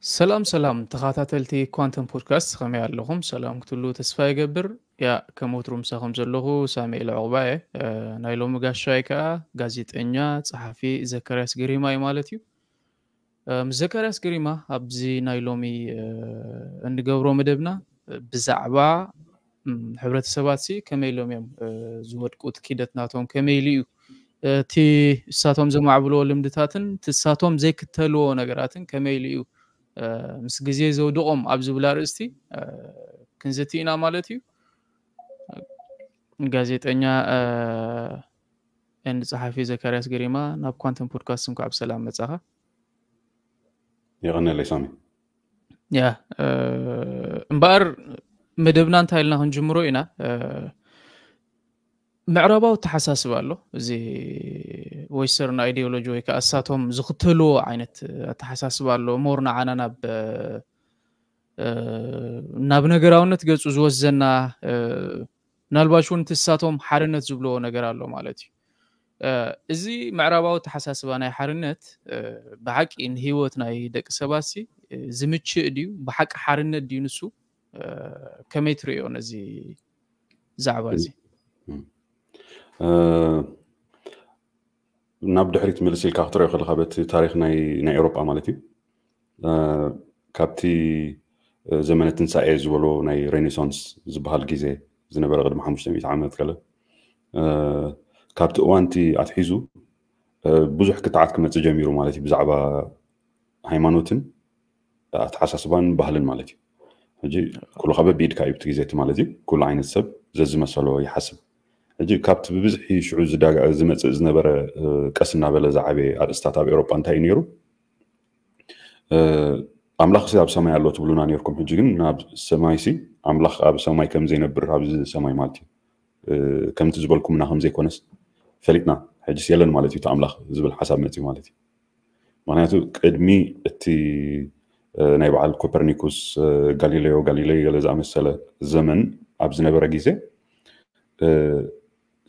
ሰላም ሰላም ተኸታተልቲ ኳንተም ፖድካስት፣ ከመይ ኣለኹም? ሰላም ክትሉ ተስፋ ይገብር። ያ ከም ወትሩ ምሳኹም ዘለኹ ሳሙኤል ዕቑባየ። ናይ ሎሚ ጋሻይ ከኣ ጋዜጠኛ ጸሓፊ ዘካርያስ ግሪማ እዩ ማለት እዩ። ምስ ዘካርያስ ግሪማ ኣብዚ ናይ ሎሚ እንገብሮ መደብና ብዛዕባ ሕብረተሰባት ሲ ከመይ ኢሎም እዮም ዝወድቁ፣ እቲ ኪደት ናቶም ከመይ ኢሉ እዩ፣ እቲ እሳቶም ዘማዕብልዎ ልምድታትን እቲ እሳቶም ዘይክተልዎ ነገራትን ከመይ ኢሉ እዩ ምስ ግዜ ዘውድቖም ኣብ ዝብል ኣርእስቲ ክንዝቲ ኢና ማለት እዩ። ጋዜጠኛ ኤንድ ጸሓፊ ዘካርያስ ግሪማ ናብ ኳንተም ፖድካስት እንኳዕ ብሰላም መጻኻ። የቐነለይ ሳሚ። ያ እምበኣር መደብና እንታይ ኢልና ክንጅምሮ ኢና። ምዕራባዊ ኣተሓሳስባ ኣሎ፣ እዚ ዌስተርን ኣይዲዮሎጂ ወይ ከዓ እሳቶም ዝኽተልዎ ዓይነት ኣተሓሳስባ ኣሎ። ሞር ንዓና ናብ ናብ ነገራውነት ገጹ ዝወስደና፣ ምናልባሽ እውን እቲ እሳቶም ሓርነት ዝብልዎ ነገር ኣሎ ማለት እዩ። እዚ ምዕራባዊ ኣተሓሳስባ ናይ ሓርነት ብሓቂ ንህይወት ናይ ደቂ ሰባት ሲ ዝምችእ ድዩ? ብሓቂ ሓርነት ድዩ ንሱ? ከመይ ትርእዮ ነዚ ዛዕባ እዚ? ናብ ድሕሪት ምልስ ኢልካ ክትሪኦ ከለካ በቲ ታሪክ ናይ ናይ ኤውሮጳ ማለት እዩ ካብቲ ዘመነ ትንሳኤ ዝበሎ ናይ ሬኔሳንስ ዝበሃል ግዜ ዝነበረ ቅድሚ ሓሙሽተ ሚእቲ ዓመት ገለ ካብቲ እዋንቲ ኣትሒዙ ብዙሕ ክትዓት ክመፅእ ጀሚሩ ማለት እዩ ብዛዕባ ሃይማኖትን ኣተሓሳስባን ባህልን ማለት እዩ። ሕጂ ኩሉ ከበብ ኢድካ እዩ ብቲ ግዜ እቲ ማለት እዩ ኩሉ ዓይነት ሰብ ዘዝመሰሎ ይሓስብ። ሕጂ ካብቲ ብብዝሒ ሽዑ ዝመፅእ ዝነበረ ቀስ እናበለ ዝዓበየ ኣርእስታት ኣብ ኤውሮጳ እንታይ እዩ ነይሩ? ኣምላኽ ሲ ኣብ ሰማይ ኣሎ ትብሉና ነርኩም፣ ሕጂ ግን ናብ ሰማይ ሲ ኣምላኽ ኣብ ሰማይ ከም ዘይነብር ኣብዚ ሰማይ ማለት እዩ ከምቲ ዝበልኩምና ከም ዘይኮነስ ፈሊጥና፣ ሕጂስ የለን ማለት እዩ እቲ ኣምላኽ ዝብል ሓሳብ መፅዩ ማለት እዩ። ምክንያቱ ቅድሚ እቲ ናይ በዓል ኮፐርኒኩስ፣ ጋሊሌዮ ጋሊሌይ ገለ ዝኣመሰለ ዘመን ኣብ ዝነበረ ግዜ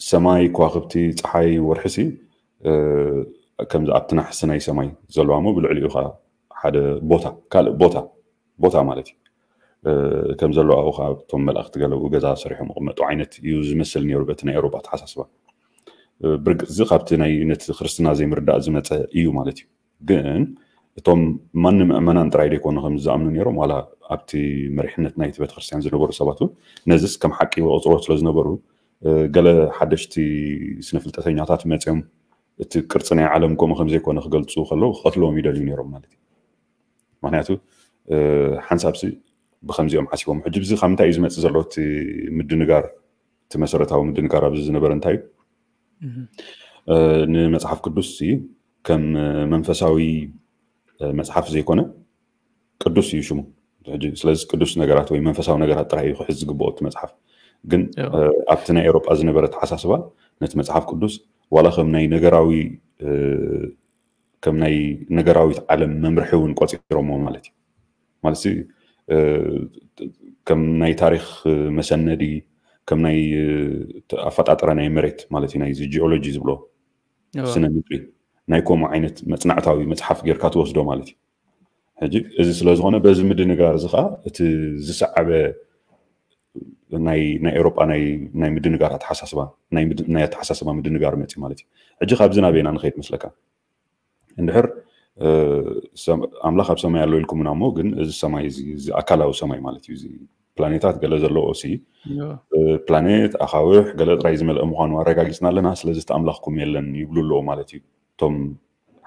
ሰማይ፣ ከዋክብቲ፣ ፀሓይ፣ ወርሒ ሲ ከምዚ ኣብቲ ናሕሲ ናይ ሰማይ ዘለዋ ሞ ብልዕሊኡ ከዓ ሓደ ቦታ ካልእ ቦታ ቦታ ማለት እዩ ከም ዘለዋ ኣብኡ ከዓ እቶም መላእክቲ ገለ ኣብኡ ገዛ ሰሪሖም ይቕመጡ ዓይነት እዩ ዝመስል ነይሩ በቲ ናይ ኤውሮጳ ኣተሓሳስባ። ብርግፅ እዚ ካብቲ ናይ ነቲ ክርስትና ዘይምርዳእ ዝመፀ እዩ ማለት እዩ። ግን እቶም ማን ምእመናን ጥራይ ዘይኮኑ ከም ዝኣምኑ ነይሮም ዋላ ኣብቲ መሪሕነት ናይቲ ቤተክርስትያን ዝነበሩ ሰባት እውን ነዚስ ከም ሓቂ ይቆፅርዎ ስለ ዝነበሩ ገለ ሓደሽቲ ስነፍልጠተኛታት መፅኦም እቲ ቅርፂ ናይ ዓለም ከምኡ ከም ዘይኮነ ክገልፁ ከለዉ ክቐትልዎም ይደልዩ ነይሮም ማለት እዩ። ምክንያቱ ሓንሳብሲ ብከምዚኦም ሓሲቦም ሕጂ ብዚ ካብ ምንታይ እዩ ዝመፅእ ዘሎ እቲ ምድንጋር እቲ መሰረታዊ ምድንጋር ኣብዚ ዝነበረ እንታይ እዩ ንመፅሓፍ ቅዱስ ከም መንፈሳዊ መፅሓፍ ዘይኮነ ቅዱስ እዩ ሽሙ። ስለዚ ቅዱስ ነገራት ወይ መንፈሳዊ ነገራት ጥራይ እዩ ክሕዝ ዝግብኦ እቲ መፅሓፍ። ግን ኣብቲ ናይ ኤውሮጳ ዝነበረ ተሓሳስባ ነቲ መፅሓፍ ቅዱስ ዋላ ከም ናይ ነገራዊ ከም ናይ ነገራዊት ዓለም መምርሒ እውን ቆፂሮሞ ማለት እዩ። ማለት ከም ናይ ታሪክ መሰነዲ ከም ናይ ኣፈጣጥራ ናይ መሬት ማለት እዩ ናይዚ ጂኦሎጂ ዝብሎ ስነ ምድሪ ናይ ከምኡ ዓይነት መፅናዕታዊ መፅሓፍ ጌርካ ትወስዶ ማለት እዩ። ሕጂ እዚ ስለዝኾነ በዚ ምድንጋር እዚ ከዓ እቲ ዝሰዓበ ናይ ናይ ኤውሮጳ ናይ ናይ ምድንጋር ኣተሓሳስባ ናይ ምድ- ናይ ኣተሓሳስባ ምድንጋር መፅእ ማለት እዩ። ሕጂ ካብዚ ናበይና ንኸይድ መስለካ? እንድሕር እ፣ ሰም- ኣምላኽ ኣብ ሰማይ ኣሎ ኢልኩምና እሞ ግን እዚ ሰማይ እዚ እዚ ኣካላዊ ሰማይ ማለት እዩ እዚ ፕላኔታት ገለ ዘለዎ ሲ እ፣ ፕላኔት ኣኻውሕ ገለ ጥራይ ዝመልአ ምዃኑ ኣረጋጊፅና ኣለና፣ ስለዚ እቲ ኣምላኽኩም የለን ይብሉ ኣለዎ ማለት እዩ እቶም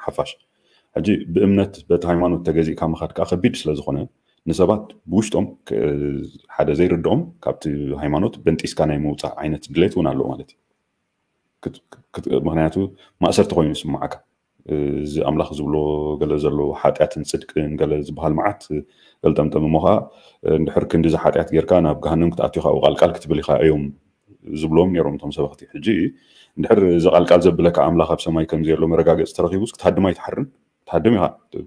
ሓፋሽ። ሕጂ ብእምነት በቲ ሃይማኖት ተገዚእካ ምኻድ ከዓ ከቢድ ስለ ዝኾነ ንሰባት ብውሽጦም ክ- ሓደ ዘይርድኦም ካብቲ ሃይማኖት በንጢስካ ናይ ምውፃእ ዓይነት ድሌት እውን ኣሎ ማለት እዩ። ክት- ክት- ምክንያቱ ማእሰርቲ ኮይኑ ይስምዓካ። እዚ ኣምላኽ ዝብሎ ገለ ዘሎ ሓጢኣትን ፅድቅን ገለ ዝበሃል መዓት ገልጠምጠም እሞ ከዓ እንድሕር ክንዲዚ ሓጢኣት ጌርካ ናብ ገሃነም ክትኣትዩ ካብኡ ቃልቃል ክትብል ኢኻ እዮም ዝብሎም ነይሮም እቶም ሰበኽቲ። ሕጂ እንድሕር እዚ ቃልቃል ዘብለካ ኣምላኽ ኣብ ሰማይ ከም ዘሎ መረጋገፂ ተረኺቡስ ክትሃድም ኣይትሓርን። ትሃድም ኢኻ።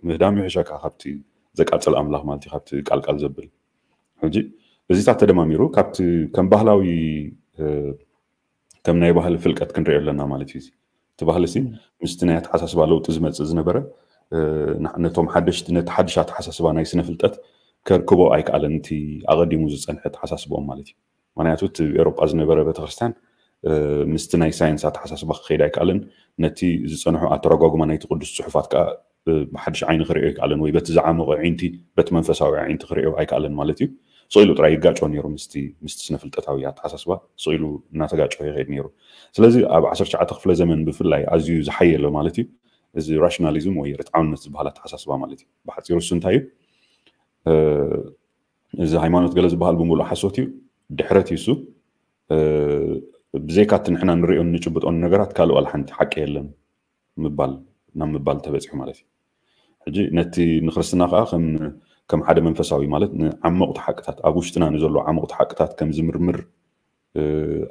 ምህዳም ይሕሸካ ካብቲ ዘቃፅል ኣምላኽ ማለት እዩ፣ ካብቲ ቃልቃል ዘብል። ሕጂ እዚታት ተደማሚሩ ካብቲ ከም ባህላዊ እ፣ ከም ናይ ባህሊ ፍልቀት ክንሪኦ ኣለና ማለት እዩ። እዚ እቲ ባህሊ ሲ ምስቲ ናይ ኣተሓሳስባ ለውጢ ዝመፅእ ዝነበረ ነቶም ሓደሽቲ ነቲ ሓድሽ ኣተሓሳስባ ናይ ስነ ፍልጠት ከርክቦ ኣይከኣለን፣ እቲ ኣቐዲሙ ዝጸንሐ ኣተሓሳስቦኦም ማለት እዩ። ምክንያቱ እቲ ኤሮጳ ዝነበረ ቤተክርስትያን ምስቲ ናይ ሳይንስ ኣተሓሳስባ ክኸይድ ኣይከኣለን። ነቲ ዝጸንሑ ኣተረጓጉማ ናይቲ ቅዱስ ጽሑፋት ከዓ ብሓድሽ ዓይኒ ክርእዮ ኣይከኣለን፣ ወይ በቲ ዝዓመቐ ዒንቲ በቲ መንፈሳዊ ዒንቲ ክርእዮ ኣይከኣለን ማለት እዩ። ስቕ ኢሉ ጥራይ ይጋጮ ነይሩ ምስቲ ምስቲ ስነ ፍልጠታዊ ኣተሓሳስባ ስቕ ኢሉ እናተጋጨ ይኸይድ ነይሩ። ስለዚ ኣብ ዓሰርተ ትሽዓተ ክፍለ ዘመን ብፍላይ ኣዝዩ ዝሓየለ ማለት እዩ እዚ ራሽናሊዝም ወይ ርትዓውነት ዝበሃል ኣተሓሳስባ ማለት እዩ። ብሓፂሩ እሱ እንታይ እዩ? እዚ ሃይማኖት ገለ ዝበሃል ብምሉእ ሓሶት እዩ። ድሕረት እዩ እሱ። ብዘይካ እቲ ንሕና ንሪኦን ንጭብጦን ነገራት ካልእ ዋላ ሓንቲ ሓቂ የለን ምባል ናብ ምባል ተበፂሑ ማለት እዩ። ሕጂ ነቲ ንክርስትና ከዓ ከም ሓደ መንፈሳዊ ማለት ንዓመቑቲ ሓቅታት ኣብ ውሽጥና ንዘሎ ዓመቑቲ ሓቅታት ከም ዝምርምር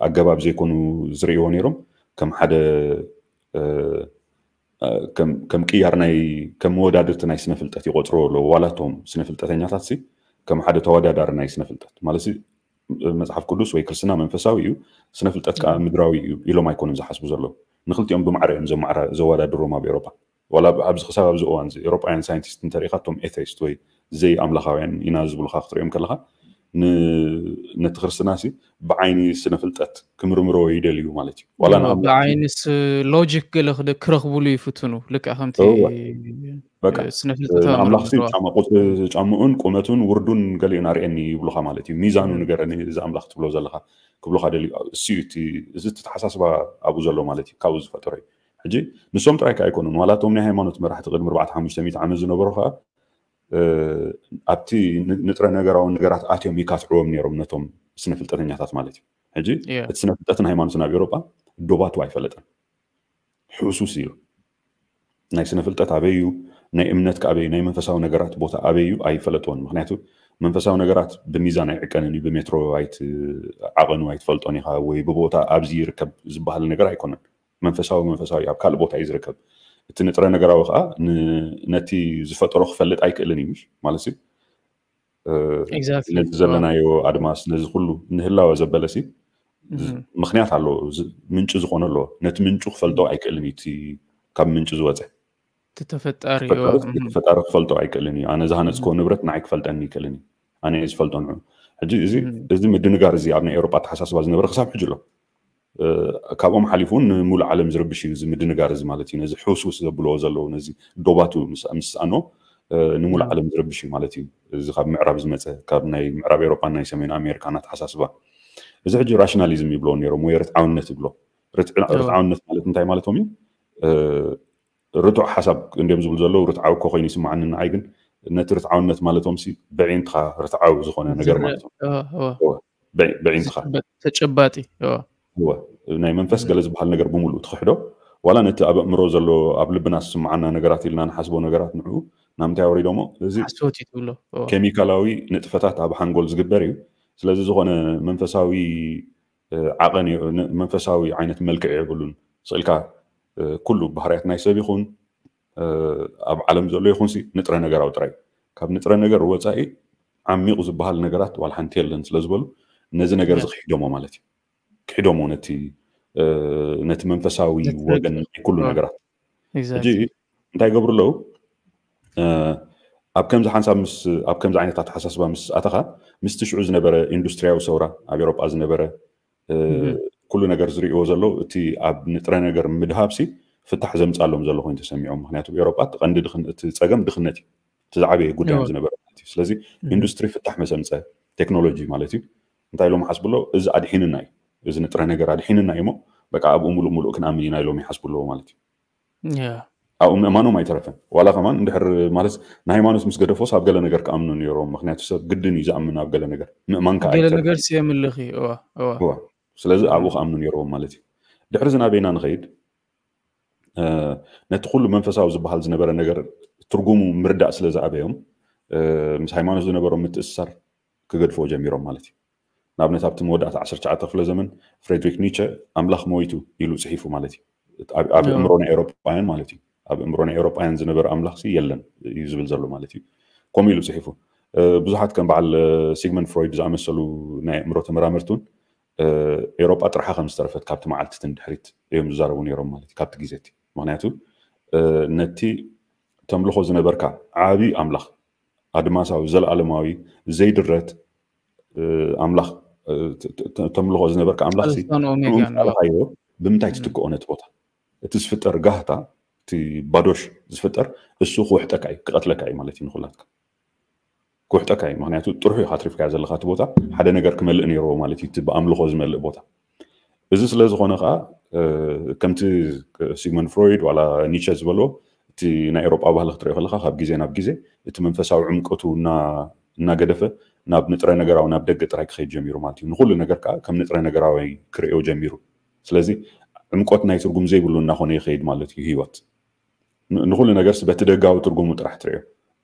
ኣገባብ ዘይኮኑ ዝርእይዎ ነይሮም። ከም ሓደ ከም ቅያር ናይ ከም መወዳድርቲ ናይ ስነ ፍልጠት ይቆፅርዎ ኣለዉ። ዋላ እቶም ስነ ፍልጠተኛታት ሲ ከም ሓደ ተወዳዳሪ ናይ ስነ ፍልጠት ማለት መጽሓፍ ቅዱስ ወይ ክርስትና መንፈሳዊ እዩ፣ ስነ ፍልጠት ከዓ ምድራዊ እዩ ኢሎም ኣይኮኑን ዝሓስቡ ዘለዉ። ንክልቲኦም ብማዕረ እዮም ዘወዳድሮም ኣብ ኤሮፓ። ዋላ ኣብዚ ክሳብ ኣብዚ እዋን እዚ ኤሮጳውያን ሳይንቲስት እንተሪኢኻ እቶም ኤቴይስት ወይ ዘይ ኣምላኻውያን ኢና ዝብሉኻ ክትሪኦም ከለኻ ነቲ ክርስትና ሲ ብዓይኒ ስነ ፍልጠት ክምርምሮ ይደልዩ ማለት እዩ። ዋላ ብዓይንስ ሎጂክ ገለ ክረኽብሉ ይፍትኑ። ልክዕ ከምቲ ስነ ፍልጠት ኣምላኽ ሲ ጫምኡን ቁመቱን ውርዱን ገሊኡን ኣርእየኒ ይብሉኻ ማለት እዩ። ሚዛኑ ንገረኒ እዚ ኣምላኽ ትብሎ ዘለኻ ክብሉኻ ደልዩ። እሱ እዩ እዚ ተተሓሳስባ ኣብኡ ዘሎ ማለት እዩ። ካብኡ ዝፈጠሮ እዩ። ሕጂ ንሶም ጥራይ ከ ኣይኮኑን፣ ዋላ እቶም ናይ ሃይማኖት መራሕቲ ቅድሚ ኣርባዕተ ሓሙሽተ ሚእቲ ዓመት ዝነበሩ ከኣ ኣብቲ ንጥረ ነገራዊ ነገራት ኣትዮም ይካትዕዎም ነይሮም ነቶም ስነ ፍልጠተኛታት ማለት እዩ። ሕጂ እቲ ስነ ፍልጠትን ሃይማኖትን ኣብ ኤውሮጳ ዶባቱ ኣይፈለጠን። ሕሱስ እዩ። ናይ ስነ ፍልጠት ኣበይ እዩ፣ ናይ እምነት ከ ኣበይ እዩ፣ ናይ መንፈሳዊ ነገራት ቦታ ኣበይ እዩ ኣይፈለጥዎን። ምክንያቱ መንፈሳዊ ነገራት ብሚዛን ኣይዕቀንን እዩ፣ ብሜትሮ ዓቐኑ ኣይትፈልጦን ኢኻ ወይ ብቦታ ኣብዚ ይርከብ ዝበሃል ነገር ኣይኮነን። መንፈሳዊ መንፈሳዊ ኣብ ካልእ ቦታ እዩ ዝርከብ። እቲ ንጥረ ነገራዊ ከዓ ነቲ ዝፈጠሮ ክፈልጥ ኣይክእልን እዩ ማለት እዩ። ነዚ ዘለናዮ ኣድማስ ነዚ ኩሉ ንህላወ ዘበለ ሲ ምክንያት ኣለዎ፣ ምንጪ ዝኾነ ኣለዎ። ነቲ ምንጩ ክፈልጦ ኣይክእልን እዩ እቲ ካብ ምንጪ ዝወፀ ተፈጣሪ ተፈጣሪ ክፈልጦ ኣይክእልን እዩ። ኣነ ዝሃነፅኮ ንብረት ንዓይ ክፈልጠኒ ይክእልን እዩ፣ ኣነ ዝፈልጦ ንዑ። ሕጂ እዚ እዚ ምድንጋር እዚ ኣብ ናይ ኤውሮጳ ኣተሓሳስባ ዝነበረ ክሳብ ሕጂ ኣሎ። ካብኦም ሓሊፉ እውን ንሙሉእ ዓለም ዝርብሽ እዩ እዚ ምድንጋር እዚ ማለት እዩ። ነዚ ሕውስውስ ዘብልዎ ዘለዉ ነዚ ዶባቱ ምስኣኖ ንሙሉእ ዓለም ዝርብሽ እዩ ማለት እዩ። እዚ ካብ ምዕራብ ዝመፀ ካብ ናይ ምዕራብ ኤውሮጳን ናይ ሰሜን ኣሜሪካን ኣተሓሳስባ እዚ ሕጂ ራሽናሊዝም ይብልዎ ነይሮም ወይ ርትዓውነት ይብሎ። ርትዓውነት ማለት እንታይ ማለቶም እዩ? ርቱዕ ሓሳብ እንዲም ዝብሉ ዘለዉ ርትዓዊ እኮ ኮይኑ ይስምዓኒ ንዓይ፣ ግን ነቲ ርትዓውነት ማለቶም ሲ ብዒንትኻ ርትዓዊ ዝኾነ ነገር ማለት ብዒንትኻ ተጨባጢ ናይ መንፈስ ገለ ዝበሃል ነገር ብምሉእ ትኽሕዶ ዋላ ነቲ ኣብ ኣእምሮ ዘሎ ኣብ ልብና ዝስምዓና ነገራት ኢልና ንሓስቦ ነገራት ንዕኡ ናብ ምንታይ ኣውሪዶሞ እዚ ሓሶት እዩ ትብሎ ኬሚካላዊ ንጥፈታት ኣብ ሓንጎል ዝግበር እዩ። ስለዚ ዝኾነ መንፈሳዊ ዓቐን መንፈሳዊ ዓይነት መልክዕ የብሉን። ስእልካ ኩሉ ባህርያት ናይ ሰብ ይኹን ኣብ ዓለም ዘሎ ይኹን ሲ ንጥረ ነገራዊ ጥራይ ካብ ንጥረ ነገር ወፃኢ ዓሚቑ ዝበሃል ነገራት ዋላ ሓንቲ የለን ስለ ዝበሉ ነዚ ነገር እዚ ክሒዶሞ ማለት እዩ። ክሒዶሞ ነቲ ነቲ መንፈሳዊ ወገን ናይ ኩሉ ነገራት ሕጂ እንታይ ይገብሩ ኣለዉ? ኣብ ከምዚ ሓንሳብ ምስ ኣብ ከምዚ ዓይነት ኣተሓሳስባ ምስ ኣተኻ ምስቲ ሽዑ ዝነበረ ኢንዱስትሪያዊ ሰውራ ኣብ ኤውሮጳ ዝነበረ ኩሉ ነገር ዝርእይዎ ዘለዉ እቲ ኣብ ንጥረ ነገር ምድሃብ ሲ ፍታሕ ዘምጻሎም ዘሎ ኮይኑ ተሰሚዖም። ምክንያቱ ኤውሮጳ እቲ ቀንዲ እቲ ጸገም ድኽነት እዩ። እቲ ዝዓበየ ጉዳዮም ዝነበረ ማለት እዩ። ስለዚ ኢንዱስትሪ ፍታሕ መሰምጸ ቴክኖሎጂ ማለት እዩ። እንታይ ኢሎም ሓስብሎ እዚ ኣድሒንና እዩ፣ እዚ ንጥረ ነገር ኣድሒንና እዩ እሞ በቃ ኣብኡ ሙሉእ ሙሉእ ክንኣምን ኢና ኢሎም ይሓስቡ ኣለዎ ማለት እዩ። ኣብኡ ምእማኖም ኣይተረፈን። ዋላ ከማን እንድሕር ማለት ንሃይማኖት ምስ ገደፎስ ኣብ ገለ ነገር ክኣምኑ ነይሮም። ምክንያቱ ሰብ ግድን እዩ ዝኣምን ኣብ ገለ ነገር ምእማን ከዓ ገለ ነገር የምልኽ እዩ። ስለዚ ኣብኡ ክኣምኑ ነይሮም ማለት እዩ። ድሕሪ ዝናበይና ንኸይድ ነቲ ኩሉ መንፈሳዊ ዝበሃል ዝነበረ ነገር ትርጉሙ ምርዳእ ስለ ዝኣበዮም ምስ ሃይማኖት ዝነበሮም ምትእስሳር ክገድፍዎ ጀሚሮም ማለት እዩ። ንኣብነት ኣብቲ መወዳእታ ዓሰርተ ትሽዓተ ክፍለ ዘመን ፍሬድሪክ ኒቸ ኣምላኽ ሞይቱ ኢሉ ፅሒፉ ማለት እዩ። ኣብ እምሮ ናይ ኤውሮጳውያን ማለት እዩ። ኣብ እምሮ ናይ ኤውሮጳውያን ዝነበረ ኣምላኽ ሲ የለን እዩ ዝብል ዘሎ ማለት እዩ። ከምኡ ኢሉ ፅሒፉ። ብዙሓት ከም በዓል ሲግመንድ ፍሮይድ ዝኣመሰሉ ናይ ኣእምሮ ተመራመርቲ እውን ኤውሮጳ ጥርሓ ከም ዝተረፈት ካብቲ መዓልቲ እቲ ንድሕሪት እዮም ዝዛረቡ ነይሮም ማለት እዩ። ካብቲ ግዜ እቲ ምክንያቱ ነቲ ተምልኾ ዝነበርካ ዓቢ ኣምላኽ፣ ኣድማሳዊ፣ ዘለኣለማዊ፣ ዘይድረት ኣምላኽ፣ ተምልኾ ዝነበርካ ኣምላኽ ቃልካዮ ብምንታይ ትትክኦ? ነቲ ቦታ፣ እቲ ዝፍጠር ጋህታ፣ እቲ ባዶሽ ዝፍጠር፣ እሱ ክውሕጠካ እዩ፣ ክቐትለካ እዩ ማለት እዩ። ንኩላትካ ክውሕጠካ እዩ። ምክንያቱ ጥርሑ እዩ ካትሪፍካዮ ዘለካ እቲ ቦታ ሓደ ነገር ክመልእ ነይርዎ ማለት እዩ፣ እቲ ብኣምልኾ ዝመልእ ቦታ። እዚ ስለ ዝኾነ ከዓ ከምቲ ሲግመንድ ፍሮይድ ዋላ ኒቸ ዝበልዎ፣ እቲ ናይ ኤሮጳ ባህሊ ክትሪኦ ከለካ ካብ ግዜ ናብ ግዜ እቲ መንፈሳዊ ዕምቀቱ እናገደፈ ናብ ንጥረ ነገራዊ፣ ናብ ደገ ጥራይ ክኸይድ ጀሚሩ ማለት እዩ። ንኩሉ ነገር ከዓ ከም ንጥረ ነገራዊ ክርእዮ ጀሚሩ። ስለዚ ዕምቆት ናይ ትርጉም ዘይብሉ እናኾነ ይኸይድ ማለት እዩ ህይወት። ንኩሉ ነገርስ በቲ ደጋዊ ትርጉሙ ጥራሕ ትርእዮ፣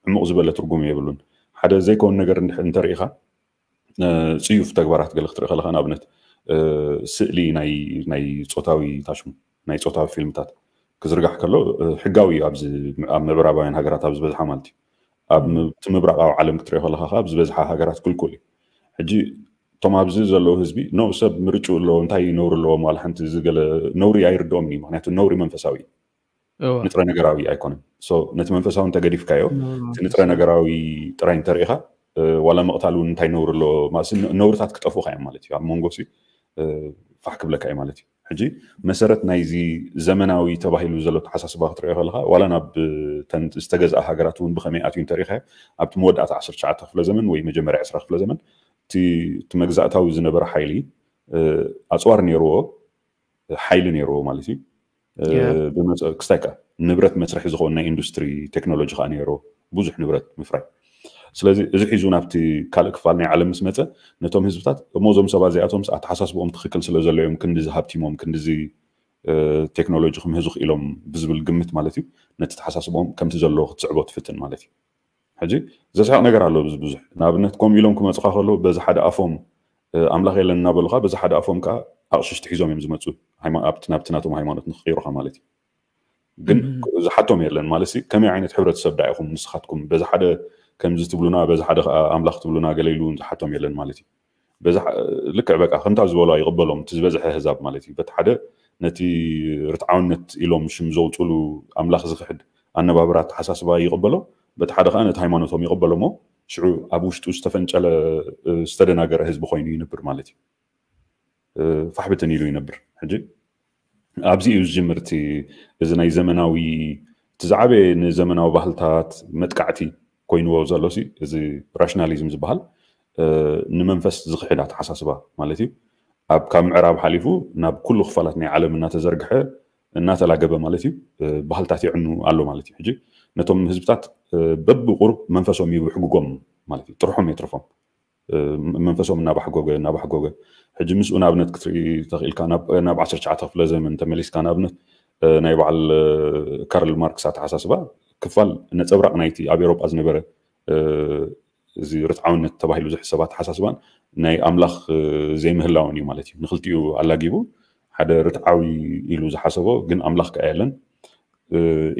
ዕሙቕ ዝበለ ትርጉም የብሉን። ሓደ ዘይከውን ነገር እንተርኢኻ ፅዩፍ ተግባራት ገለ ክትርኢ ከለካ፣ ንኣብነት ስእሊ ናይ ፆታዊ ታሽሙ፣ ናይ ፆታዊ ፊልምታት ክዝርጋሕ ከሎ ሕጋዊ እዩ። ኣብዚ ኣብ ምዕራባውያን ሃገራት ኣብ ዝበዝሓ ማለት እዩ። ኣብ እቲ ምብራቃዊ ዓለም ክትሪኦ ከለካ ከዓ ኣብ ዝበዝሓ ሃገራት ክልኩል እዩ። ሕጂ እቶም ኣብዚ ዘለዉ ህዝቢ ኖ ሰብ ምርጭኡ ኣለዎ፣ እንታይ ነውሪ ኣለዎም? ዋላ ሓንቲ ዝገለ ነውሪ ኣይርድኦም እዩ። ምክንያቱ ነውሪ መንፈሳዊ እዩ፣ ንጥረ ነገራዊ ኣይኮነን። ነቲ መንፈሳዊ እንተገዲፍካዮ እቲ ንጥረ ነገራዊ ጥራይ እንተርኢኻ ዋላ ምቕታል እውን እንታይ ነውሪ ኣለዎ? ነውርታት ክጠፍኡካ እዮም ማለት እዩ። ኣብ መንጎ ፋሕ ክብለካ እዩ ማለት እዩ። ሕጂ መሰረት ናይዚ ዘመናዊ ተባሂሉ ዘሎ ተሓሳስባ ክትሪኦ ከለካ ዋላ ናብ ዝተገዝኣ ሃገራት እውን ብከመይ ኣትዩ እንተርኢካ ኣብቲ መወዳእታ ዓሰርተ ትሽዓተ ክፍለ ዘመን ወይ መጀመርያ ዕስራ ክፍለ ዘመን እቲ መግዛእታዊ ዝነበረ ሓይሊ ኣፅዋር ነይርዎ፣ ሓይሊ ነይርዎ ማለት እዩ። ክስታይ ከዓ ንብረት መስርሒ ዝኸውን ናይ ኢንዱስትሪ ቴክኖሎጂ ከዓ ነይርዎ፣ ብዙሕ ንብረት ምፍራይ። ስለዚ እዚ ሒዙ ናብቲ ካልእ ክፋል ናይ ዓለም ምስ መፀ ነቶም ህዝብታት እሞ እዞም ሰባት እዚኣቶም ኣተሓሳስብኦም ትኽክል ስለ ዘሎ እዮም ክንድዚ ሃብቲሞም ክንድዚ ቴክኖሎጂ ክምህዙ ክኢሎም ብዝብል ግምት ማለት እዩ። ነቲ ተሓሳስብኦም ከምቲ ዘለዎ ክትስዕቦ ትፍትን ማለት እዩ። ሕጂ ዘስሕቕ ነገር ኣሎ ብዙሕ። ንኣብነት ከምኡ ኢሎም ክመፁካ ከለዉ በዚ ሓደ ኣፎም ኣምላኽ የለን እናበሉካ በዚ ሓደ ኣፎም ከዓ ኣቕሽሽቲ ሒዞም እዮም ዝመፁ። ናብቲ ናቶም ሃይማኖት ንክቕይሩካ ማለት እዩ። ግን ዝሓቶም የለን ማለት ከመይ ዓይነት ሕብረተሰብ ዳ ኢኹም ንስኻትኩም በዚ ሓደ ከምዚ ትብሉና በዚ ሓደ ከዓ ኣምላኽ ትብሉና ገለ ኢሉ ዝሓቶም የለን ማለት እዩ። ልክዕ በቃ ከምታ ዝበሉ ይቕበሎም እቲ ዝበዝሐ ህዛብ ማለት እዩ። በቲ ሓደ ነቲ ርትዓውነት ኢሎም ሽም ዘውፅሉ ኣምላኽ ዝኽሕድ ኣነባብራ ኣተሓሳስባ ይቕበሎ፣ በቲ ሓደ ከዓ ነቲ ሃይማኖቶም ይቕበሎ እሞ ሽዑ ኣብ ውሽጡ ዝተፈንጨለ ዝተደናገረ ህዝቢ ኮይኑ ይነብር ማለት እዩ። ፋሕብትን ኢሉ ይነብር። ሕጂ ኣብዚ እዩ ዝጅምር እቲ እዚ ናይ ዘመናዊ እቲ ዝዓበየ ንዘመናዊ ባህልታት መጥቃዕቲ ኮይንዎ ዘሎ እዚ ራሽናሊዝም ዝበሃል ንመንፈስ ዝኽሕድ ኣተሓሳስባ ማለት እዩ። ኣብ ካብ ምዕራብ ሓሊፉ ናብ ኩሉ ክፋላት ናይ ዓለም እናተዘርግሐ እናተላገበ ማለት እዩ። ባህልታት ይዕኑ ኣሎ ማለት እዩ። ሕጂ ነቶም ህዝብታት በብቁሩብ መንፈሶም ይብሕግጎም ማለት እዩ። ጥርሖም የትርፎም። መንፈሶም እናባሕጎገ እናባሕጎገ ሕጂ ምስኡ ንኣብነት ክትርኢ ተኽኢልካ ናብ ዓሰርተ ትሽዓተ ክፍለ ዘመን ተመሊስካ ንኣብነት ናይ በዓል ካርል ማርክስ ኣተሓሳስባ ክፋል ነፀብራቕ ናይቲ ኣብ ኤሮጳ ዝነበረ እዚ ርትዓውነት ተባሂሉ ዝሕሰብ ኣተሓሳስባን ናይ ኣምላኽ ዘይምህላውን እዩ ማለት እዩ። ንክልቲኡ ኣላጊቡ ሓደ ርትዓዊ ኢሉ ዝሓሰቦ ግን ኣምላኽ ከኣ የለን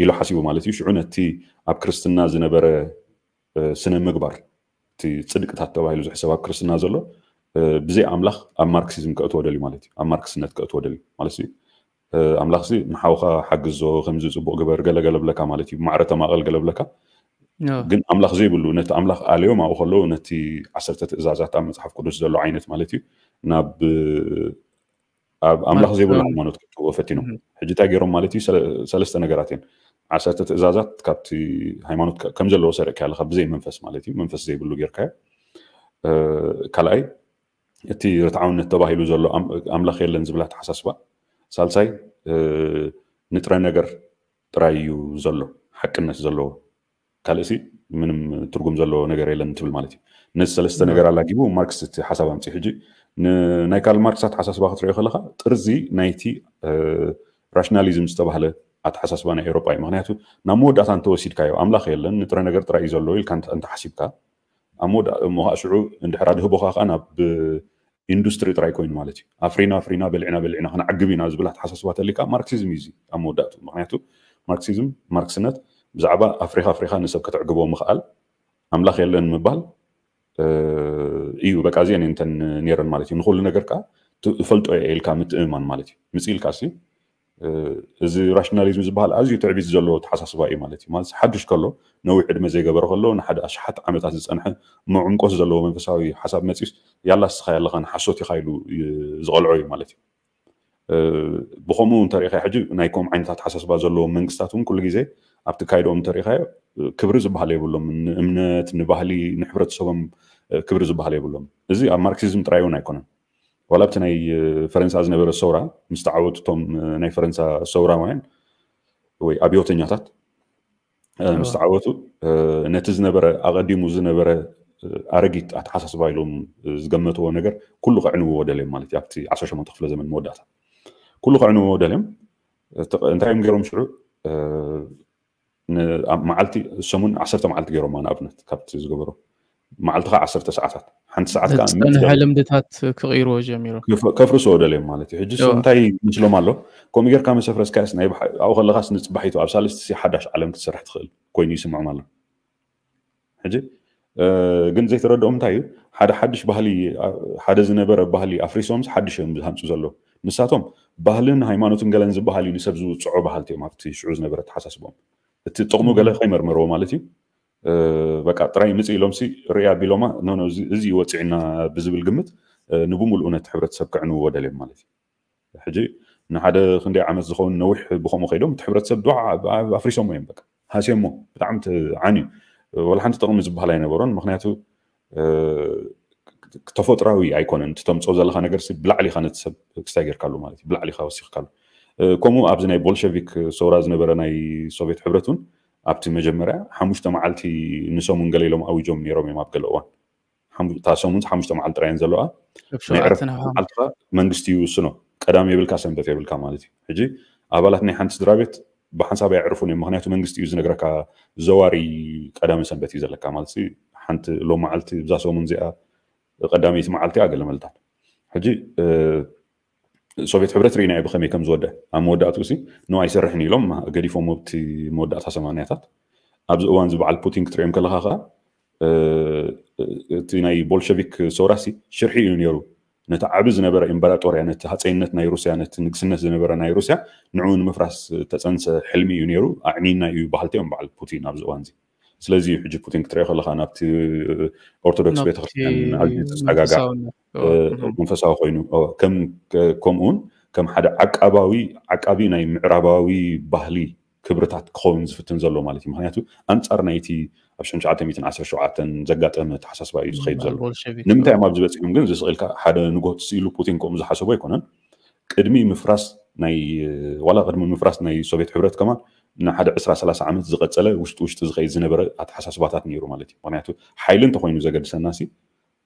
ኢሉ ሓሲቡ ማለት እዩ። ሽዑ ነቲ ኣብ ክርስትና ዝነበረ ስነ ምግባር እቲ ፅድቅታት ተባሂሉ ዝሕሰብ ኣብ ክርስትና ዘሎ ብዘይ ኣምላኽ ኣብ ማርክሲዝም ከእትዎ ደልዩ ማለት እዩ። ኣብ ማርክስነት ከእትዎ ደልዩ ማለት እዩ። ኣምላኽ ሲ ንሓውኻ ሓግዞ ከምዚ ፅቡቕ ግበር ገለገለ ብለካ ማለት እዩ። ማዕረ ተማቐል ገለ ብለካ ግን ኣምላኽ ዘይብሉ ነቲ ኣምላኽ ኣለዮም ኣብኡ ከለዉ ነቲ ዓሰርተ ትእዛዛት ኣብ መፅሓፍ ቅዱስ ዘሎ ዓይነት ማለት እዩ ናብ ኣብ ኣምላኽ ዘይብሉ ሃይማኖት ክእትዎ ፈቲኖም። ሕጂ እንታይ ገይሮም ማለት እዩ? ሰለስተ ነገራት እየን። ዓሰርተ ትእዛዛት ካብቲ ሃይማኖት ከም ዘለዎ ሰሪቕካ ኣለካ ብዘይ መንፈስ ማለት እዩ። መንፈስ ዘይብሉ ጌርካዮ። ካልኣይ እቲ ርትዓውነት ተባሂሉ ዘሎ ኣምላኽ የለን ዝብል ኣተሓሳስባ። ሳልሳይ ንጥረ ነገር ጥራይ እዩ ዘሎ ሓቅነት ዘለዎ ካልእሲ ምንም ትርጉም ዘለዎ ነገር የለን ትብል ማለት እዩ። ነዚ ሰለስተ ነገር ኣላጊቡ ማርክስ እቲ ሓሳብ ኣምፅኡ። ሕጂ ናይ ካርል ማርክስ ኣተሓሳስባ ክትሪኦ ከለካ ጥርዚ ናይቲ ራሽናሊዝም ዝተባህለ ኣተሓሳስባ ናይ ኤሮጳ እዩ። ምክንያቱ ናብ መወዳእታ እንተወሲድካዮ ኣምላኽ የለን ንጥረ ነገር ጥራይ እዩ ዘሎ ኢልካ እንተሓሲብካ ኣብ መወዳእ እሞ ከዓ ሽዑ እንድሕር ኣድህቦካ ከዓ ናብ ኢንዱስትሪ ጥራይ ኮይኑ ማለት እዩ። ኣፍሪና ኣፍሪና በሊዕና በሊዕና ክንዓግብ ኢና ዝብል ኣተሓሳስባ ተሊካ ማርክሲዝም እዩ እዚ ኣብ መወዳእቱ። ምክንያቱ ማርክሲዝም ማርክስነት ብዛዕባ ኣፍሪካ ኣፍሪካ ንሰብ ከተዕግቦ ምክኣል ኣምላኽ የለን ምባል እዩ። በቃ እዚአን እንተን ነይረን ማለት እዩ። ንኩሉ ነገር ከዓ እፈልጦ እየ ኢልካ ምትእምማን ማለት እዩ። ምፅ ኢልካ ሲ እዚ ራሽናሊዝም ዝበሃል ኣዝዩ ትዕቢት ዘለዎ ተሓሳስባ እዩ ማለት እዩ። ማለት ሓዱሽ ከሎ፣ ነዊሕ ዕድመ ዘይገበረ ከሎ፣ ንሓደ ኣሽሓት ዓመታት ዝጸንሐ መዕምቆት ዘለዎ መንፈሳዊ ሓሳብ መጺኡስ፣ ያላ እስኻ ያለኻ ንሓሶት ኢኻ ኢሉ ዝቐልዖ እዩ ማለት እዩ። ብኸምኡ እንተሪኢኻ ሕጂ ናይ ከምኡ ዓይነት ኣተሓሳስባ ዘለዎም መንግስታት እውን ኩሉ ግዜ ኣብቲ ካይድኦም እንተሪኢኻዮ ክብሪ ዝበሃል የብሎም። ንእምነት፣ ንባህሊ፣ ንሕብረተሰቦም ክብሪ ዝበሃል የብሎም። እዚ ኣብ ማርክሲዝም ጥራይ እውን ኣይኮነን። ዋላ ኣብቲ ናይ ፈረንሳ ዝነበረ ሰውራ ምስ ተዓወቱ እቶም ናይ ፈረንሳ ሰውራውያን ወይ ኣብዮተኛታት ምስ ተዓወቱ ነቲ ዝነበረ ኣቐዲሙ ዝነበረ ኣረጊት ኣተሓሳስባ ኢሎም ዝገመትዎ ነገር ኩሉ ከዕንውዎ ደልዮም ማለት እዩ። ኣብቲ ዓሰርተ ሸሞንተ ክፍለ ዘመን መወዳእታ ኩሉ ከዕንውዎ ደልዮም እንታይ እዮም ገይሮም ሽዑ? መዓልቲ ሰሙን ዓሰርተ መዓልቲ ገይሮማ ንኣብነት ካብቲ ዝገበሮ መዓልቲ ከዓ ዓሰርተ ሰዓታት ሓንቲ ሰዓት ከዓ ዝፀንሐ ልምድታት ክቕይርዎ ጀሚሮም። ከፍርስዎ ደልዮም ማለት እዩ። ሕጂ እንታይ ይመስሎም ኣሎ? ከምኡ ጌርካ መሰፍረስካስ ናይ ኣብኡ ከለኻስ ንፅባሒቱ ኣብ ሳልስቲ ሓዳሽ ዓለም ክትሰርሕ ትኽእል ኮይኑ ይስምዖም ኣሎ። ሕጂ ግን ዘይተረድኦም እንታይ እዩ? ሓደ ሓድሽ ባህሊ ሓደ ዝነበረ ባህሊ ኣፍሪሶምስ ሓድሽ እዮም ዝሃንፁ ዘለዉ። ንሳቶም ባህልን ሃይማኖትን ገለን ዝበሃል እዩ ንሰብ ዝውፅዖ ባህልቲ እዮም ኣብቲ ሽዑ ዝነበረ ተሓሳስቦም። እቲ ጥቕሙ ገለ ከይመርመርዎ ማለት እዩ። በቃ ጥራይ ምጽእ ኢሎምሲ ርያ ቢሎማ ኖ እዚ እዩ ወፂዕና ብዝብል ግምት ንብምሉኡ ነቲ ሕብረተሰብ ከዕንውዎ ደልዮም ማለት እዩ። ሕጂ ንሓደ ክንደይ ዓመት ዝኸውን ነዊሕ ብኸምኡ ከይዶም እቲ ሕብረተሰብ ዶ ኣፍሪሶሞ እዮም። በቃ ሃስዮሞ ብጣዕሚ ዓንዩ ወላ ሓንቲ ጥቕሚ ዝበሃል ኣይነበሮን። ምክንያቱ ተፈጥራዊ ኣይኮነን። እቲ ተምፅኦ ዘለካ ነገር ብላዕሊ ኢካ ነቲ ሰብ ክስታይ ጌርካሉ ማለት እዩ። ብላዕሊ ኢካ ወሲኽካሉ። ከምኡ ኣብዚ ናይ ቦልሸቪክ ሰውራ ዝነበረ ናይ ሶቪየት ሕብረት እውን ኣብቲ መጀመርያ ሓሙሽተ መዓልቲ ንሰሙን ገለ ኢሎም ኣዊጆም ነይሮም እዮም ኣብ ገለ እዋን። እታ ሰሙን ሓሙሽተ መዓልቲ ጥራየን ዘለዋ ናይ ዕረፍቲ መዓልትኻ መንግስቲ ይውስኖ። ቀዳም የብልካ ሰንበት የብልካ ማለት እዩ። ሕጂ ኣባላት ናይ ሓንቲ ስድራ ቤት ብሓንሳብ ኣየዕርፉን እዮም። ምክንያቱ መንግስቲ እዩ ዝነግረካ ዘዋሪ ቀዳሚ ሰንበት እዩ ዘለካ ማለት ሓንቲ ሎም መዓልቲ ብዛ ሰሙን እዚኣ ቀዳመይቲ መዓልቲ እያ ገለ መልታት። ሕጂ ሶቪየት ሕብረት ርኢናዮ ብኸመይ ከም ዝወደ ኣብ መወዳእትኡ ሲ ኖ ኣይሰርሕን ኢሎም ገዲፎም ኣብቲ መወዳእታ ሰማንያታት ኣብዚ እዋን እዚ በዓል ፑቲን ክትሪኦም ከለካ ከዓ እቲ ናይ ቦልሸቪክ ሰውራሲ ሽርሒ እዩ ነይሩ። ነቲ ዓቢ ዝነበረ ኢምበራጦርያ ነቲ ሃፀይነት ናይ ሩስያ ነቲ ንግስነት ዝነበረ ናይ ሩስያ ንዕኡ ንምፍራስ ተፀንሰ ሕልሚ እዩ ነይሩ። ኣዕኒና እዩ በሃልቲ እዮም በዓል ፑቲን ኣብዚ እዋን እዚ። ስለዚ እዩ ሕጂ ፑቲን ክትሪኦ ከለካ ናብቲ ኦርቶዶክስ ቤተክርስትያን ኣዝዩ ዝፀጋጋዕ መንፈሳዊ ኮይኑ ከምኡውን ከም ሓደ ዓቃባዊ ዓቃቢ ናይ ምዕራባዊ ባህሊ ክብርታት ክኸውን ዝፍትን ዘሎ ማለት እዩ። ምክንያቱ ኣንፃር ናይቲ ኣብ ሽሕን ትሽዓተ ሚእትን ዓሰርተ ሸውዓተን ዘጋጠመ ተሓሳስባ እዩ ዝኸይድ ዘሎ። ንምንታይ እዮም ኣብዚ በፂሖም ግን ዝስቕ ኢልካ ሓደ ንጎት ስኢሉ ፑቲን ከምኡ ዝሓሰቦ ኣይኮነን። ቅድሚ ምፍራስ ናይ ዋላ ቅድሚ ምፍራስ ናይ ሶቪየት ሕብረት ከማን ንሓደ ዕስራ ሰላሳ ዓመት ዝቐፀለ ውሽጢ ውሽጢ ዝኸይድ ዝነበረ ኣተሓሳስባታት ነይሩ ማለት እዩ። ምክንያቱ ሓይሊ እንተኮይኑ ዘገድሰና ሲ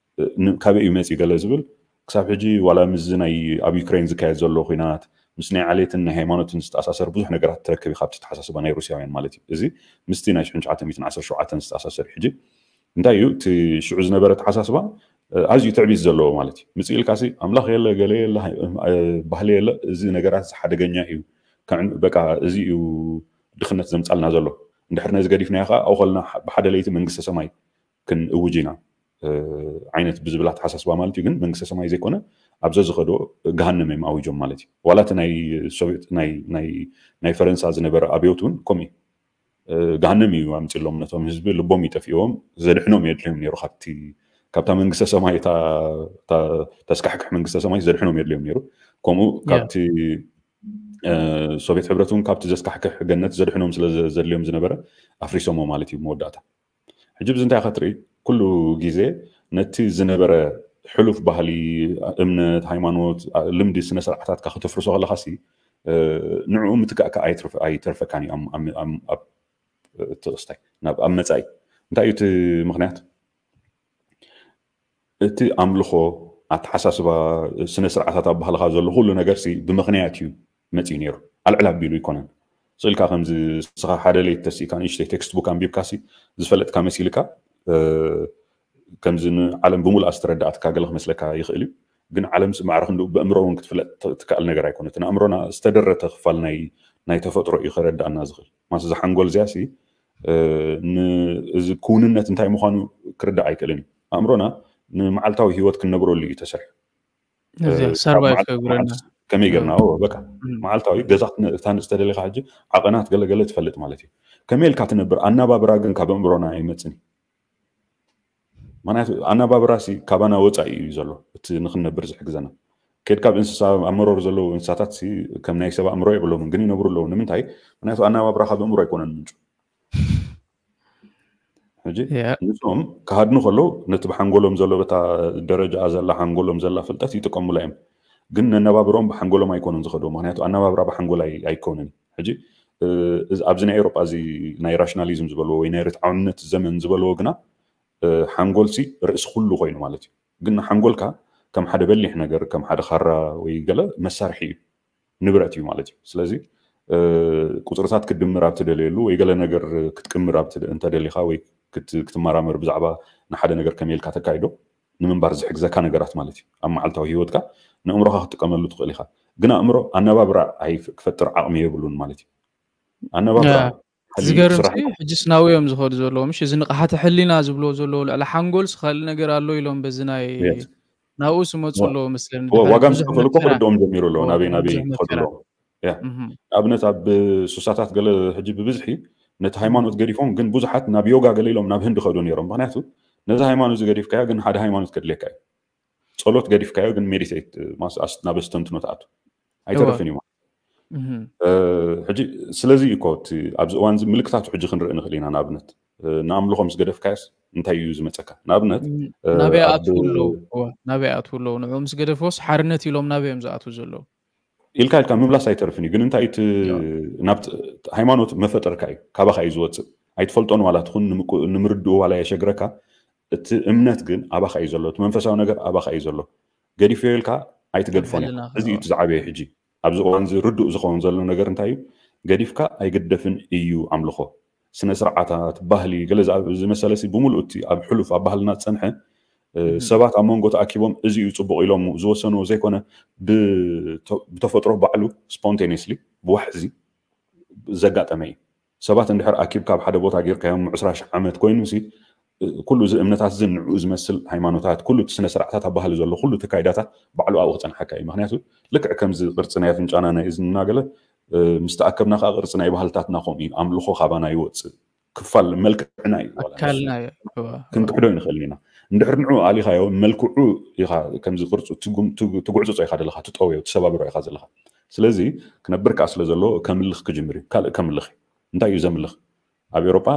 ካበይ እዩ መፂ ገለ ዝብል ክሳብ ሕጂ ዋላ ምስዚ ናይ ኣብ ዩክሬን ዝካየድ ዘሎ ኩናት ምስ ናይ ዓሌትን ናይ ሃይማኖትን ዝተኣሳሰር ብዙሕ ነገራት ትረክብ ኢካ ኣብቲ ተሓሳስባ ናይ ሩስያውያን ማለት እዩ። እዚ ምስቲ ናይ ሽሕን ትሽዓተ ሚእትን ዓሰርተ ሸውዓተን ዝተኣሳሰር እዩ። ሕጂ እንታይ እዩ እቲ ሽዑ ዝነበረ ተሓሳስባ ኣዝዩ ትዕቢት ዘለዎ ማለት እዩ። ምፅእ ኢልካ ሲ ኣምላኽ የለ ገለ የለ ባህሊ የለ እዚ ነገራት ሓደገኛ እዩ። በቃ እዚ እዩ ድኽነት ዘምፃልና ዘሎ። እንድሕር ነዚ ገዲፍናዮ ከዓ ኣብኡ ከለና ብሓደ ለይቲ መንግስተ ሰማይ ክንእውጅ ኢና ዓይነት ብዝብል ኣተሓሳስባ ማለት እዩ። ግን መንግስተ ሰማይ ዘይኮነ ኣብ ዘዝኸዶ ገሃነም እዮም ኣዊጆም ማለት እዩ። ዋላ እቲ ናይ ሶቪየት ናይ ፈረንሳ ዝነበረ ኣብዮት እውን ከምኡ እዩ። ገሃነም እዩ ኣምፂሎም ነቶም ህዝቢ ልቦም ይጠፍዎም ዘድሕኖም የድልዮም ነይሩ ካብቲ ካብታ መንግስተ ሰማይ ተስካሕክሕ መንግስተ ሰማይ ዘድሕኖም የድልዮም ነይሩ። ከምኡ ካብቲ ሶቪየት ሕብረት እውን ካብቲ ዘስካሕክሕ ገነት ዘድሕኖም ስለ ዘድልዮም ዝነበረ ኣፍሪሶሞ ማለት እዩ መወዳእታ። ሕጂ ብዚ እንታይ ክትርኢ ኩሉ ግዜ ነቲ ዝነበረ ሕሉፍ ባህሊ እምነት ሃይማኖት ልምዲ ስነ ስርዓታትካ ከተፍርሶ ከለካ ሲ ንዕኡ ምትካእካ ኣይተርፈካን እዩ። ኣብ ተወስታይ ናብ ኣብ መፃኢ እንታይ እዩ እቲ ምክንያት? እቲ ኣምልኾ ኣተሓሳስባ ስነ ስርዓታት ኣብ ባህልካ ዘሎ ኩሉ ነገር ሲ ብምክንያት እዩ መፂኡ ነይሩ። ኣልዕል ኣቢሉ ኣይኮነን። ስእልካ ከምዚ ንስኻ ሓደ ለይቲ ተሲእካ ንእሽተይ ቴክስት ቡክ ኣንቢብካ ሲ ዝፈለጥካ መሲልካ ከምዚ ንዓለም ብምሉኣ ዝተረዳእትካ ገለ ክመስለካ ይኽእል እዩ። ግን ዓለም ሲ ማዕረ ክንድኡ ብእምሮ እውን ክትፍለጥ ትክኣል ነገር ኣይኮነትን። ኣእምሮና ዝተደረተ ክፋል ናይ ናይ ተፈጥሮ እዩ ከረዳእና ዝኽእል። ማስ እዛ ሓንጎል እዚኣ ሲ እዚ ክውንነት እንታይ ምዃኑ ክርዳእ ኣይክእልን እዩ። ኣእምሮና ንመዓልታዊ ህይወት ክንነብረሉ እዩ ተሰርሑ። ሰርቫይቭ ከግብረና ከመይ ጌርና በቃ መዓልታዊ ገዛ ክትነእታን ዝተደለካ ሕጂ ዓቐናት ገለገለ ትፈልጥ ማለት እዩ። ከመይ ኢልካ ትነብር ኣናባብራ ግን ካብ ኣእምሮና ኣይመፅን እዩ። ምክንያቱ ኣናባብራ ሲ ካባና ወፃኢ እዩ ዘሎ እቲ ንክንነብር ዝሕግዘና። ከድካ ኣብ እንስሳ ኣብ መሮር ዘለዉ እንስሳታት ሲ ከም ናይ ሰብ ኣእምሮ የብሎምን ግን ይነብሩ ኣለዉ። ንምንታይ? ምክንያቱ ኣናባብራ ካብ ኣእምሮ ኣይኮነን ምንጩ። ሕጂ ንሶም ክሃድኑ ከለዉ ነቲ ብሓንጎሎም ዘሎ በታ ደረጃ ዘላ ሓንጎሎም ዘላ ፍልጠት ይጥቀሙላ እዮም። ግን ነነባብሮም ብሓንጎሎም ኣይኮኑን ዝኸዱ። ምክንያቱ ኣነባብራ ብሓንጎል ኣይኮነን። ሕጂ ኣብዚ ናይ ኤሮጳ እዚ ናይ ራሽናሊዝም ዝበልዎ ወይ ናይ ርትዓውነት ዘመን ዝበልዎ ግና ሓንጎል ሲ ርእሲ ኩሉ ኮይኑ ማለት እዩ። ግን ሓንጎልካ ከም ሓደ በሊሕ ነገር ከም ሓደ ካራ ወይ ገለ መሳርሒ እዩ፣ ንብረት እዩ ማለት እዩ። ስለዚ ቁፅርታት ክትድምር ኣብ ትደልየሉ ወይ ገለ ነገር ክትቅምር እንተደሊኻ ወይ ክትመራመር ብዛዕባ ንሓደ ነገር ከመይ ኢልካ ተካይዶ ንምንባር ዝሕግዘካ ነገራት ማለት እዩ። ኣብ መዓልታዊ ህይወትካ ንእምሮኻ ክትጥቀመሉ ትኽእል ኢኻ። ግን ኣእምሮ ኣነባብራ ክፈጥር ዓቕሚ የብሉን ማለት እዩ። ኣነባብራ ዝገርም ሕጂ ስናዊ እዮም ዝኸዱ ዘለዉ ምሽ እዚ ንቕሓተ ሕሊና ዝብልዎ ዘለዉ ልዕሊ ሓንጎል ስኻሊ ነገር ኣሎ ኢሎም በዚ ናይ ናብኡ ስመፁ ኣለዎ መስለኒ። ዋጋ ምስ ከፈሉ እኮ ክርድኦም ጀሚሩ ኣለዎ ናበይ ናበይ ክኸዱ ኣለዎም። ንኣብነት ኣብ ሱሳታት ገለ ሕጂ ብብዝሒ ነቲ ሃይማኖት ገዲፎም ግን ብዙሓት ናብ ዮጋ ገለ ኢሎም ናብ ህንዲ ከዱ ነይሮም። ምክንያቱ ነዚ ሃይማኖት ዝገዲፍካዮ ግን ሓደ ሃይማኖት ከድልየካ እዩ። ጸሎት ገዲፍካዮ ግን ሜዲቴት ናብ ኣስተንትኖ ትኣቱ ኣይተርፍን እዩ ማለት ሕጂ ስለዚ እኮ ኣብዚ እዋን እዚ ምልክታቱ ሕጂ ክንርኢ ንኽእል ኢና። ንኣብነት ንኣምልኾ ምስ ገደፍካዮስ እንታይ እዩ ዝመፀካ? ንኣብነት ናበይ ኣትዉ ኣለዉ ናበይ ኣትዉ ኣለዉ ንዑ ምስ ገደፍዎስ ሓርነት ኢሎም ናበይ እዮም ዝኣትዉ ዘለዉ? ኢልካ ኢልካ ምምላስ ኣይተርፍን እዩ። ግን እንታይ እቲ ናብ ሃይማኖት መፈጠርካ እዩ፣ ካባኻ እዩ ዝወፅእ። ኣይትፈልጦን ዋላ ትኹን ንምርድኡ ዋላ የሸግረካ፣ እቲ እምነት ግን ኣባኻ እዩ ዘሎ፣ እቲ መንፈሳዊ ነገር ኣባኻ እዩ ዘሎ። ገዲፍዮ ኢልካ ኣይትገድፎን። እዚ እዩ ዝዓበየ። ሕጂ ኣብዚ እዋን እዚ ርዱእ ዝኸውን ዘሎ ነገር እንታይ እዩ? ገዲፍካ ኣይግደፍን እዩ ኣምልኾ። ስነ ስርዓታት፣ ባህሊ፣ ገለ ዝመሰለ ሲ ብምሉእ እቲ ኣብ ሕሉፍ ኣብ ባህልና ዝፀንሐ ሰባት ኣብ መንጎ ተኣኪቦም እዚ እዩ ፅቡቕ ኢሎም ዝወሰንዎ ዘይኮነ ብተፈጥሮ ባዕሉ ስፖንቴኒየስሊ ብዋሕዚ ዘጋጠመ እዩ። ሰባት እንድሕር ኣኪብካ ኣብ ሓደ ቦታ ጌርካዮም ዕስራ ሽሕ ዓመት ኮይኑ ሲ ኩሉ እዚ እምነታት እዚ ንዕኡ ዝመስል ሃይማኖታት ኩሉ እቲ ስነ ስርዓታት ኣብ ባህሊ ዘሎ ኩሉ እቲ ካይዳታት ባዕሉ ኣብኡ ክፀንሓካ እዩ። ምክንያቱ ልክዕ ከምዚ ቅርፂ ናይ ኣፍንጫና ናይ እዝንና ገለ ምስ ተኣከብና ከዓ ቅርፂ ናይ ባህልታትና ከምኡ እዩ። ኣምልኾ ካባና ይወፅእ ክፋል መልክዕና እዩ። ክንክሕዶ ይንኽእል ኢና። እንድሕር ንዑ ኣሊኻዮ መልክዑ ኢኻ ከምዚ ቅርፁ ትጉዕፅፆ ኢኻ ዘለኻ ትጠውዮ ትሰባብሮ ኢኻ ዘለኻ። ስለዚ ክነብር ከዓ ስለ ዘለዎ ከምልኽ ክጅምር እዩ። ካልእ ከምልኽ እዩ። እንታይ እዩ ዘምልኽ? ኣብ ኤሮጳ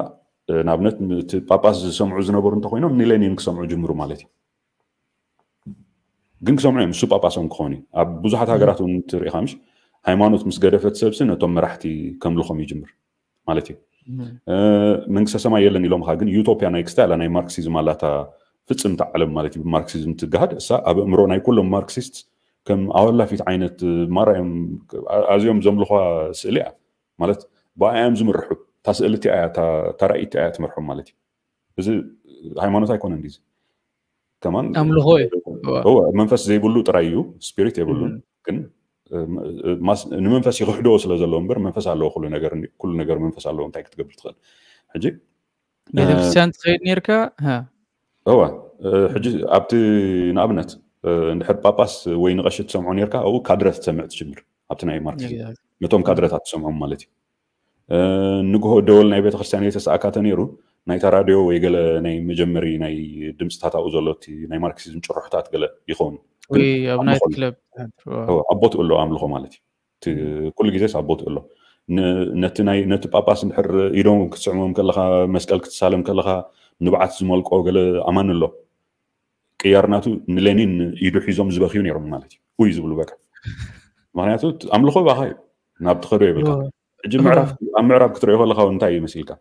ንኣብነት እቲ ጳጳስ ዝሰምዑ ዝነበሩ እንተኮይኖም ንሌኒን ክሰምዑ ጅምሩ ማለት እዩ። ግን ክሰምዑ እዮም እሱ ጳጳሶም ክኾኑ እዩ። ኣብ ብዙሓት ሃገራት እውን ትርኢ ምሽ ሃይማኖት ምስ ገደፈት ሰብሲ ነቶም መራሕቲ ከምልኾም ይጅምር ማለት እዩ። መንግስተ ሰማይ የለን ኢሎም ካ ግን ዩቶፒያ ናይ ክስታይ ኣላ ናይ ማርክሲዝም ኣላታ ፍፅምቲ ዓለም ማለት እዩ። ብማርክሲዝም ትገሃድ እሳ ኣብ እምሮ ናይ ኩሎም ማርክሲስት ከም ኣወላፊት ዓይነት ማራ እዮም ኣዝዮም ዘምልኳ ስእሊ እያ ማለት ብኣያ እዮም ዝምርሑ። እታ ስእሊ እቲኣ እያ እታ ራእይ እቲኣ እያ ትመርሖም ማለት እዩ። እዚ ሃይማኖት ኣይኮነን ዲዚ ከማን ኣምልኾ እዩ። መንፈስ ዘይብሉ ጥራይ እዩ፣ ስፒሪት የብሉን። ግን ንመንፈስ ይክሕድዎ ስለ ዘለዎ እምበር መንፈስ ኣለዎ። ኩሉ ነገር ኩሉ ነገር መንፈስ ኣለዎ። እንታይ ክትገብር ትኽእል? ሕጂ ቤተክርስትያን ትኸይድ ነርካ? እወ ሕጂ ኣብቲ ንኣብነት እንድሕር ጳጳስ ወይ ንቐሺ ትሰምዖ ነርካ ኣብኡ ካድረ ትሰምዕ ትጅምር። ኣብቲ ናይ ማርክሲዝም ነቶም ካድረታት ትሰምዖም ማለት እዩ። ንግሆ ደወል ናይ ቤተክርስትያን የተሰኣካ ተነይሩ ናይታ ራድዮ ወይ ገለ ናይ መጀመሪ ናይ ድምፅታት ኣብኡ ዘሎ እቲ ናይ ማርክሲዝም ጭርሖታት ገለ ይኸውን። ወይ ኣብ ናይት ክለብ ኣብ ቦትኡ ኣሎ ኣምልኾ ማለት እዩ። ኩሉ ግዜስ ኣብ ቦትኡ ኣሎ። ነቲ ጳጳስ እንድሕር ኢዶም ክትስዕሞም ከለኻ መስቀል ክትሳለም ከለኻ ንብዓት ዝመልቆ ገለ ኣማን ኣሎ። ቅያር ናቱ ንሌኒን ኢዱ ሒዞም ዝበኽዩ ነይሮም ማለት እዩ። ውይ ዝብሉ በቃ ምክንያቱ ኣምልኾ ባኻ እዩ ናብ ትኸዶ የብልካ። ሕጂ ምዕራፍ ኣብ ምዕራብ ክትሪኦ ከለካ እንታይ እዩ መሲልካ?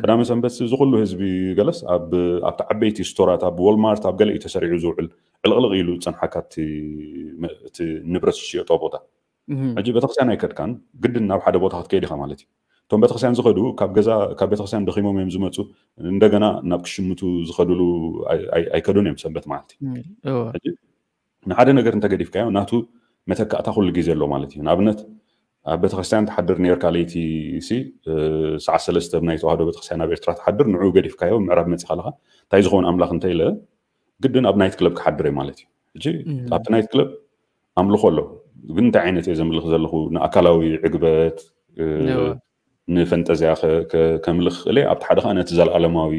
ቀዳመ ሰንበት እዚ ኩሉ ህዝቢ ገለስ ኣብቲ ዓበይቲ ስቶራት ኣብ ዎልማርት ኣብ ገለ እዩ ተሰሪዑ ዝውዕል። ዕልቕልቕ ኢሉ ዝፀንሓካ እቲ ንብረት ዝሽየጦ ቦታ። ሕጂ ቤተክርስትያን ኣይከድካን ግድን ናብ ሓደ ቦታ ክትከይድ ኢኻ ማለት እዩ። እቶም ቤተክርስትያን ዝኸዱ ካብ ገዛ ካብ ቤተክርስትያን ደኺሞም እዮም ዝመፁ። እንደገና ናብ ክሽምቱ ዝኸዱሉ ኣይከዱን እዮም ሰንበት መዓልቲ። ንሓደ ነገር እንተገዲፍካዮ ናቱ መተካእታ ኩሉ ግዜ ኣሎ ማለት እዩ። ንኣብነት ኣብ ቤተክርስትያን ትሓድር ነርካ ለይቲ ሲ ሰዓት ሰለስተ ናይ ተዋህዶ ቤተክርስትያን ኣብ ኤርትራ ትሓድር ንዑ ገዲፍካዮ ምዕራብ መፂ ካለካ እንታይ ዝኸውን ኣምላኽ እንተ ኢለ ግድን ኣብ ናይት ክለብ ክሓድር እየ ማለት እዩ። ሕጂ ኣብቲ ናይት ክለብ ኣምልኾ ኣሎ። ግን እንታይ ዓይነት እየ ዘምልኽ ዘለኹ? ንኣካላዊ ዕግበት፣ እ፣ ንፈንጠዝያ ከ-፣ ከ-፣ ከምልኽ ክእል እየ፣ ኣብቲ ሓደ ከዓ ነቲ ዘለኣለማዊ፣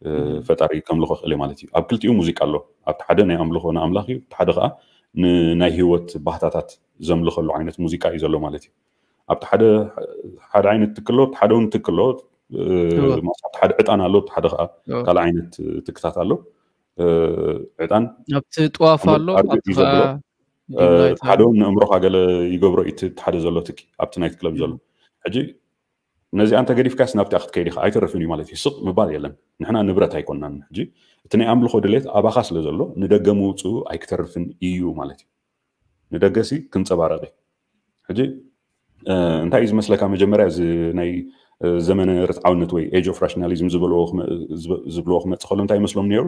እ፣ ፈጣሪ ከምልኾ ክእል እየ ማለት እዩ። ኣብ ክልቲኡ ሙዚቃ ኣሎ። ኣብቲ ሓደ ናይ ኣምልኾ ንኣምላኽ እዩ፣ ኣብቲ ሓደ ከዓ ን-፣ ናይ ህይወት ባህታታት ዘምልኸሉ ዓይነት ሙዚቃ እዩ ዘሎ ማለት እዩ። ኣብቲ ሓደ፣ ሓደ ዓይነት ትክሎ፣ ኣብቲ ሓደ እውን ትክሎ፣ እ፣ እወ። ማለት ኣብቲ ሓደ ዕጣን ኣሎ፣ ኣብቲ ሓደ ከዓ እወ። ካልእ ዓይነት ትክታት ኣሎ። እ፣ ዕጣን ኣብቲ ጥዋፍ ኣሎ፣ ኣርግእ ኣብቲ እዩ ከዓ ዘብሎ። እ፣ ዲምላይት ሓደ ኣሎ። እውን ንእምሮኻ ገለ ይገብሮ እዩ፣ እቲ ሓደ ዘሎ ትኪ፣ ኣብቲ ናይት ክለብ ዘሎ። ሕጂ ነዚኣ እንተ ገዲፍካስ ናብቲኣ ክትከይድ ኢኻ፣ ኣይተርፍን እዩ ማለት እዩ። ስቕ ምባል የለን። ንሕና ንብረት ኣይኮንናን። ሕጂ እቲ ናይ ኣምልኾ ድሌት ኣባኻ ስለ ዘሎ፣ ንደገ ምውፅኡ ኣይክተርፍን እዩ ማለት እዩ። ንደገሲ ክንጸባረቕ እዩ። ሕጂ፣ እ፣ እንታይ እዩ ዝመስለካ፣ መጀመርያ እዚ ናይ፣ እ፣ ዘመነ ርትዓውነት ወይ ኤጅ ኦፍ ራሽናሊዝም ዝበልዎ ክመ-፣ ዝብ-፣ ዝብልዎ ክመጽእ ከሎ እንታይ ይመስሎም ነይሩ?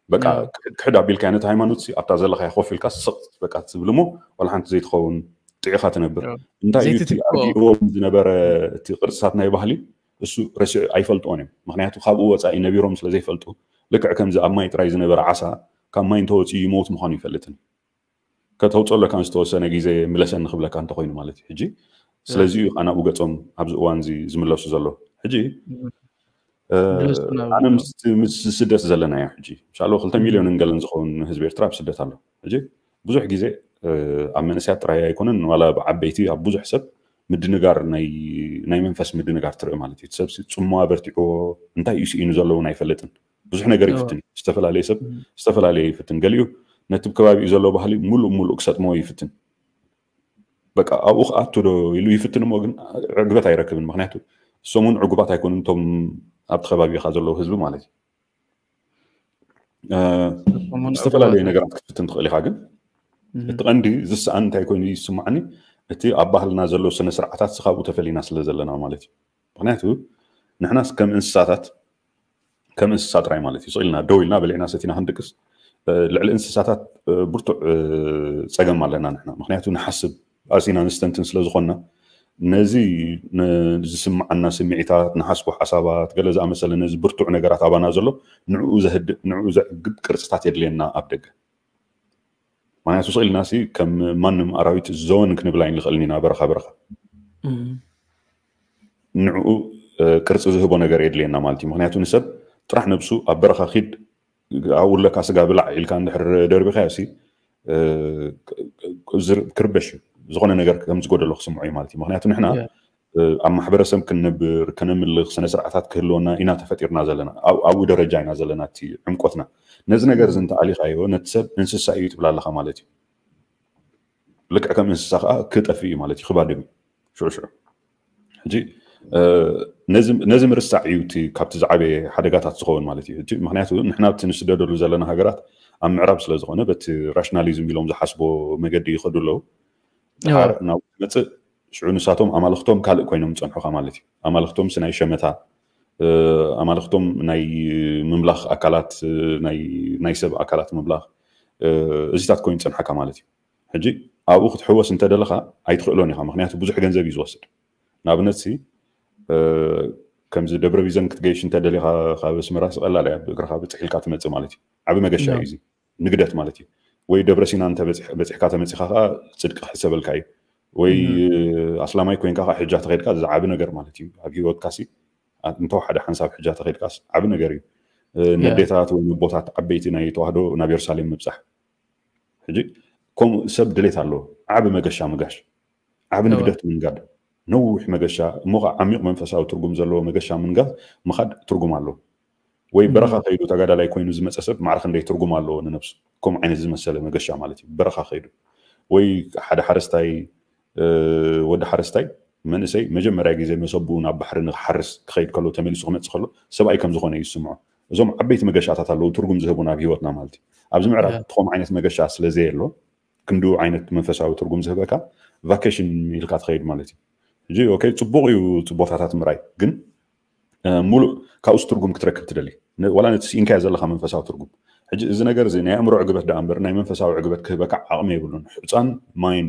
በቃ፣ እዎ። ክሕድ፣ ክሕድ ኣቢልካ ነቲ ሃይማኖት ሲ ኣብታ ዘለኻያ ኮፍ ኢልካ ስቕ በቃ ትብል እሞ ዋላ ሓንቲ ዘይትኸውን ጥዒኻ ትነብር። እዎ። እንታይ እዩ እቲ ዘይትትክኦ። ኣርጊእዎም ዝነበረ እቲ ቅርጽታት ናይ ባህሊ እሱ ረሲዑ ኣይፈልጥዎን እዮም። ምኽንያቱ ካብኡ ወጻኢ ነቢሮም ስለ ዘይፈልጡ ልክዕ ከምዚ ኣብ ማይ ጥራይ ዝነበረ ዓሳ ካብ ማይ እንተወጺኡ ይመውት ምዃኑ ይፈልጥን። ከተውፅኦ ኣለካ ዝተወሰነ ግዜ ምለሰኒ ክብለካ እንተኮይኑ ማለት እዩ። ሕጂ ስለዚ እዩ ናብኡ ገፆም ኣብዚ እዋን እዚ ዝምለሱ ዘሎ። ሕጂ፣ እ፣ ምለሱ ናብ ኣነ ምስ፣ ምስ ስደት ዘለና እያ። ሕጂ ምሻሎ ክልተ ሚልዮን እንገለን ዝኸውን ህዝቢ ኤርትራ ኣብ ስደት ኣሎ። ሕጂ ብዙሕ ግዜ፣ እ፣ ኣብ መንእሰያት ጥራይ ኣይኮነን፣ ዋላ ብዓበይቲ ኣብ ብዙሕ ሰብ ምድንጋር ናይ፣ ናይ መንፈስ ምድንጋር ትርኢ ማለት እዩ። እቲ ሰብ ሲ ጽምዋ በርቲዕዎ እንታይ እዩ ስኢኑ ዘሎ እውን ኣይፈልጥን። ብዙሕ ነገር እዎ። ይፍትን እዩ። ዝተፈላለየ ሰብ እም። ዝተፈላለየ ይፍትን። ገሊኡ ነቲ ከባቢኡ ዘሎ ባህሊ ሙሉእ ሙሉእ ክሰጥሞ ይፍትን። በቃ ኣብኡ ክኣቱ ዶ ኢሉ ይፍትን እሞ ግን ዕግበት ኣይረክብን። ምኽንያቱ እሶም እውን ዕጉባት ኣይኮኑን፣ እቶም ኣብቲ ከባቢኻ ዘለዉ ህዝቢ ማለት እዩ። እ፣ እሶም እውን ዝተፈላለየ ዕጉባት ነገራት ክትፍትን ትኽእል ኢኻ። ግን እም። እቲ ቀንዲ ዝሰኣን እንታይ ኮይኑ ይስማዓኒ፣ እቲ ኣብ ባህልና ዘሎ ስነ ስርዓታት ካብኡ ተፈሊና ስለ ዘለና ማለት እዩ። ምኽንያቱ ንሕናስ ከም እንስሳታት፣ ከም እንስሳ ጥራይ ማለት እዩ። ስቕ ኢልና ደው ኢልና በሊዕና ሰቲና ክንድቅስ፣ እ፣ ልዕሊ እንስሳታት፣ እ፣ ብርቱዕ፣ እ፣ ጸገም ኣለና ንሕና። ምኽንያቱ ንሓስብ፣ ቃልሲና ንስተንትን ስለ ዝኾንና፣ ነዚ ን-፣ ዝስምዓና ስምዒታት፣ ንሓስቦ ሓሳባት፣ ገለ ዝኣመሰለ ነዚ ብርቱዕ ነገራት ኣባና ዘሎ፣ ንዕኡ ዘህድእ፣ ንዕኡ ዘዕግብ ቅርጽታት የድልየና ኣብ ደገ። ምኽንያቱ ስቕ ኢልና ሲ ከም ማንም ኣራዊት ዘወን ክንብል ኣይንኽእልን ኢና በረኻ በረኻ። እም። ንዕኡ፣ እ፣ ቅርጺ ዝህቦ ነገር የድልየና ማለት እዩ። ምኽንያቱ ንሰብ ጥራሕ ነብሱ ኣብ በረኻ ኪድ ኣብኡ ለካ ስጋ ብላዕ ኢልካ እንድሕር ደርቢኻዮ ሲ፣ እ፣ ክ-፣ ክ-፣ ዝር-፣ ክርበሽ እዩ። ዝኾነ ነገር ከም ዝጎደሎ ክስምዖ እዩ ማለት እዩ። ምኽንያቱ ንሕና፣ ያ። እ፣ ኣብ ማሕበረሰብ ክንነብር፣ ከነምልኽ፣ ስነ ስርዓታት ክህልወና ኢና ተፈጢርና ዘለና። ኣብ-፣ ኣብኡ ደረጃ ኢና ዘለና፣ እቲ ዕምቆትና። ነዚ ነገር እዚ እንተኣሊኻዮ፣ ነቲ ሰብ እንስሳ እዩ ትብል ኣለኻ ማለት እዩ። ልክዕ ከም እንስሳ ከዓ ክጠፍእ እዩ ማለት እዩ፣ ክባድም እዩ። ሽዑ ሽዑ። ሕጂ፣ እ፣ ነዚ፣ ነዚ ምርሳዕ እዩ እቲ ካብቲ ዝዓበየ ሓደጋታት ዝኸውን ማለት እዩ። ሕጂ፣ ምኽንያቱ ንሕና ኣብቲ ንስደደሉ ዘለና ሃገራት ኣብ ምዕራብ ስለ ዝኾነ፣ በቲ ራሽናሊዝም ኢሎም ዝሓስቦ መገዲ ይኸዱ ኣለዉ። ድሓር እዎ። ናብኡ ትመጽእ፣ ሽዑ ንሳቶም ኣማልኽቶም ካልእ ኮይኖም ዝጸንሑኻ ማለት እዩ። ኣማልኽቶም ሲ ናይ ሸመታ፣ እ፣ ኣማልኽቶም ናይ ምምላኽ ኣካላት፣ እ፣ ናይ፣ ናይ ሰብ ኣካላት ምምላኽ፣ እ፣ እዚታት ኮይኑ ዝጸንሓካ ማለት እዩ። ሕጂ ኣብኡ ክትሕወስ እንተደለኻ ኣይትኽእሎን ኢኻ፣ ምኽንያቱ ብዙሕ ገንዘብ እዩ ዝወስድ። ንኣብነት ሲ፣ እ፣ ከምዚ ደብረ ቢዘን ክትገይሽ እንተደሊኻ ካብ ኣስመራ ሲ ቀላል እያ፣ ብእግርኻ ብጽሕ ኢልካ ትመጽእ ማለት እዩ። ዓቢ መገሻ እዩ እዎ። እዚ። ንግደት ማለት እዩ። ወይ ደብረ ሲና እንተ በጺሕ-፣ በጺሕካ ተመጺኻ ከኣ ጽድቂ ክሕሰበልካ እዩ። ወይ እም። ኣስላማይ ኮይንካ ከኣ ሕጃ ተኸይድካ ዝዓቢ ነገር ማለት እዩ። ኣብ ህይወትካ ሲ፣ ኣ-፣ እንተወሓደ ሓንሳብ ሕጃ ተኸይድካስ ዓቢ ነገር እዩ። እ፣ ያ። ነዴታት ወይ ነቦታት ዓበይቲ ናይ ተዋህዶ ናብ የሩሳሌም ምብጻሕ። ሕጂ ከምኡ ሰብ ድሌት ኣለዎ። ዓቢ መገሻ ምጋሽ። ዓቢ እወ። ንግደት ምንጋድ። ነዊሕ መገሻ፣ እሞ ኸዓ ዓሚቕ መንፈሳዊ ትርጉም ዘለዎ መገሻ ምንጋድ ምኻድ ትርጉም ኣለዎ። ወይ እም። በረኻ ከይዱ ተጋዳላይ ኮይኑ ዝመጸ ሰብ ማዕረ ክንደይ ትርጉም ኣለዎ ንነብሱ። ከምኡ ዓይነት ዝመሰለ መገሻ ማለት እዩ። በረኻ ከይዱ። ወይ ሓደ ሓረስታይ፣ እ፣ ወዲ ሓረስታይ መንእሰይ መጀመርያ ግዜ መሰብኡ ናብ ባሕሪ ንክሓርስ ክኸይድ ከሎ፣ ተመሊሱ ክመጽእ ከሎ፣ ሰብኣይ ከም ዝኾነ እዩ ዝስምዖ። እዞም ዓበይቲ መገሻታት ኣለዉ፣ ትርጉም ዝህቡና ኣብ ህይወትና ማለት እዩ። ኣብዚ ምዕራብ ያ። እቲ ከምኡ ዓይነት መገሻ ስለ ዘየሎ፣ ክንድኡ ዓይነት መንፈሳዊ ትርጉም ዝህበካ፣ ቫኬሽን ኢልካ ትኸይድ ማለት እዩ። ሕጂ፣ ኦኬ፣ ጽቡቕ እዩ፣ ጽቡቕ ቦታታት ምርኣይ፣ ግን፣ እ፣ ሙሉእ ካብኡስ ትርጉም ክትረክብ ትደሊ። ነ-፣ ዋላ ነቲ ስኢንካዮ ዘለኻ መንፈሳዊ ትርጉም። ሕጂ፣ እዚ ነገር እዚ ናይ ኣእምሮ ዕግበት ደኣ እምበር፣ ናይ መንፈሳዊ ዕግበት ክህበካ ዓቕሚ የብሉን። ሕጻን ማይን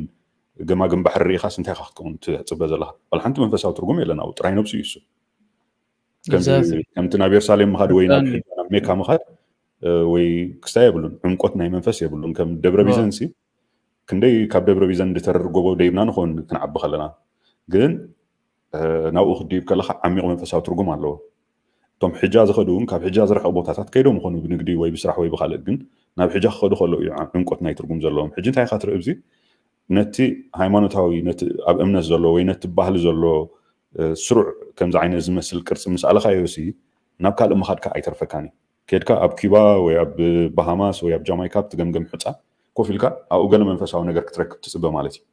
ገማግም ባሕሪ ርኢኻስ እንታይ ኢኻ ክትከውን ትጽበ ዘለኻ? ዋላ ሓንቲ መንፈሳዊ ትርጉም የለን ኣብኡ፣ ጥራይ ነብሱ እዩ እሱ። ከምዚ፣ Exactly። ከምቲ ናብ የሩሳሌም ምኻድ ወይ ናብ ብጣዕሚ። ሕጃ ናብ ሜካ ምኻድ፣ እ፣ ወይ ክስታይ የብሉን፣ ዕምቆት ናይ መንፈስ የብሉን። ከም ደብረ ዋ። ቢዘንሲ ክንደይ ካብ ደብረ ቢዘን ዝተርር ጎቦ ደይብና ንኾን ክንዓቢ ከለና ግን ናብኡ ክድይብ ከለካ ዓሚቕ መንፈሳዊ ትርጉም ኣለዎ። እቶም ሕጃ ዝኸዱ እውን ካብ ሕጃ ዝረኸቡ ቦታታት ከይዶም ይኾኑ ብንግዲ ወይ ብስራሕ ወይ ብካልእ ግን ናብ ሕጃ ክኸዱ ከለዉ እዩ ዕምቆት ናይ ትርጉም ዘለዎም። ሕጂ እንታይ ኢኻ ትርኢ ኣብዚ ነቲ ሃይማኖታዊ ነቲ ኣብ እምነት ዘሎ ወይ ነቲ ባህሊ ዘሎ ስሩዕ ከምዚ ዓይነት ዝመስል ቅርፂ ምስ ኣለኻዮ ሲ ናብ ካልእ ምኻድካ ኣይተርፈካን እዩ። ከድካ ኣብ ኪባ ወይ ኣብ ባሃማስ ወይ ኣብ ጃማይካ ኣብቲ ገምገም ሕፃ ኮፍ ኢልካ ኣብኡ ገለ መንፈሳዊ ነገር ክትረክብ ትፅበ ማለት እዩ።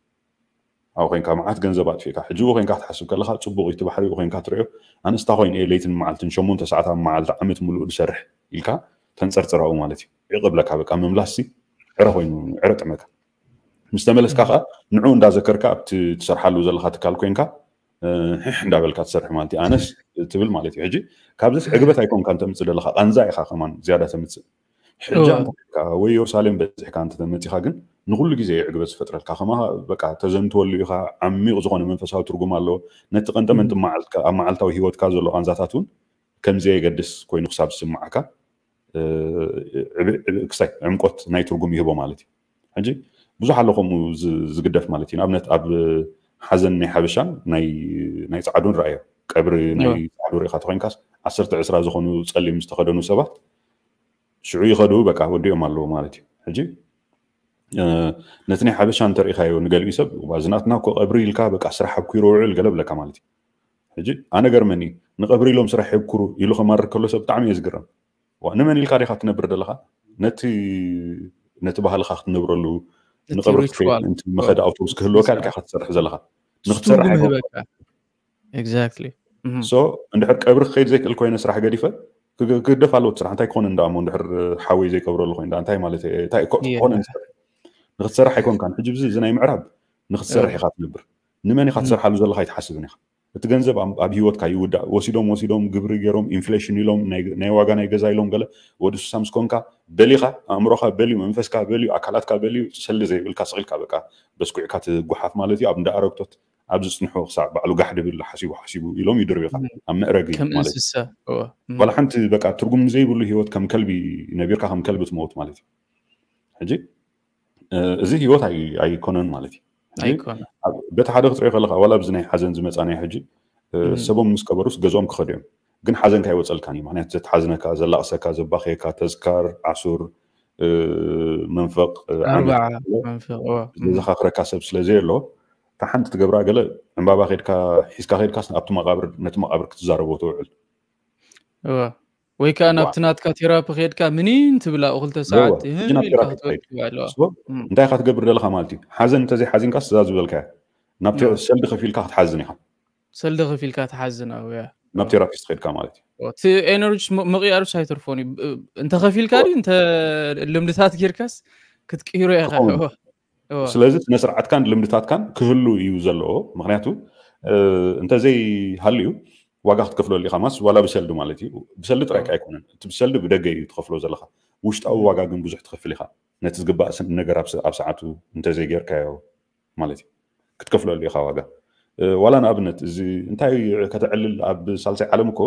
ኣብኡ ኮይንካ መዓት ገንዘብ ኣጥፊእካ ሕጂ ው ኮይንካ ክትሓስብ ከለካ ፅቡቅ እዩ እቲ ባሕሪ ው ኮይንካ ትሪኦ ኣነስታ ኮይን እየ ለይትን መዓልትን ሸሞንተ ሰዓት ኣብ መዓልቲ ዓመት ሙሉእ ዝሰርሕ ኢልካ ተንፀርፅራኡ ማለት እዩ። ይቅብለካ በቃ ምምላስ ሲ ዕረ ኮይኑ ዕረ ጥመካ ምስ ተመለስካ ከዓ ንዑ እንዳዘከርካ ኣብቲ ትሰርሓሉ ዘለካ ትካል ኮይንካ ሕሕ እንዳበልካ ትሰርሕ ማለት እዩ ኣነስ ትብል ማለት እዩ ሕጂ ካብዚስ ዕግበት ኣይኮንካ እንተምፅእ ዘለካ ቃንዛ ኢካ ከማን ዝያዳ ተምፅእ ሕጃ እንተካ ወይ የሩሳሌም በዚሕካ እንተተመፂካ ግን ንኩሉ ግዜ ዕግበት ዝፈጥረልካ ከማ በቃ ተዘንትወሉ ኢካ ዓሚቕ ዝኾነ መንፈሳዊ ትርጉም ኣለዎ ነቲ ቀንጠመንጢ ኣብ መዓልታዊ ሂወትካ ዘሎ ቃንዛታት እውን ከምዘየገድስ ኮይኑ ክሳብ ዝስምዓካ ክሳይ ዕምቆት ናይ ትርጉም ይህቦ ማለት እዩ ሕጂ ብዙሕ ኣሎ ከምኡ ዝግደፍ ማለት እዩ ንኣብነት ኣብ ሓዘን ናይ ሓበሻን ናይ ፀዓዱን ረኣዮ ቀብሪ ናይ ፀዓዱ ርኢካ ተኮይንካስ ዓሰርተ ዕስራ ዝኾኑ ፀሊም ዝተኸደኑ ሰባት ሽዑ ይኸዱ በቃ ወዲኦም ኣለዎ ማለት እዩ ሕጂ ነቲ ናይ ሓበሻ እንተርኢካዮ ንገሊኡ ሰብ ዝናትና እኮ ቀብሪ ኢልካ በቃ ስራሕ ኣብኩ ይረውዕል ገለ ብለካ ማለት እዩ ሕጂ ኣነ ገርመኒ ንቀብሪ ኢሎም ስራሕ የብኩሩ ኢሉ ከማርር ከሎ ሰብ ብጣዕሚ እየ ዝግረም ንመን ኢልካ ዲካ ትነብር ዘለካ ነቲ ነቲ ባህልካ ክትነብረሉ ንቀብሪ ክትከይድ ምኸድ ኣውቶቡስ ክህልወካ ኢልካ ክትሰርሕ ዘለካ ንክትሰርሕ exactly so እንድሕር ቀብሪ ክኸይድ ዘይክእል ኮይነ ስራሕ ገዲፈ ክግደፍ ኣለዎ ስራሕ እንታይ ክኾነ እንዳሞ እንድሕር ሓወይ ዘይቀብረሉ ኮይኑ እንታይ ማለት እንታይ ኮነ ንክትሰርሕ ኣይኮንካን ሕጂ ብዚ እዚ ናይ ምዕራብ ንክትሰርሕ ኢካ ትነብር ንመን ኢካ ትሰርሓሉ ዘለካ ኣይትሓስብን ኢካ እቲ ገንዘብ ኣብ ህይወትካ ይውዳእ ወሲዶም ወሲዶም ግብሪ ገይሮም ኢንፍሌሽን ኢሎም ናይ ዋጋ ናይ ገዛ ኢሎም ገለ ወዲ ሱሳ ምስ ኮንካ በሊካ ኣእምሮካ በልዩ መንፈስካ በልዩ ኣካላትካ በልዩ ሰሊ ዘይብልካ ስቂልካ በቃ በስኩዕካ ትጓሓፍ ማለት እዩ ኣብ እንዳ ኣረግቶት ኣብ ዝፅንሑ ክሳዕ ባዕሉ ጋሕ ድብል ሓሲቡ ሓሲቡ ኢሎም ይድርብካ ኣብ መእረጊ ማለት እዩ ዋላ ሓንቲ በቃ ትርጉም ዘይብሉ ህይወት ከም ከልቢ ነቢርካ ከም ከልቢ ትመውት ማለት እዩ ሕጂ እዚ ህይወት ኣይኮነን ማለት እዩ በቲ ሓደ ክትሪኦ ከለካ ዋላ ኣብዚ ናይ ሓዘን ዝመፃ ናይ ሕጂ ሰቦም ምስ ቀበሩስ ገዝኦም ክኸዱ እዮም ግን ሓዘን ካይወፀልካን እዩ ምክንያቱ ዘተሓዝነካ ዘላቕሰካ ዘባኸየካ ተዝካር ዓሱር መንፈቅ ዘዘኻክረካ ሰብ ስለ ዘየሎ እታ ሓንቲ ትገብራ ገለ ዕምባባ ከድካ ሒዝካ ከድካ ኣብቲ መቃብር ነቲ መቃብር ክትዛረቦ ትውዕል ወይ ከዓ ናብቲ ናትካ ቴራፒ ከድካ ምኒን ትብል ኣብኡ ክልተ ሰዓት ህም ኢልካ ክትወድቅ ኣለዋ እንታይ ኢካ ትገብር ዘለካ ማለት እዩ ሓዘን እንተዘይ ሓዚንካ ስዛ ዝበልካያ ናብ ሰልዲ ከፊልካ ክትሓዝን ኢካ ሰልዲ ከፊልካ ትሓዝን ኣብ ናብ ቴራፒስት ከድካ ማለት እዩ እቲ ኤነርጂ ምቅያርስ ኣይተርፎን እዩ እንተከፊልካ ድዩ እንተ ልምድታት ጌርካስ ክትቅይሮ ኢካ ስለዚ ስነ ስርዓትካን ልምድታትካን ክህሉ እዩ ዘለዎ ምክንያቱ እንተዘይ ሃልዩ ዋጋ ክትከፍለሉ ኢካ ማስ ዋላ ብሰልዲ ማለት እዩ ብሰልዲ ጥራይ ኣይኮነን እቲ ብሰልዲ ብደገ እዩ ትከፍሎ ዘለካ ውሽጣዊ ዋጋ ግን ብዙሕ ትከፍል ኢካ ነቲ ዝግባእ ነገር ኣብ ሰዓቱ እንተዘይጌርካዮ ማለት እዩ ክትከፍለሉ ኢካ ዋጋ ዋላ ንኣብነት እዚ እንታይ ከተዕልል ኣብ ሳልሳይ ዓለም እኮ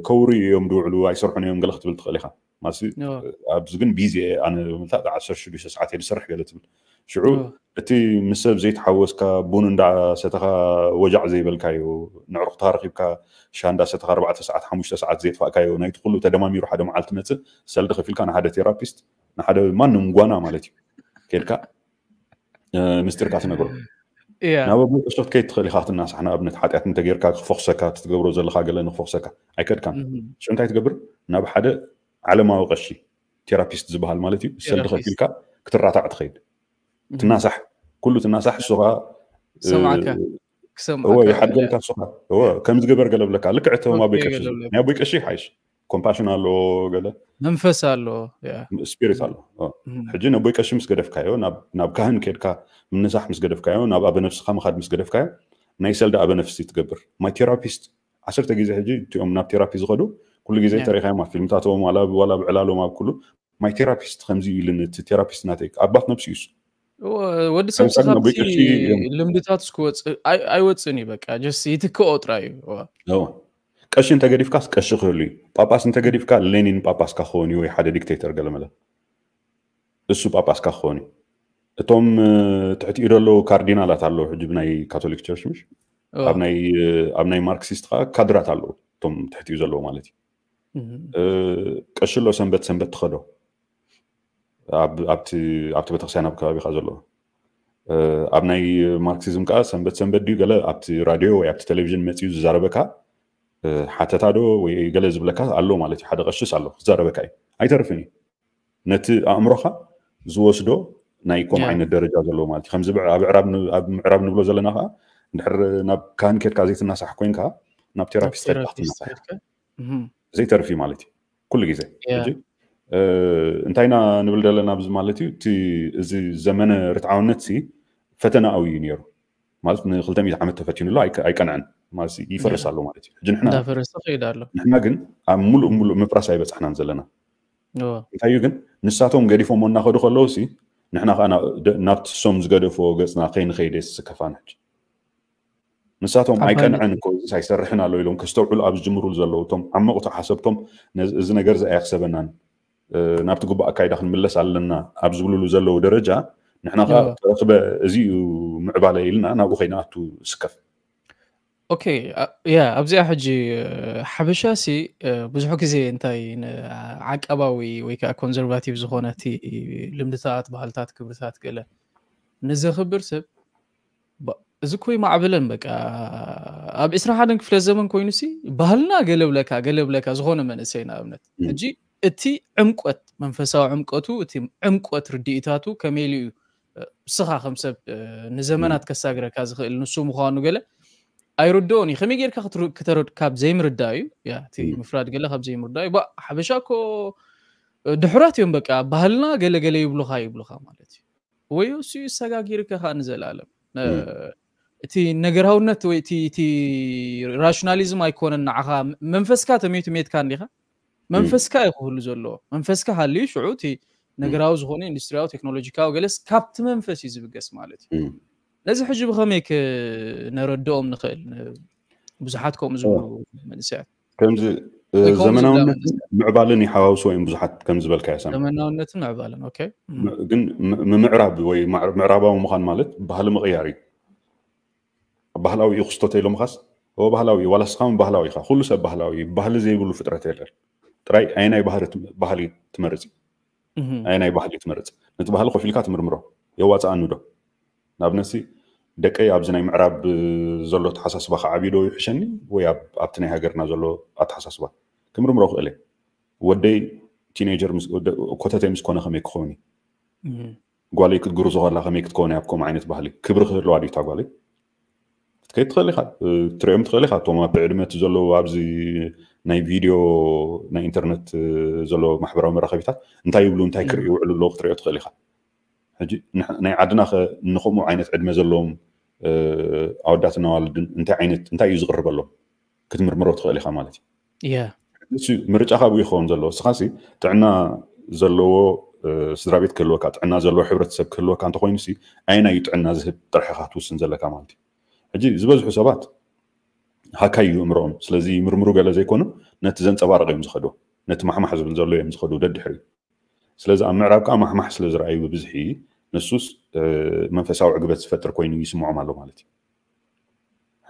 ከውሪ እዮም ድውዕሉ ኣይሰርሑን እዮም ገለ ክትብል ትኽእል ኢካ ማለት ኣብዚ ግን ቢዚ ኣነ ምልታ ዓሰርተ ሽዱሽተ ሰዓት እየ ዝሰርሕ ገለ ትብል ሽዑ እቲ ምስ ሰብ ዘይተሓወስካ ቡን እንዳሰተኻ ወጃዕ ዘይበልካዮ ንዕሩኽትኻ ረኺብካ ሻ እንዳሰተኻ ኣርባዕተ ሰዓት ሓሙሽተ ሰዓት ዘየጥፋእካዮ ናይቲ ኩሉ ተደማሚሩ ሓደ መዓልቲ መፅእ ሰልዲ ከፊልካ ንሓደ ቴራፒስት ንሓደ ማንም ጓና ማለት እዩ ከድካ ምስጢርካ ትነግሮ ናብ ኣቦይ ቀሽት ከይድ ትኽእል ኢካ ክትናሳሕ ንኣብነት ሓጢኣት እንተጌርካ ክፈኽሰካ ትትገብሮ ዘለካ ገለ ንክፈኽሰካ ኣይከድካን ሽ እንታይ ትገብር ናብ ሓደ ዓለማዊ ቀሺ ቴራፒስት ዝበሃል ማለት እዩ ሰልዲ ከፊልካ ክትራታዕ ትኸይድ ትናሳሕ ኩሉ ትናሳሕ እሱኻ ሰማዕካ ይሓድገልካ እሱኻ ከምዚ ገበር ገለ ብለካ ልክዕ እቶም ኣቦይ ቀሺ ናይ ኣቦይ ቀሺ ሓይሽ ኮምፓሽን ኣለዎ ገለ መንፈስ ኣለዎ ስፒሪት ኣለዎ ሕጂ ነቦይ ቀሺ ምስ ገደፍካዮ ናብ ካህን ከድካ ምንሳሕ ምስ ገደፍካዮ ናብ ኣበነፍስካ ምካድ ምስ ገደፍካዮ ናይ ሰልዲ ኣበነፍሲ ትገብር ማይ ቴራፒስት ዓሰርተ ግዜ ሕጂ እቲኦም ናብ ቴራፒ ዝኸዱ ኩሉ ግዜ ተሪካዮም ኣብ ፊልምታቶም ዋላ ብዕላሎም ኣብ ኩሉ ማይ ቴራፒስት ከምዚ ኢሉኒ እቲ ቴራፒስት ናተይ ኣባት ነብሲ እዩስ ወዲ ሰብ ካብቲ ልምድታት ክወፅእ ኣይወፅን እዩ በቃ ጀስ ይትክኦ ጥራይ እዩ ቀሺ እንተገዲፍካስ ቀሺ ክህሉ እዩ ጳጳስ እንተገዲፍካ ሌኒን ጳጳስካ ክኸውን እዩ ወይ ሓደ ዲክቴተር ገለመለ እሱ ጳጳስካ ክኸውን እዩ እቶም ትሕቲኡ ዘለዉ ካርዲናላት ኣለዉ ሕጂ ብናይ ካቶሊክ ቸርች ምሽ ኣብ ናይ ማርክሲስት ከዓ ካድራት ኣለዉ እቶም ትሕቲኡ ዘለዉ ማለት እዩ። ቀሽሎ ሰንበት ሰንበት ትኸዶ ኣብቲ ቤተክርስትያን ኣብ ከባቢካ ዘሎ ኣብ ናይ ማርክሲዝም ከዓ ሰንበት ሰንበት ድዩ ገለ ኣብቲ ራድዮ ወይ ኣብቲ ቴሌቪዥን መፅኡ ዝዛረበካ ሓተታ ዶ ወይ ገለ ዝብለካ ኣሎ ማለት እዩ። ሓደ ቀሽስ ኣሎ ክዛረበካ እዩ፣ ኣይተርፍን እዩ። ነቲ ኣእምሮኻ ዝወስዶ ናይ ኮም ዓይነት ደረጃ ዘለዎ ማለት እዩ። ከምዚ ኣብ ምዕራብ ንብሎ ዘለና ከዓ እንድሕር ናብ ካህን ኬድካ ዘይትናሳሕ ኮይንካ ናብ ቴራፒስት ኬድካ ክትናሳሕ ዘይተርፊ ማለት እዩ ኩሉ ግዜ። እንታይና ንብል ዘለና ኣብዚ ማለት እዩ እቲ እዚ ዘመነ ርትዓውነት ሲ ፈተናዊ እዩ ነይሩ ማለት ንክልተ ሚእቲ ዓመት ተፈቲኑ ኣሎ ኣይቀንዐን ማለት ይፈርስ ኣሎ ማለት እዩ። ሕጂ ንሕና እንዳፈረሰ ከይድ ኣሎ። ንሕና ግን ኣብ ሙሉእ ሙሉእ ምፍራስ ኣይበጻሕናን ዘለና። እንታይ እዩ ግን ንሳቶም ገዲፎሞ እናኸዱ ከለዉ ሲ ንሕና ከዓ ናብቲ ሶም ዝገደፍዎ ገጽና ከይንኸይድ የስከፋን ሕጂ ንሳቶም ኣይቀንዐን እኮ እዚስ ኣይሰርሕን ኣሎ ኢሎም ከስተውዕሉ ኣብ ዝጅምሩሉ ዘለዉ እቶም ዓመቑቲ ሓሰብቶም እዚ ነገር እዚ ኣየኽሰበናን ናብቲ ግቡእ ኣካይዳ ክንምለስ ኣለና ኣብ ዝብልሉ ዘለዉ ደረጃ ንሕና ከዓ ተረኽበ እዚ እዩ ምዕባለ ኢልና ናብኡ ከይንኣቱ ስከፍ። ኦኬ ያ ኣብዚኣ ሕጂ ሓበሻ ሲ ብዙሕ ግዜ እንታይ ዓቀባዊ ወይ ከዓ ኮንዘርቫቲቭ ዝኾነ እቲ ልምድታት ባህልታት ክብርታት ገለ ንዘኽብር ሰብ እዚ ኮይ ማዕብለን በቃ ኣብ ዕስራ ሓደን ክፍለ ዘመን ኮይኑ ሲ ባህልና ገለብለካ ገለብለካ ዝኾነ መንእሰይ ንኣብነት ሕጂ እቲ ዕምቆት መንፈሳዊ ዕምቀቱ እቲ ዕምቆት ርድኢታቱ ከመይ ኢሉ እዩ እስኻ ከም ሰብ ንዘመናት ከሳግረካ ዝኽእል ንሱ ምዃኑ ገለ ኣይርድኦን እዩ። ከመይ ጌርካ ከተረድ ካብ ዘይምርዳእ እዩ እቲ ምፍራድ ገለ ካብ ዘይምርዳእ እዩ። ሓበሻ እኮ ድሑራት እዮም በቃ ባህልና ገለ ገለ ይብሉኻ ይብሉኻ ማለት እዩ። ወይ እሱ ይሰጋጊርካ ከዓ ንዘለኣለም እቲ ነገራውነት ወይ እቲ ራሽናሊዝም ኣይኮነን ንዓኻ መንፈስካ ተሜቱ ሜትካ እንዲኻ መንፈስካ እዩ ክህሉ ዘለዎ መንፈስካ ሃልዩ ሽዑ እቲ ነገራዊ ዝኾነ ኢንዱስትሪያዊ ቴክኖሎጂካዊ ገለስ ካብቲ መንፈስ እዩ ዝብገስ ማለት እዩ። ነዚ ሕጂ ብኸመይ ክነረድኦም ንኽእል ብዙሓት ከምኡ ዝብሉ መንእሰያት ከምዚ ዘመናውነትን ምዕባልን ይሓዋውስዎ እዮም ብዙሓት ከም ዝበልካዮ ሳሚ። ዘመናውነትን ምዕባልን ኦኬ ግን ምምዕራብ ወይ ምዕራባዊ ምዃን ማለት ባህሊ ምቕያር እዩ። ባህላዊ እዩ ክስቶ ተኢሎምኻስ እወ ባህላዊ እዩ ዋላ ስኻ እውን ባህላዊ ኢኻ ኩሉ ሰብ ባህላዊ እዩ። ባህሊ ዘይብሉ ፍጥረት የለን። ጥራይ ኣየናይ ባህሊ ትመርፅ እዩ ኣየናይ ባህሊ ትመርፅ ነቲ ባህሊ ኮፍ ኢልካ ትምርምሮ የዋፅኣኒ ዶ ንኣብነትሲ ደቀይ ኣብዚ ናይ ምዕራብ ዘሎ ኣተሓሳስባ ክዓብዩ ዶ ይሕሸኒ ወይ ኣብቲ ናይ ሃገርና ዘሎ ኣተሓሳስባ ክምርምሮ ክእል እየ። ወደይ ቲኔጀር ኮተተይ ምስ ኮነ ከመይ ክኸውን እዩ ጓለይ ክትግርዞ ከላ ከመይ ክትከውን እያ ከምኡ ዓይነት ባህሊ ክብሪ ክህልዋ ድዩ እታ ጓለይ ክትከይድ ትኽእል ኢኻ ትሪኦም ትኽእል ኢኻ እቶም ኣብቲ ዕድመ እቲ ዘለዉ ኣብዚ ናይ ቪድዮ ናይ ኢንተርነት ዘሎ ማሕበራዊ መራኸቢታት እንታይ ይብሉ እንታይ ክርኢ ይውዕሉ ኣለዉ ክትሪኦ ትኽእል ኢኻ ሕጂ ናይ ዓድና ከ ንከምኡ ዓይነት ዕድመ ዘለዎም ኣወዳትን ኣዋልድን እንታይ ዓይነት እንታይ እዩ ዝቕርበሎም ክትምርምሮ ትኽእል ኢኻ ማለት እዩ። ምርጫኻ ብኡ ይኸውን ዘለዎ እስኻሲ ጥዕና ዘለዎ ስድራ ቤት ክህልወካ ጥዕና ዘለዎ ሕብረተሰብ ክህልወካ እንተኮይኑ ሲ ኣየናይ እዩ ጥዕና ዝህብ ጥራሕ ኢኻ ትውስን ዘለካ ማለት እዩ። ሕጂ ዝበዝሑ ሰባት ሃካይ እዩ እምርኦም ስለዚ ምርምሩ ገለ ዘይኮኑ ነቲ ዘንፀባርቕ እዮም ዝኸዱ ነቲ ማሕማሕ ዝብል ዘሎ እዮም ዝኸዱ ደድሕሪ ስለዚ ኣብ ምዕራብ ከዓ ማሕማሕ ስለ ዝረኣዩ ብብዝሒ ንሱስ መንፈሳዊ ዕግበት ዝፈጥር ኮይኑ ይስምዖም ኣሎ ማለት እዩ።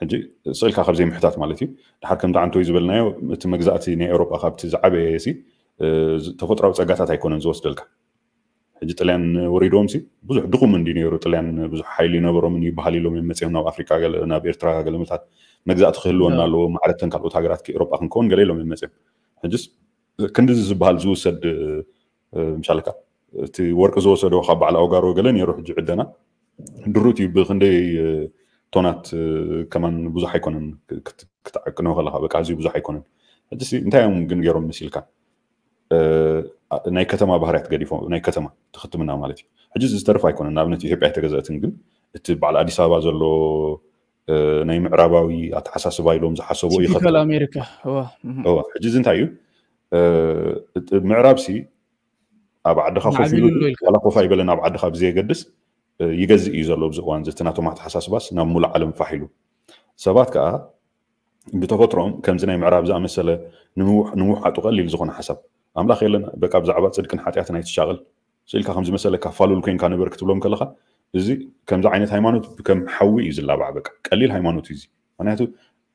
ሕጂ ስእልካ ካብ ዘይምሕታት ማለት እዩ ድሓር ከምቲ ዓንተወይ ዝበልናዮ እቲ መግዛእቲ ናይ ኤውሮጳ ካብቲ ዝዓበየ ሲ ተፈጥራዊ ፀጋታት ኣይኮነን ዝወስደልካ ሕጂ ጥልያን ወሪድዎም ሲ ብዙሕ ድኹም እንዲ ነይሩ ጥልያን ብዙሕ ሓይሊ ይነበሮምን ይበሃል ኢሎም እዮም መፅኦም ናብ ኣፍሪካ ናብ ኤርትራ ገለመታት መግዛእቲ ክህልወና ኣለዎ ማዕረተን ካልኦት ሃገራት ኤውሮጳ ክንከውን ገለ ኢሎም እዮም መፅኦም ሕጅስ ክንዲ ዝበሃል ዝውሰድ ምሻልካ እቲ ወርቂ ዝወሰዶ ካብ በዓል ኣውጋሮ ገለ ነይሩ ሕጂ ዕደና ድሩት እዩ ብክንደይ ቶናት ከማን ብዙሕ ኣይኮነን ክትዓቅኖ ከለካ በቃ ኣዝዩ ብዙሕ ኣይኮነን ሕጂ እንታይ እዮም ግን ገይሮም መሲልካ ናይ ከተማ ባህርያት ገዲፎ ናይ ከተማ ትክትምና ማለት እዩ ሕጂ ዝተርፍ ኣይኮነን ንኣብነት ኢትዮጵያ ኣይተገዘእትን ግን እቲ በዓል ኣዲስ ኣበባ ዘሎ ናይ ምዕራባዊ ኣተሓሳስባ ኢሎም ዝሓሰቡ ይኸፍል ኣሜሪካ ሕጂ እዚ እንታይ እዩ ምዕራብ ሲ ኣብ ዓድኻ ኮፍ ኢሉ ዋላ ኮፍ ኣይበለን ኣብ ዓድኻ ብዘየገድስ ይገዝእ እዩ ዘሎ ኣብዚ እዋን እዚ ናቶም ኣተሓሳስባስ ናብ ሙሉእ ዓለም ፋሕ ኢሉ ሰባት ከዓ ብተፈጥሮም ከምዚ ናይ ምዕራብ ዝኣመሰለ ንምውሓጡ ቀሊል ዝኾነ ሓሳብ ኣምላኽ የለን በቃ ብዛዕባ ፅድቅን ሓጢኣትን ኣይትሻቐል ስኢልካ ከም ዝመሰለካ ፋሉል ኮይንካ ንበር ክትብሎም ከለካ፣ እዚ ከምዚ ዓይነት ሃይማኖት ከም ሓዊ እዩ ዝላባዕ። በቃ ቀሊል ሃይማኖት እዩ እዚ። ምክንያቱ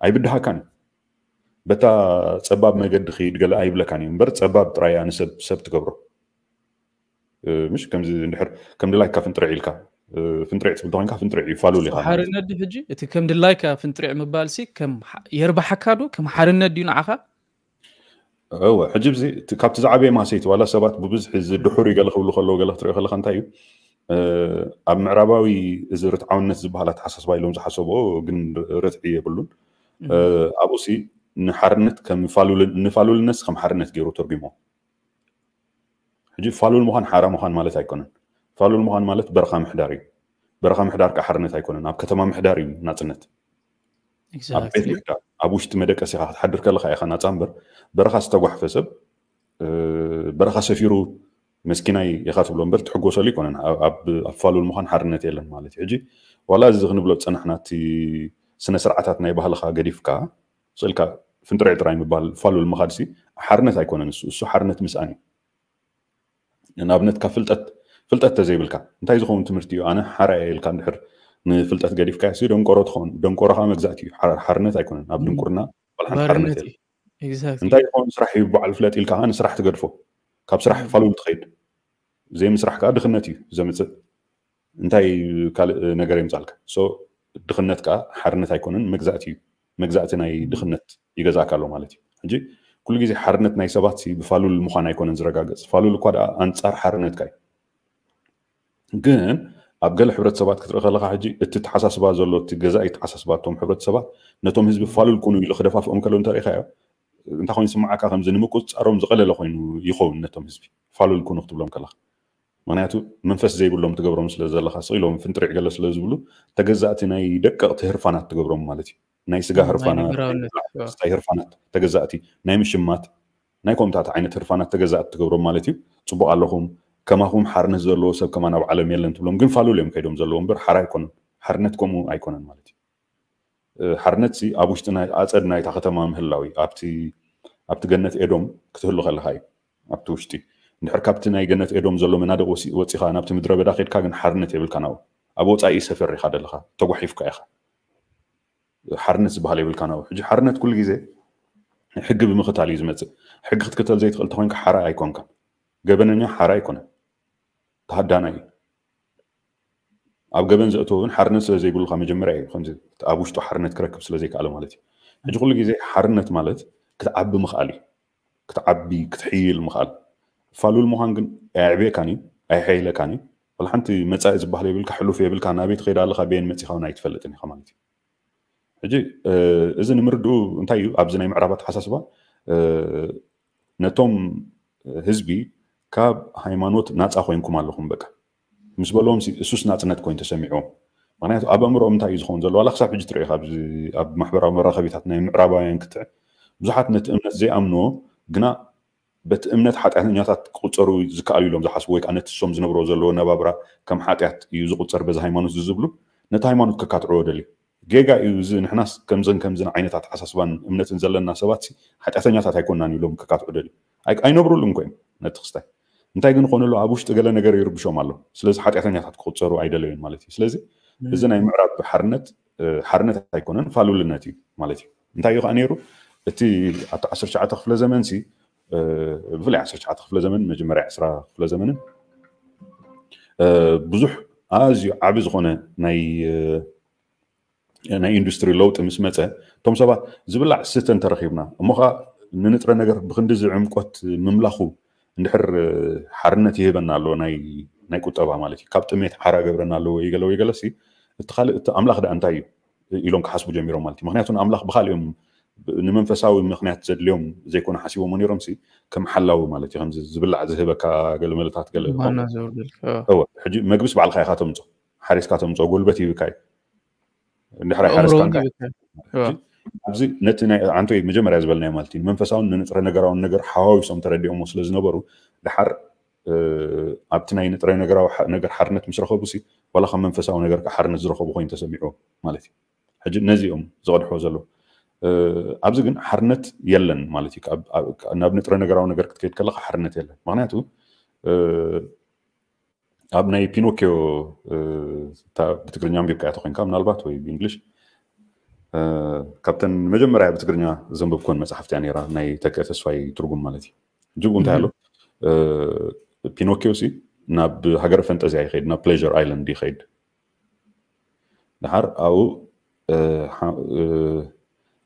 ኣይብድሃካን እዩ። በታ ጸባብ መገዲ ኪድ ገለ ኣይብለካን እዩ እምበር፣ ጸባብ ጥራይ እያ ንሰብ ሰብ ትገብሮ። ምሽ ከምዚ እንድሕር ከም ድላይካ ፍንጥርዕ ኢልካ ፍንጥርዕ ትብል ተኮንካ ፍንጥርዕ እዩ፣ ፋሉል ኢኻ። ሓርነት ድዩ ሕጂ እቲ ከም ድላይካ ፍንጥርዕ ምባል ሲ ከም የርባሓካ ዶ ከም ሓርነት ድዩ ንዓኻ? እወ፣ ሕጂ ብዚ ካብቲ ዝዓበየ ማሰይቲ ዋላ ሰባት ብብዝሒ እዚ ድሑር ገለ ክብሉ ከለዉ ገለ ክትሪኦ ከለካ እንታይ እዩ፣ ኣብ ምዕራባዊ እዚ ርትዓውነት ዝበሃል ኣተሓሳስባ ኢሎም ዝሓሰብዎ ግን ርትዒ የብሉን። ኣብኡ ሲ ንሓርነት ከም ፋሉልን ንፋሉልነት ከም ሓርነት ገይሩ ተርጉሞ። ሕጂ ፋሉል ምዃን ሓራ ምዃን ማለት ኣይኮነን። ፋሉል ምዃን ማለት በረኻ ምሕዳር እዩ። በረኻ ምሕዳር ከዓ ሓርነት ኣይኮነን። ኣብ ከተማ ምሕዳር እዩ ናፅነት። ኣብ ቤት ምሕዳር ኣብ ውሽጢ መደቀሲኻ ክትሓድር ከለካ ኢኻ ናፃ እምበር፣ በረኻ ዝተጓሕፈ ሰብ በረኻ ሰፊሩ መስኪናይ ኢኻ ትብሎ እምበር ትሕጎሰሉ ኣይኮነን። ኣብ ፋሉል ምዃን ሓርነት የለን ማለት እዩ። ሕጂ ዋላ እዚ ክንብሎ ዝፀናሕና እቲ ስነ ስርዓታት ናይ ባህልኻ ገዲፍካ ስእልካ ፍንጥርዕ ጥራይ ምባል ፋሉል ምኻድ ሲ ሓርነት ኣይኮነን። እሱ እሱ ሓርነት ምስኣን እዩ። ንኣብነት ካብ ፍልጠት ፍልጠት ተዘይብልካ እንታይ ዝኸውን ትምህርቲ እዩ? ኣነ ሓራ እየ ኢልካ እንድሕር ንፍልጠት ገዲፍካ ሲ ደንቆሮ ትኸውን። ደንቆሮ ከዓ መግዛእቲ እዩ። ሓርነት ኣይኮነን። ኣብ ድንቁርና ቆልሓን ሓርነት የለን። እንታይ ዝኸውን ስራሕ እዩ በዓል ፍለጥ ኢልካ ከዓ ንስራሕ ትገድፎ። ካብ ስራሕ ፋሉል ትኸይድ። ዘይምስራሕ ከዓ ድኽነት እዩ ዘምፅእ። እንታይ ካልእ ነገር የምፃልካ? ድኽነት ከዓ ሓርነት ኣይኮነን፣ መግዛእቲ እዩ። መግዛእቲ ናይ ድኽነት ይገዛእካ ኣሎ ማለት እዩ። ሕጂ ኩሉ ግዜ ሓርነት ናይ ሰባት ብፋሉል ምዃን ኣይኮነን ዝረጋገፅ። ፋሉል እኳ ደኣ ኣንፃር ሓርነትካ እዩ። ግን ኣብ ገለ ሕብረተሰባት ክትርኢ ከለካ ሕጂ እቲ ተሓሳስባ ዘሎ እቲ ገዛኢ ተሓሳስባ እቶም ሕብረተሰባት ነቶም ህዝቢ ፋሉል ኩኑ ኢሉ ክደፋፍኦም ከሎ እንተሪኢካዮ እንታይ ኮይኑ ስምዓካ ከምዚ ንምቁፅፃሮም ዝቐለለ ኮይኑ ይኸውን ነቶም ህዝቢ ፋሉል ኩኑ ክትብሎም ከለካ። ምክንያቱ መንፈስ ዘይብሎም ትገብሮም ስለ ዘለካ ስቕ ኢሎም ፍንጥሪዕ ገለ ስለ ዝብሉ ተገዛእቲ ናይ ደቀቕቲ ህርፋናት ትገብሮም ማለት እዩ። ናይ ስጋ ህርፋናት፣ ናይ ህርፋናት ተገዛእቲ፣ ናይ ኮምፒውተር ተገዛእቲ፣ ናይ ምሽማት ናይ ከምኡታት ዓይነት ህርፋናት ተገዛእቲ ትገብሮም ማለት እዩ። ፅቡቕ ኣለኹም፣ ከማኹም ሓርነት ዘለዎ ሰብ ከማን ኣብ ዓለም የለን ትብሎም። ግን ፋሉል እዮም ከይዶም ዘለዎ እምበር ሓራ ኣይኮነን። ሓርነት ከምኡ ኣይኮነን ማለት እዩ። ሓርነት ሲ ኣብ ውሽጢ ናይ ኣፀድ ናይታ ከተማ ምህላው እዩ። ኣብቲ ኣብቲ ገነት ኤዶም ክትህሉ ከለካ እዩ። ኣብቲ ውሽጢ እንድሕር ካብቲ ናይ ገነት ኤዶም ዘሎ መናድቕ ወፂኻ ናብቲ ምድረ በዳ ከድካ ግን ሓርነት የብልካ ናብኡ። ኣብ ወፃኢ ሰፈር ኢኻ ዘለኻ፣ ተጓሒፍካ ኢኻ። ሓርነት ዝበሃል የብልካ ናብኡ። ሕጂ ሓርነት ኩሉ ግዜ ሕጊ ብምኽታል እዩ ዝመፅእ። ሕጊ ክትክተል ዘይትኽእል ተኮይንካ ሓራ ኣይኮንካን። ገበነኛ ሓራ ኣይኮነን፣ ተሃዳናይ እዩ። ኣብ ገበን ዘእተወ እውን ሓርነት ስለ ዘይብሉካ መጀመርያ እዩ ከምዚ ኣብ ውሽጡ ሓርነት ክረክብ ስለ ዘይከኣለ ማለት እዩ። ሕጂ ኩሉ ግዜ ሓርነት ማለት ክትዓቢ ምኽኣል እዩ። ክትዓቢ ክትሕይል ምኽኣል። ፋሉል ምዃን ግን ኣየዕብየካን እዩ፣ ኣየሐይለካን እዩ። ዋላ ሓንቲ መፃኢ ዝበሃል የብልካ፣ ሕሉፍ የብልካ፣ ናበይ ትኸይድ ኣለኻ፣ በየን መፂኻ እውን ኣይትፈልጥን ኢኻ ማለት እዩ። ሕጂ እዚ ንምርድኡ እንታይ እዩ ኣብዚ ናይ ምዕራብ ኣተሓሳስባ ነቶም ህዝቢ ካብ ሃይማኖት ናፃ ኮይንኩም ኣለኹም በቃ ምስ በልዎም እሱስ ናፅነት ኮይኑ ተሰሚዕዎም። ምክንያቱ ኣብ ኣእምሮኦም እንታይ እዩ ዝኸውን ዘሎ ዋላ ክሳብ ሕጂ ትሪኦ ኣብ ማሕበራዊ መራኸቢታት ናይ ምዕራባውያን ክትዕ ብዙሓት ነቲ እምነት ዘይኣምንዎ ግና በቲ እምነት ሓጢኣተኛታት ክቁፀሩ ዝከኣሉ ኢሎም ዝሓስቡ ወይ ከዓ ነቲ እሶም ዝነብሮ ዘለዎ ነባብራ ከም ሓጢኣት እዩ ዝቁፀር በዚ ሃይማኖት ዝብሉ ነቲ ሃይማኖት ከካትዕዎ ደልዩ። ጌጋ እዩ እዚ። ንሕናስ ከምዝን ከምዝን ዓይነት ኣተሓሳስባን እምነትን ዘለና ሰባት ሓጢኣተኛታት ኣይኮናን ኢሎም ክካትዑ ደልዩ። ኣይነብሩሉን እኮ እዮም ነቲ ክስታይ። እንታይ ግን ኾነሉ ኣብ ውሽጢ ገለ ነገር ይርብሾም ኣሎ። ስለዚ ሓጢኣተኛታት ክቁፀሩ ኣይደለዩን ማለት እዩ። ስለዚ እዚ ናይ ምዕራብ ሓርነት ሓርነት ኣይኮነን፣ ፋሉልነት እዩ ማለት እዩ። እንታይ እዩ ከዓ ነይሩ እቲ ኣብቲ ዓሰርተ ትሽዓተ ክፍለ ዘመን ሲ ብፍላይ ዓሰርተ ትሽዓተ ክፍለ ዘመን መጀመርያ ዕስራ ክፍለ ዘመንን ብዙሕ ኣዝዩ ዓቢ ዝኾነ ናይ ናይ ኢንዱስትሪ ለውጢ ምስ መፀ እቶም ሰባት ዝብላዕ ስተ እንተረኺብና እሞ ከዓ ንንጥረ ነገር ብክንዲ ዝዕምቆት ምምላኹ እንድሕር ሓርነት ይህበና ኣለዎ ናይ ቁጠባ ማለት እዩ። ካብ ጥሜት ሓራ ገብረና ኣለዎ ወይ ገለ ወይ ገለ ሲ እቲ ካልእ እቲ ኣምላኽ ደኣ እንታይ እዩ ኢሎም ክሓስቡ ጀሚሮም ማለት እዩ። ምክንያቱ ንኣምላኽ ብካልእ እዮም ንመንፈሳዊ ምክንያት ዘድልዮም ዘይኮነ ሓሲቦሞ ነይሮም ሲ ከም ሓላዊ ማለት እዩ። ከምዚ ዝብላዕ ዝህበካ ገለመለታት ገለ ሕጂ መግብስ ባዕልካ ኢካ ተምፆ ሓሪስካ ተምፅኦ ጉልበት ይህብካ እዩ። እንድሕር ኣይሓረስካን ኣብዚ ነቲ ናይ ዓንቶይ መጀመርያ ዝበልናዮ ማለት እዩ ንመንፈሳውን ንንጥረ ነገራውን ነገር ሓዋዊሶም ተረዲኦሞ ስለ ዝነበሩ ድሓር ኣብቲ ናይ ንጥረ ነገራዊ ነገር ሓርነት ምስ ረኸቡ ሲ ዋላ ካብ መንፈሳዊ ነገር ሓርነት ዝረኸቡ ኮይኑ ተሰሚዑ ማለት እዩ። ሕጂ ነዚ እዮም ዝቐድሕዎ ዘለዉ። ኣብዚ ግን ሓርነት የለን ማለት እዩ። ናብ ንጥረ ነገራዊ ነገር ክትከይድ ከለካ ሓርነት የለን። ምክንያቱ ኣብ ናይ ፒኖኪዮ ብትግርኛ ኣንቢብካያ ተኮይንካ ምናልባት ወይ ብእንግሊሽ፣ ካብተን መጀመርያ ብትግርኛ ዘንበብኮን መፅሓፍቲ እያ ነይራ፣ ናይ ተክአ ተስፋይ ትርጉም ማለት እዩ። ጅብኡ እንታይ ኣሎ? ፒኖኪዮ ሲ ናብ ሃገረ ፈንጠዝያ ይኸይድ፣ ናብ ፕሌር ኣይላንድ ይኸይድ። ድሓር ኣብኡ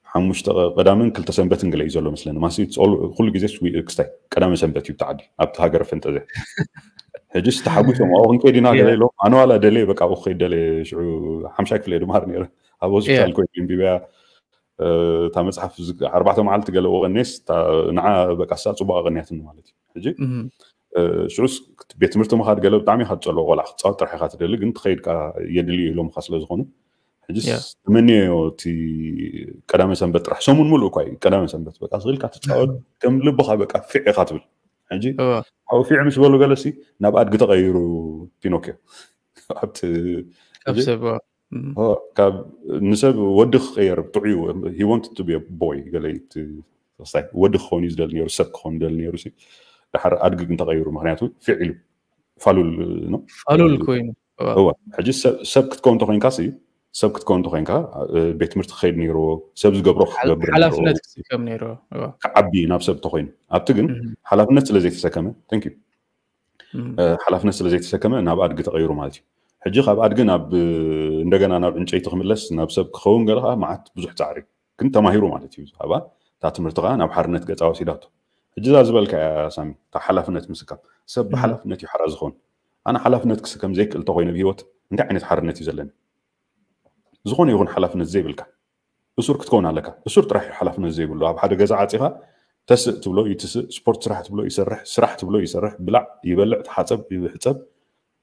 ሓሙሽተ ቀዳምን ክልተ ሰንበትን ገለ እዩ ዘሎ መስለኒ። ማሲ ኩሉ ግዜ ክስታይ ቀዳመ ሰንበት እዩ ብተዓዲ ኣብቲ ሃገረ ፈንጠዝያ። ሕጅስ ተሓጒሶም ኣብኡ ክንከይድ ኢና ገለ ኢሎም፣ ኣነ ዋላ ደልየ በቃ ኣብኡ ክኸይድ ደልየ። ሽዑ ሓምሻይ ክፍለ እየ ድምሃር ነይረ፣ ኣብ ሆስፒታል ኮይነ ኣንቢበያ። እታ መፅሓፍ ኣርባዕተ መዓልቲ ገለ ወቀኔስ ንዓ በቃ ሳ ፅቡቅ ኣቀንያትኒ ማለት እዩ። ሕጂ ሽዑስ ቤት ትምህርቲ ምኻድ ገለ ብጣዕሚ ኢኻ ትፀልኦ፣ ቆልዓ ክትፃወት ጥራሕ ኢኻ ትደሊ፣ ግን ትኸይድ ከዓ የድልዩ ኢሎምካ ስለዝኾኑ ሕጅስ ተመንዮ እቲ ቀዳመ ሰንበት ጥራሕ፣ ሰሙን ሙሉእ እኳ እዩ ቀዳመ ሰንበት በቃ ስቕ ኢልካ ትፃወት፣ ከም ልብኻ በቃ ፊዕ ኢኻ ትብል። ሕጂ ኣብኡ ፊዕ ምስ በሉ ገለሲ ናብ ኣድጊ ተቐይሩ ፒኖኪዮ ኣብቲ ካብ ንሰብ ወዲ ክቀየር ጥዑዩ። He wanted to be a boy ገለ ክስታይ ወዲ ክኸውን እዩ ዝደሊ ነይሩ፣ ሰብ ክኸውን ይደሊ ነይሩ። ድሓር ኣድጊ ግን ተቐይሩ፣ ምክንያቱ ፊዕ ኢሉ ፋሉል ነው። ፋሉል ኮይኑ እወ። ሕጂ ሰብ ክትከውን ተኮይንካ ሲ ሰብ ክትከውን ተኮይንካ ቤት ትምህርቲ ክኸይድ ነይርዎ፣ ሰብ ዝገብሮ ክገብር ሓላፍነት ክስከም ነይርዎ። ክዓቢ ናብ ሰብ ተኮይኑ። ኣብቲ ግን ሓላፍነት ስለ ዘይተሰከመ፣ thank you፣ ሓላፍነት ስለ ዘይተሰከመ ናብ ኣድጊ ተቐይሩ ማለት እዩ። ሕጂ ካብ ኣድጊ ናብ እንደገና ናብ ዕንጨይቲ ክምለስ ናብ ሰብ ክኸውን ገለ ከዓ መዓት ብዙሕ ፃዕሪ ግን ተማሂሩ ማለት እዩ። ኣብኣ እታ ትምህርቲ ከዓ ናብ ሓርነት ገፃ ወሲዳቶ። ሕጂ እዛ ዝበልካ እያ ሳሚ፣ እታ ሓላፍነት ምስካም። ሰብ ብሓላፍነት እዩ ሓራ ዝኸውን። ኣነ ሓላፍነት ክስከም ዘይክእል ተኮይነ ብሂወት እንታይ ዓይነት ሓርነት እዩ ዘለኒ? ዝኾነ ይኹን ሓላፍነት ዘይብልካ እሱር ክትከውን ኣለካ። እሱር ጥራሕ እዩ ሓላፍነት ዘይብሉ። ኣብ ሓደ ገዛ ዓፂኻ ተስእ ትብሎ ይትስእ፣ ስፖርት ስራሕ ትብሎ ይሰርሕ፣ ስራሕ ትብሎ ይሰርሕ፣ ብላዕ ይበልዕ፣ ተሓፀብ ይሕፀብ፣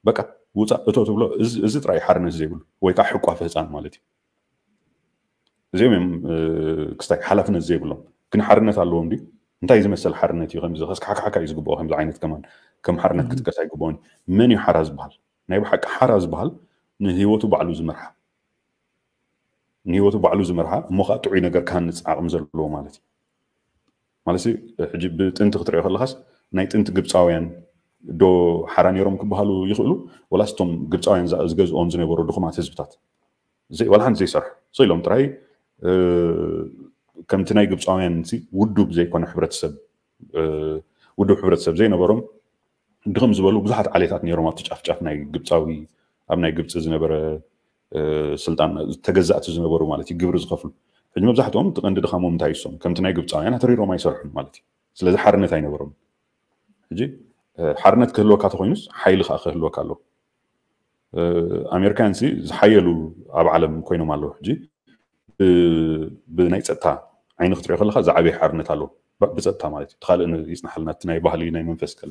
በቃ ውፃእ እቶ ትብሎ፣ እዚ ጥራይ ሓርነት ዘይብሉ ወይ ከዓ ሕቋፍ ህፃን ማለት እዩ። እዚኦም እዮም ክስታይ ሓላፍነት ዘይብሎም። ግን ሓርነት ኣለዎም ድዩ? እንታይ ዝመሰል ሓርነት እዩ? ከምዚ ከስካሕካሕካ እዩ ዝግብኦ። ከምዚ ዓይነት ከማን ከም ሓርነት ክትቀስ ኣይግብኦን። መን እዩ ሓራ ዝበሃል? ናይ ብሓቂ ሓራ ዝበሃል ንህይወቱ ባዕሉ ዝመርሓ፣ ንህይወቱ ባዕሉ ዝመርሓ እሞ ከዓ ጥዑይ ነገር ክሃንፅ ዓቕሚ ዘለዎ ማለት እዩ። ማለት ሕጂ ብጥንቲ ክትሪኦ ከለካስ ናይ ጥንቲ ግብፃውያን ዶ ሓራ ነይሮም ክበሃሉ ይኽእሉ? ወላስ እቶም ግብፃውያን ዝገዝኦም ዝነበሩ ድኹማት ህዝብታት ዋላ ሓንቲ ዘይሰርሑ ስኢሎም ጥራይ ከምቲ ናይ ግብፃውያን ውዱብ ዘይኮነ ሕብረተሰብ ውዱብ ሕብረተሰብ ዘይነበሮም ድኽም ዝበሉ ብዙሓት ዓሌታት ነይሮም ኣብቲ ጫፍጫፍ ናይ ግብፃዊ ኣብ ናይ ግብፂ ዝነበረ ስልጣን ተገዛእቲ ዝነበሩ ማለት እዩ፣ ግብሪ ዝኸፍሉ። ሕጂ መብዛሕትኦም እቲ ቀንዲ ድኻሞም እንታይ ይሶም ከምቲ ናይ ግብፃውያን ኣተሪሮም ኣይሰርሑን ማለት እዩ። ስለዚ ሓርነት ኣይነበሮም። ሕጂ ሓርነት ክህልወካ ተኮይኑስ ሓይሊ ከዓ ክህልወካ ኣለዎ። ኣሜሪካያን ሲ ዝሓየሉ ኣብ ዓለም ኮይኖም ኣለዉ። ሕጂ ብናይ ፀጥታ ዓይኒ ክትሪኦ ከለካ ዝዓበየ ሓርነት ኣለዎ ብፀጥታ ማለት እዩ። ካልእ ይፅናሓልና እቲ ናይ ባህሊ ናይ መንፈስ ከለ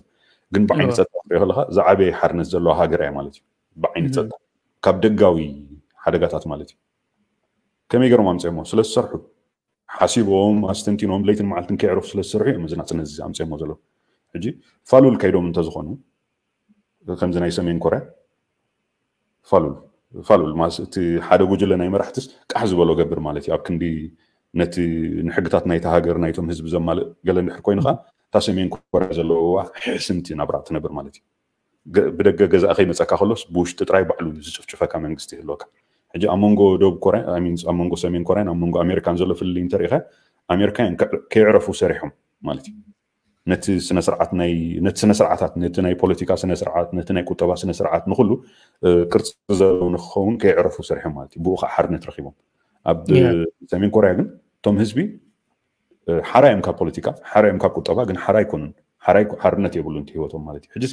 ግን ብዓይኒ ፀጥታ ክትሪኦ ከለካ ዝዓበየ ሓርነት ዘለዋ ሃገር እያ ማለት እዩ። ብዓይኒ ፀጥታ ካብ ደጋዊ ሓደጋታት ማለት እዩ። ከመይ ገይሮም ኣምፅኦሞ? ስለ ዝሰርሑ ሓሲቦም ኣስተንቲኖም ለይትን መዓልትን ከይዕረፉ ስለ ዝሰርሑ እዮም እዚ ናፅነት እዚ ኣምፅኦሞ ዘለዉ። ሕጂ ፋሉል ከይዶም እንተዝኾኑ ከምዚ ናይ ሰሜን ኮርያ ፋሉል ፋሉል ማለት እቲ ሓደ ጉጅለ ናይ መራሕትስ ቃሕ ዝበሎ ገብር ማለት እዩ። ኣብ ክንዲ ነቲ ንሕግታት ናይቲ ሃገር ናይቶም ህዝቢ ዘማልእ ገለ እንድሕር ኮይኑ ከዓ እታ ሰሜን ኮርያ ዘለዋ ሕስምቲ ናብራ ትነብር ማለት እዩ። ብደገ ገዛእ ከይመፀካ ከሎስ ብውሽጢ ጥራይ ባዕሉ ዝጭፍጭፈካ መንግስቲ ይህልወካ። ሕጂ ኣብ መንጎ ደቡብ ኮርያ ኣብ መንጎ ሰሜን ኮርያን ኣብ መንጎ ኣሜሪካን ዘሎ ፍልልይ እንተሪኢኻ ኣሜሪካውያን ከይዕረፉ ሰሪሖም ማለት እዩ። ነቲ ስነስርዓት ናይ ነቲ ስነስርዓታት ነቲ ናይ ፖለቲካ ስነስርዓት ነቲ ናይ ቁጠባ ስነስርዓት ንኩሉ ቅርፂ ዘለዎ ንክኸውን ከይዕረፉ ሰሪሖም ማለት እዩ። ብኡ ከዓ ሓርነት ረኪቦም። ኣብ ሰሜን ኮርያ ግን እቶም ህዝቢ ሓራ እዮም ካብ ፖለቲካ ሓራ እዮም ካብ ቁጠባ ግን ሓራ ኣይኮኑን። ሓራ ሓርነት የብሉን እቲ ህይወቶም ማለት እዩ። ሕጂ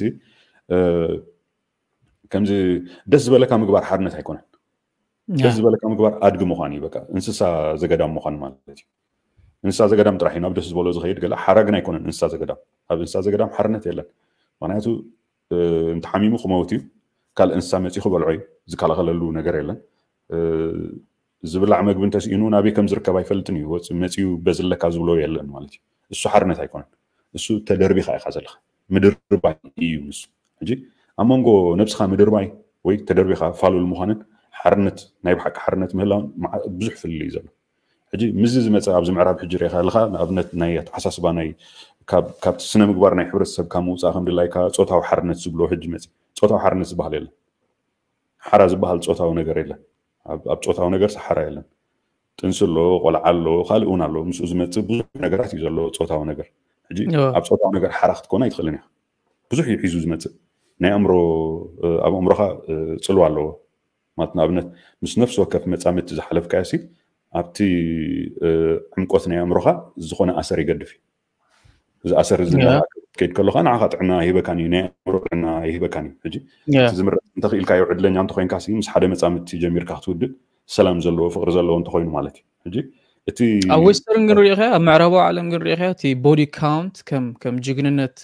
ከምዚ ደስ ዝበለካ ምግባር ሓርነት ኣይኮነን። ደስ ዝበለካ ምግባር ኣድጊ ምዃን እዩ። በቃ እንስሳ ዘገዳም ምዃን ማለት እዩ። እንስሳ ዘገዳም ጥራሕ እዩ ናብ ደስ ዝበሎ ዝኸይድ ገለ ሓራ ግን ኣይኮነን። እንስሳ ዘገዳም ኣብ እንስሳ ዘገዳም ሓርነት የለን። ምክንያቱ እንተሓሚሙ ክመውት እዩ። ካልእ እንስሳ መፂኡ ክበልዖ እዩ። ዝከላኸለሉ ነገር የለን። ዝብላዕ መግቢ እንተስኢኑ ናበይ ከም ዝርከብ ኣይፈልጥን እዩ። መፂኡ በዝለካ ዝብሎ የለን ማለት እዩ። እሱ ሓርነት ኣይኮነን። እሱ ተደርቢኻ ኢኻ ዘለኻ። ምድርባይ እዩ ንሱ። ሕጂ ኣብ መንጎ ነብስኻ ምድርባይ ወይ ተደርቢኻ ፋሉል ምዃንን ሓርነት ናይ ብሓቂ ሓርነት ምህላውን ብዙሕ ፍልልይ እዩ ዘሎ። ሕጂ ምስዚ ዝመፀ ኣብዚ ምዕራብ ሕጂ ሪኢኻ ኣለኻ ንኣብነት ናይ ኣተሓሳስባ ናይ ካብቲ ስነ ምግባር ናይ ሕብረተሰብካ ምውፃእ ከም ድላይካ ፆታዊ ሓርነት ዝብሎ ሕጂ መፂ ፆታዊ ሓርነት ዝበሃል የለን። ሓራ ዝበሃል ፆታዊ ነገር የለን። ኣብ ፆታዊ ነገር ሓራ የለን። ጥንሲ ኣሎ፣ ቆልዓ ኣሎ፣ ካልእ እውን ኣሎ። ምስኡ ዝመፅእ ብዙሕ ነገራት እዩ ዘሎ ፆታዊ ነገር። ሕጂ ኣብ ፆታዊ ነገር ሓራ ክትኮን ኣይትኽእልን ኢኻ። ብዙሕ እዩ ሒዙ ዝመፅእ። ናይ ኣእምሮ ኣብ ኣእምሮኻ ፅልዋ ኣለዎ። ማለት ንኣብነት ምስ ነፍሲ ወከፍ መፃምድቲ ዝሓለፍካዮ ሲ ኣብቲ ዕምቆት ናይ ኣእምሮኻ ዝኾነ ኣሰር ይገድፍ እዩ። እዚ ኣሰር እዚ ከይድ ከለካ ንዓኻ ጥዕና ይህበካን እዩ፣ ናይ ኣእምሮ ጥዕና ይህበካን እዩ። ሕጂ እቲ ዝምረፅ እንተኽኢልካዮ ዕድለኛ እንተኮይንካ ሲ ምስ ሓደ መፃምድቲ ጀሚርካ ክትውድእ ሰላም ዘለዎ ፍቅሪ ዘለዎ እንተኮይኑ ማለት እዩ። ሕጂ እቲ ኣብ ዌስተርን ግን ሪኢኻ ኣብ ምዕራባዊ ዓለም ግን ሪኢኻ እቲ ቦዲ ካውንት ከም ከም ጅግንነት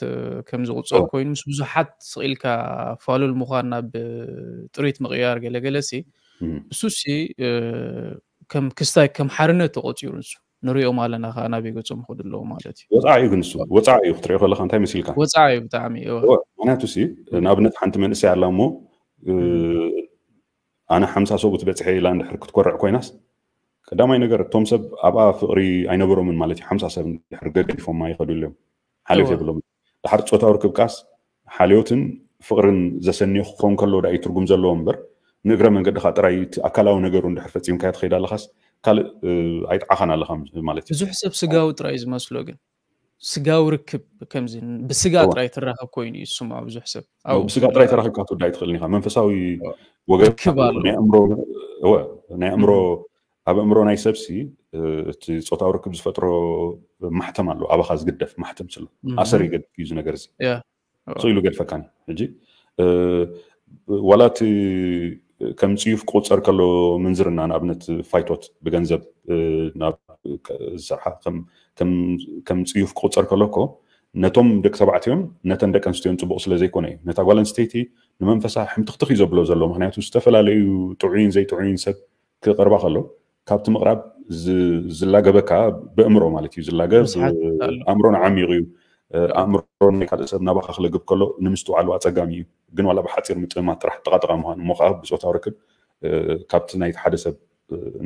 ከም ዝቁፀር ኮይኑ ምስ ብዙሓት ስቂልካ ፋሉል ምዃን ናብ ጥሪት ምቅያር ገለገለ ሲ እሱ ሲ ከም ክስታይ ከም ሓርነት ተቆፂሩ ንሱ ንሪኦም ኣለና ከዓ ናበይ ገፆም ይኸዱ ኣለዉ ማለት እዩ። ወፃኢ እዩ ግን እሱ ወፃኢ እዩ ክትሪኦ ከለካ እንታይ መሲልካ? ወፃኢ እዩ ብጣዕሚ። ምክንያቱ ሲ ንኣብነት ሓንቲ መንእሰይ ኣላ እሞ ኣነ ሓምሳ ሰብኡት በፅሐ ኢላ እንድሕር ክትኮርዕ ኮይናስ ቀዳማይ ነገር እቶም ሰብ ኣብኣ ፍቅሪ ኣይነበሮምን ማለት እዩ። ሓምሳ ሰብ እንድሕር ገዲፎማ ይኸዱ ኣለዮም። ሓልዮት የብሎም። ድሓር ፆታዊ ርክብ ቃስ ሓልዮትን ፍቅርን ዘሰንዮ ክኸውን ከሎ ዳ እዩ ትርጉም ዘለዎ እምበር ንእግረ መንገድኻ ጥራይ እቲ ኣካላዊ ነገሩ እንድሕር ፈፂምካዮ ትኸይድ ኣለኻስ ካልእ ኣይጥዓኻን ኣለኻ ማለት እዩ። ብዙሕ ሰብ ስጋዊ ጥራይ ዝመስሎ ግን ስጋዊ ርክብ ከምዚ ብስጋ ጥራይ ትራኸብ ኮይኑ እዩ ዝስምዖ ብዙሕ ሰብ። ብስጋ ጥራይ ተራኺብካ ትወዳ ኣይትኽእልን ኢኻ። መንፈሳዊ ወገን ርክብ ኣሎ። ናይ ኣእምሮ እወ፣ ናይ ኣእምሮ ኣብ ኣእምሮ ናይ ሰብሲ እቲ ፆታዊ ርክብ ዝፈጥሮ ማሕተም ኣሎ፣ ኣባኻ ዝግደፍ ማሕተም ስሎ ኣሰር ይገድፍ እዩ እዚ ነገር እዚ። ስኢሉ ገድፈካን ሕጂ ዋላ እቲ ከም ፅዩፍ ክቁፀር ከሎ ምንዝርና ንኣብነት ፋይቶት ብገንዘብ ናብ ዝሰርሓ ከም ፅዩፍ ክቁፀር ከሎ እኮ ነቶም ደቂ ተባዕትዮን ነተን ደቂ ኣንስትዮን ፅቡቅ ስለ ዘይኮነ እዩ። ነታ ጓል ኣንስተይቲ ንመንፈሳ ሕምትኽትኽ እዩ ዘብሎ ዘሎ። ምክንያቱ ዝተፈላለዩ ጥዑይን ዘይጥዑይን ሰብ ክቐርባ ከሎ ካብቲ ምቕራብ ዝላገበካ ብእምሮ ማለት እዩ ዝላገብ ኣእምሮን ዓሚቕ እዩ። ኣእምሮ ናይ ካልእ ሰብ ናባኻ ክለግብ ከሎ ንምስትውዓሉ ኣፀጋሚ እዩ። ግን ዋላ ብሓፂር ምጥማት ጥራሕ ጥቓጥቓ ምዃን እሞ ከዓ ብፆታዊ ርክብ ካብቲ ናይቲ ሓደ ሰብ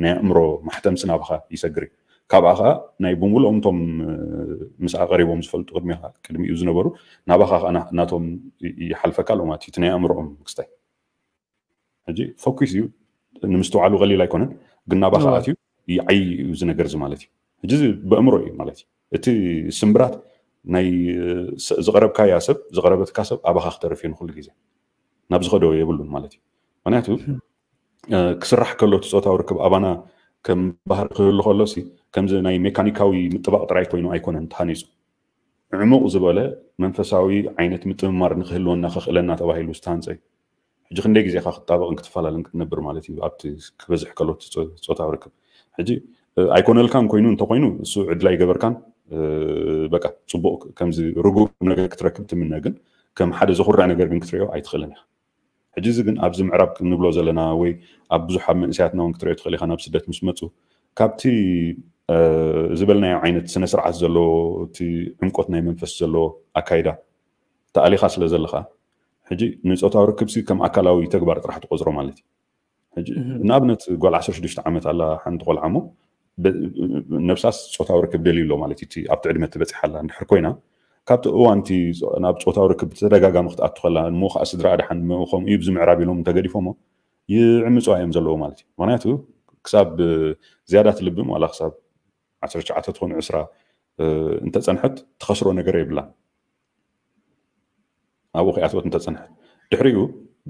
ናይ ኣእምሮ ማሕተምሲ ናባኻ ይሰግር እዩ። ካብኣ ከዓ ናይ ብምሉኦም እቶም ምስኣ ቀሪቦም ዝፈልጡ ቅድሚኻ ቅድሚኡ ዝነበሩ ናባኻ ከዓ ናቶም ይሓልፈካ ኣሎ ማለት እዩ። እቲ ናይ ኣእምሮኦም ክስታይ ሕጂ ፎኪስ እዩ ንምስትውዓሉ ቀሊል ኣይኮነን፣ ግን ናባኻ ኣትዩ ይዓይ እዩ እዚ ነገር እዚ ማለት እዩ። ሕጂ እዚ በእምሮ እዩ ማለት እዩ። እቲ ስምብራት ናይ ዝቐረብካያ ሰብ ዝቐረበትካ ሰብ ኣባኻ ክተርፍ እዩ ንኩሉ ግዜ ናብ ዝኸዶ የብሉን ማለት እዩ። ምክንያቱ ክስራሕ ከሎ እቲ ፆታዊ ርክብ ኣባና ከም ባህሪ ክህሉ ከሎ ሲ ከምዚ ናይ ሜካኒካዊ ምጥባቕ ጥራይ ኮይኑ ኣይኮነን ተሃኒፁ። ዕሙቕ ዝበለ መንፈሳዊ ዓይነት ምጥምማር ንክህልወና ከኽእለና ተባሂሉ ዝተሃንፀ እዩ። ሕጂ ክንደይ ግዜኻ ክትጣበቕን ክትፈላለን ክትነብር ማለት እዩ ኣብቲ ክበዝሕ ከሎ እቲ ፆታዊ ርክብ። ሕጂ ኣይኮነልካን ኮይኑ እንተኮይኑ እሱ ዕድል ኣይገበርካን በቃ ፅቡቅ ከምዚ ርጉም ነገር ክትረክብ ትምነ ግን ከም ሓደ ዘኩርዕ ነገር ግን ክትሪኦ ኣይትኽእልን ኢኻ። ሕጂ እዚ ግን ኣብዚ ምዕራብ ክንብሎ ዘለና ወይ ኣብ ብዙሕ ኣብ መንእሰያትና እውን ክትሪኦ ትኽእል ኢኻ ናብ ስደት ምስ መፁ ካብቲ ዝበልናዮ ዓይነት ስነ ስርዓት ዘለዎ እቲ ዕምቆት ናይ መንፈስ ዘለዎ ኣካይዳ ተኣሊኻ ስለ ዘለኻ ሕጂ ንፆታዊ ርክብሲ ከም ኣካላዊ ተግባር ጥራሕ ትቆፅሮ ማለት እዩ። ንኣብነት ጓል ዓሰርተ ሽዱሽተ ዓመት ኣላ ሓንቲ ቆልዓ ሞ ነብሳስ ፆታዊ ርክብ ደልዩ ኣሎ ማለት እዩ። ኣብቲ ዕድመ ትበፂሓላ እንድሕር ኮይና ካብቲ እዋንቲ ናብ ፆታዊ ርክብ ተደጋጋሚ ክትኣቱ ከላ እሞ ከዓ ስድራ ድሓን ከምኡ እዩ ብዚ ምዕራብ ኢሎም እንተገዲፎሞ ይዕምፅዋ እዮም ዘለዎ ማለት እዩ። ምክንያቱ ክሳብ ዝያዳ ትልብም ዋላ ክሳብ ዓሰርተ ትሽዓተ ትኾን ዕስራ እንተፀንሐት ትኸስሮ ነገር የብላን። ኣብኡ ከይኣትወት እንተፀንሐት ድሕሪኡ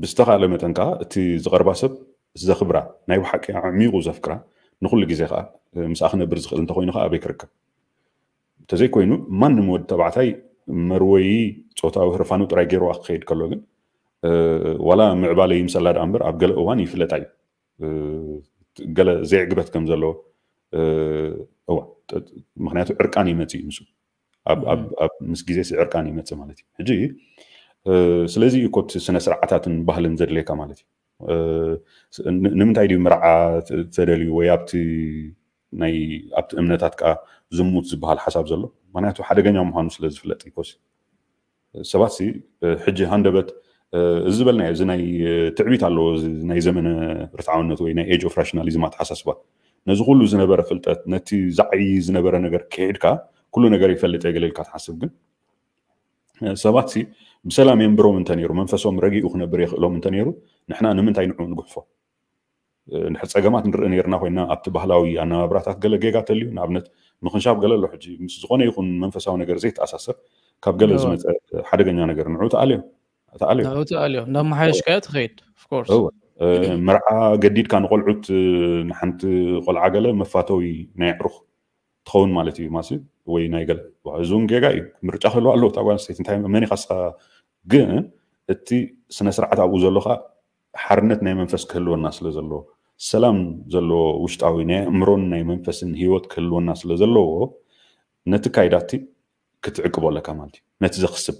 ብዝተኻእለ መጠን ከዓ እቲ ዝቐርባ ሰብ ዘኽብራ ናይ ብሓቂ ኣዕሚቑ ዘፍቅራ ንኩሉ ግዜ ከዓ ምስኣ ክነብር ዝኽእል እንተኮይኑ ከዓ ኣበይ ክርከብ? እንተዘይኮይኑ ማንም ወዲ ተባዕታይ መርወዪ ፆታዊ ህርፋኑ ጥራይ ገይርዋ ክኸይድ ከሎ ግን ዋላ ምዕባለ ይምሰላ ደኣ እምበር ኣብ ገለ እዋን ይፍለጣ እዩ። ገለ ዘይዕግበት ከም ዘሎ እዋ ምክንያቱ ዕርቃን ይመፅእ እዩ ምስ ኣብ ኣብ ኣብ ምስ ግዜ ዕርቃን ይመጽእ ማለት እዩ። ሕጂ ስለዚ እዩ ኮት ስነ ስርዓታትን ባህልን ዘድልየካ ማለት እዩ። ንምንታይ ድዩ መርዓ ተደልዩ ወይ ኣብቲ ናይ ኣብቲ እምነታት ከዓ ዝሙት ዝበሃል ሓሳብ ዘሎ? ምክንያቱ ሓደገኛ ምዃኑ ስለ ዝፍለጥ ይኮስ ሰባት ሲ ሕጂ ሃንደበት እዚ ዝበልናዮ እዚ ናይ ትዕቢት ኣለዎ ናይ ዘመነ ርትዓውነት ወይ ናይ age of rationalism ኣተሓሳስባ ነዚ ኩሉ ዝነበረ ፍልጠት ነቲ ዝዓይ ዝነበረ ነገር ክሒድካ ኩሉ ነገር ይፈልጥ እየ ገለ ኢልካ ትሓስብ ግን ሰባት ሲ ብሰላም የንብሮም እንተነይሩ፣ መንፈሶም ረጊኡ ክነብር የኽእሎም እንተነይሩ፣ ንሕና ንምንታይ ንዑ ንጉሕፎ? እንድሕር ጸገማት ንርኢ ነይርና ኮይና፣ ኣብቲ ባህላዊ ኣነባብራታት ገለ ጌጋ ተልዩ፣ ንኣብነት ምኽንሻብ ገለ ኣሎ። ሕጂ ምስ ዝኾነ ይኹን መንፈሳዊ ነገር ዘይተኣሳሰር ካብ ገለ ዝመፀ ሓደገኛ ነገር ንዑ ተኣልዮ ተኣልዮ ተኣልዮ እንዳመሓየሽካዮ ትኸይድ። መርዓ ገዲድካ ንቆልዑት፣ ንሓንቲ ቆልዓ ገለ መፋተዊ ናይ ኣዕሩኽ ትኸውን ማለት እዩ። ማሲ ወይ ናይ ገለ፣ እዚ እውን ጌጋ እዩ። ምርጫ ክህልዋ ኣለዎ እታ ጓል ኣንስተይቲ። እንታይ መን ኢኻ ንስኻ? ግን እቲ ስነ ስርዓት ኣብኡ ዘሎ ከዓ ሓርነት ናይ መንፈስ ክህልወና ስለ ዘለዎ፣ ሰላም ዘለዎ ውሽጣዊ ናይ ኣእምሮን ናይ መንፈስን ህይወት ክህልወና ስለ ዘለዎ፣ ነቲ ካይዳቲ ክትዕቅቦ ኣለካ ማለት እዩ። ነቲ ዘኽስብ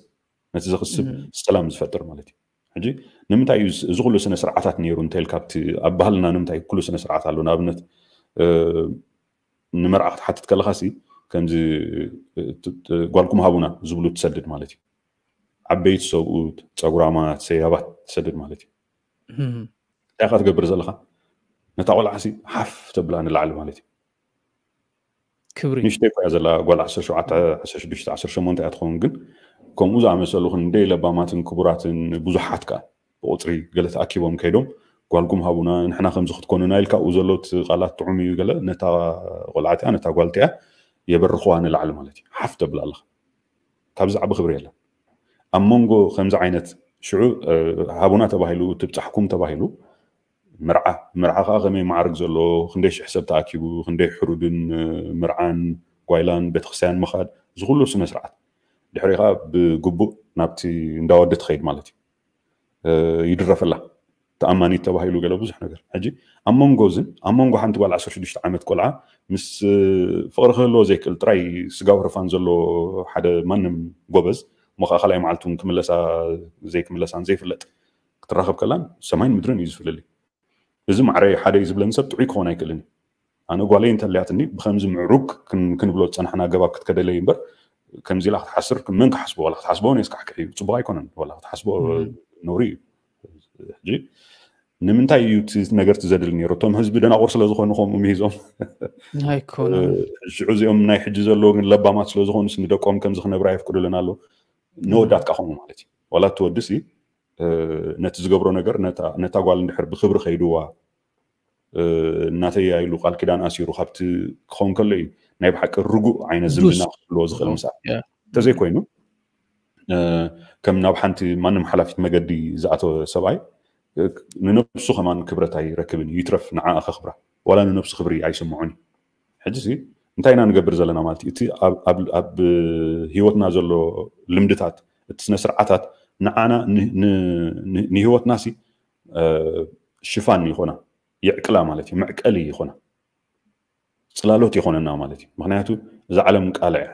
ነቲ ዘኽስብ ሰላም ዝፈጥር ማለት እዩ። ሕጂ ንምንታይ እዩ እዚ ኩሉ ስነ ስርዓታት ነይሩ እንተልካ፣ ኣብቲ ኣብ ባህልና ንምንታይ ኩሉ ስነ ስርዓት ኣሎ? ንኣብነት ንመርዓ ክትሓትት ከለኻ ሲ ከምዚ ጓልኩም ሃቡና ዝብሉ ትሰድድ ማለት እዩ። ዓበይቲ ሰብኡት፣ ፀጉራማት፣ ሰያባት ትሰድድ ማለት እዩ። እንታይ ኢኻ ትገብር ዘለኻ? ነታ ቆልዓ ሲ ሓፍ ተብላ ንላዕሊ ማለት እዩ። ክብሪ ንእሽተይ እኮ እያ ዘላ ጓል ዓሰርተ ሸውዓተ፣ ዓሰርተ ሽዱሽተ፣ ዓሰርተ ሸሞንተ እያ ትኸውን። ግን ከምኡ ዝኣመሰሉ ክንደይ ለባማትን ክቡራትን ብዙሓት ከኣ ብቁፅሪ ገለ ተኣኪቦም ከይዶም ጓልኩም ሃቡና ንሕና ከምዚ ክትኮኑና ኢልካ ኣብኡ ዘሎ እቲ ቃላት ጥዑም እዩ ገለ ነታ ቆልዓ እቲኣ ነታ ጓል እቲኣ የበርኽዋ ንላዕሊ ማለት እዩ። ሓፍ ተብል ኣለኻ። ካብዚ ዓቢ ክብሪ የለን። ኣብ መንጎ ከምዚ ዓይነት ሽዑ ሃቡና ተባሂሉ ትብጻሕኩም ተባሂሉ መርዓ መርዓ ከዓ ከመይ ማዕርግ ዘሎ ክንደይ ሽሕ ሰብ ተኣኪቡ ክንደይ ሕሩድን መርዓን ጓይላን ቤተክርስትያን ምኻድ እዚ ኩሉ ስነ ስርዓት ድሕሪ ከዓ ብግቡእ ናብቲ እንዳወዲ ትኸይድ ማለት እዩ። ይድረፈላ ተኣማኒት ተባሂሉ ገለ ብዙሕ ነገር። ሕጂ ኣብ መንጎ እዝን ኣብ መንጎ ሓንቲ ጓል ዓሰርተ ሽዱሽተ ዓመት ቆልዓ ምስ ፍቕሪ ክህልዎ ዘይክእል ጥራይ ስጋዊ ህርፋን ዘሎ ሓደ ማንም ጎበዝ እሞ ከዓ ካልኣይ መዓልቲ እውን ክምለሳ ዘይክምለሳን ዘይፍለጥ ክትራኸብ ከላን ሰማይን ምድርን እዩ ዝፍልልይ። እዚ ማዕረይ ሓደ እዩ ዝብለኒ ሰብ ጥዑይ ክኾን ኣይክእልን እዩ። ኣነ ጓለይ እንተልያትኒ ብከምዚ ምዕሩግ ክንብሎ ዝፀናሕና ኣገባብ ክትከደለይ እምበር ከምዚ ኢላ ክትሓስር መን ክሓስቦ ዋላ ክትሓስቦ ነስካሕክሕ እዩ። ፅቡቅ ኣይኮነን ዋላ ክትሓስቦ ነውሪ እዩ። ሕጂ ንምንታይ እዩ እቲ ነገር ትዘድል ነይሩ? እቶም ህዝቢ ደናቑር ስለዝኾኑ ከምኡ ምሂዞም ኣይኮነ ሽዑ እዚኦም ናይ ሕጂ ዘለዎ ግን ለባማት ስለዝኾኑ ንደቆም ከምዚ ክነብራ የፍቅዱልን ኣሎ። ነወዳት ከዓ ከምኡ ማለት እዩ። ዋላ እቲ ወዲ ሲ ነቲ ዝገብሮ ነገር ነታ ጓል እንድሕር ብክብሪ ከይድዋ እናተያ ኢሉ ቃል ኪዳን ኣሲሩ ካብቲ ክኸውን ከሎ እዩ ናይ ብሓቂ ርጉእ ዓይነት ዝምድና ክህልዎ ዝኽእል ምሳ እንተዘይኮይኑ ከም ናብ ሓንቲ ማንም ሓላፊት መገዲ ዝኣተወ ሰብኣይ ንነብሱ ከማን ክብረት ኣይረክብን እዩ። ይትረፍ ንዓኣ ከኽብራ ዋላ ንነብሱ ክብሪ ኣይስምዖን እዩ። ሕጂ ሲ እንታይ ኢና ንገብር ዘለና ማለት እዩ? እቲ ኣብ ህይወትና ዘሎ ልምድታት እቲ ስነ ስርዓታት ንዓና ንህይወትና ሲ ሽፋን ይኾና የዕቅላ ማለት እዩ። መዕቀሊ ይኾና ፅላሎት ይኾነና ማለት እዩ። ምክንያቱ እዛ ዓለም ቃልዕ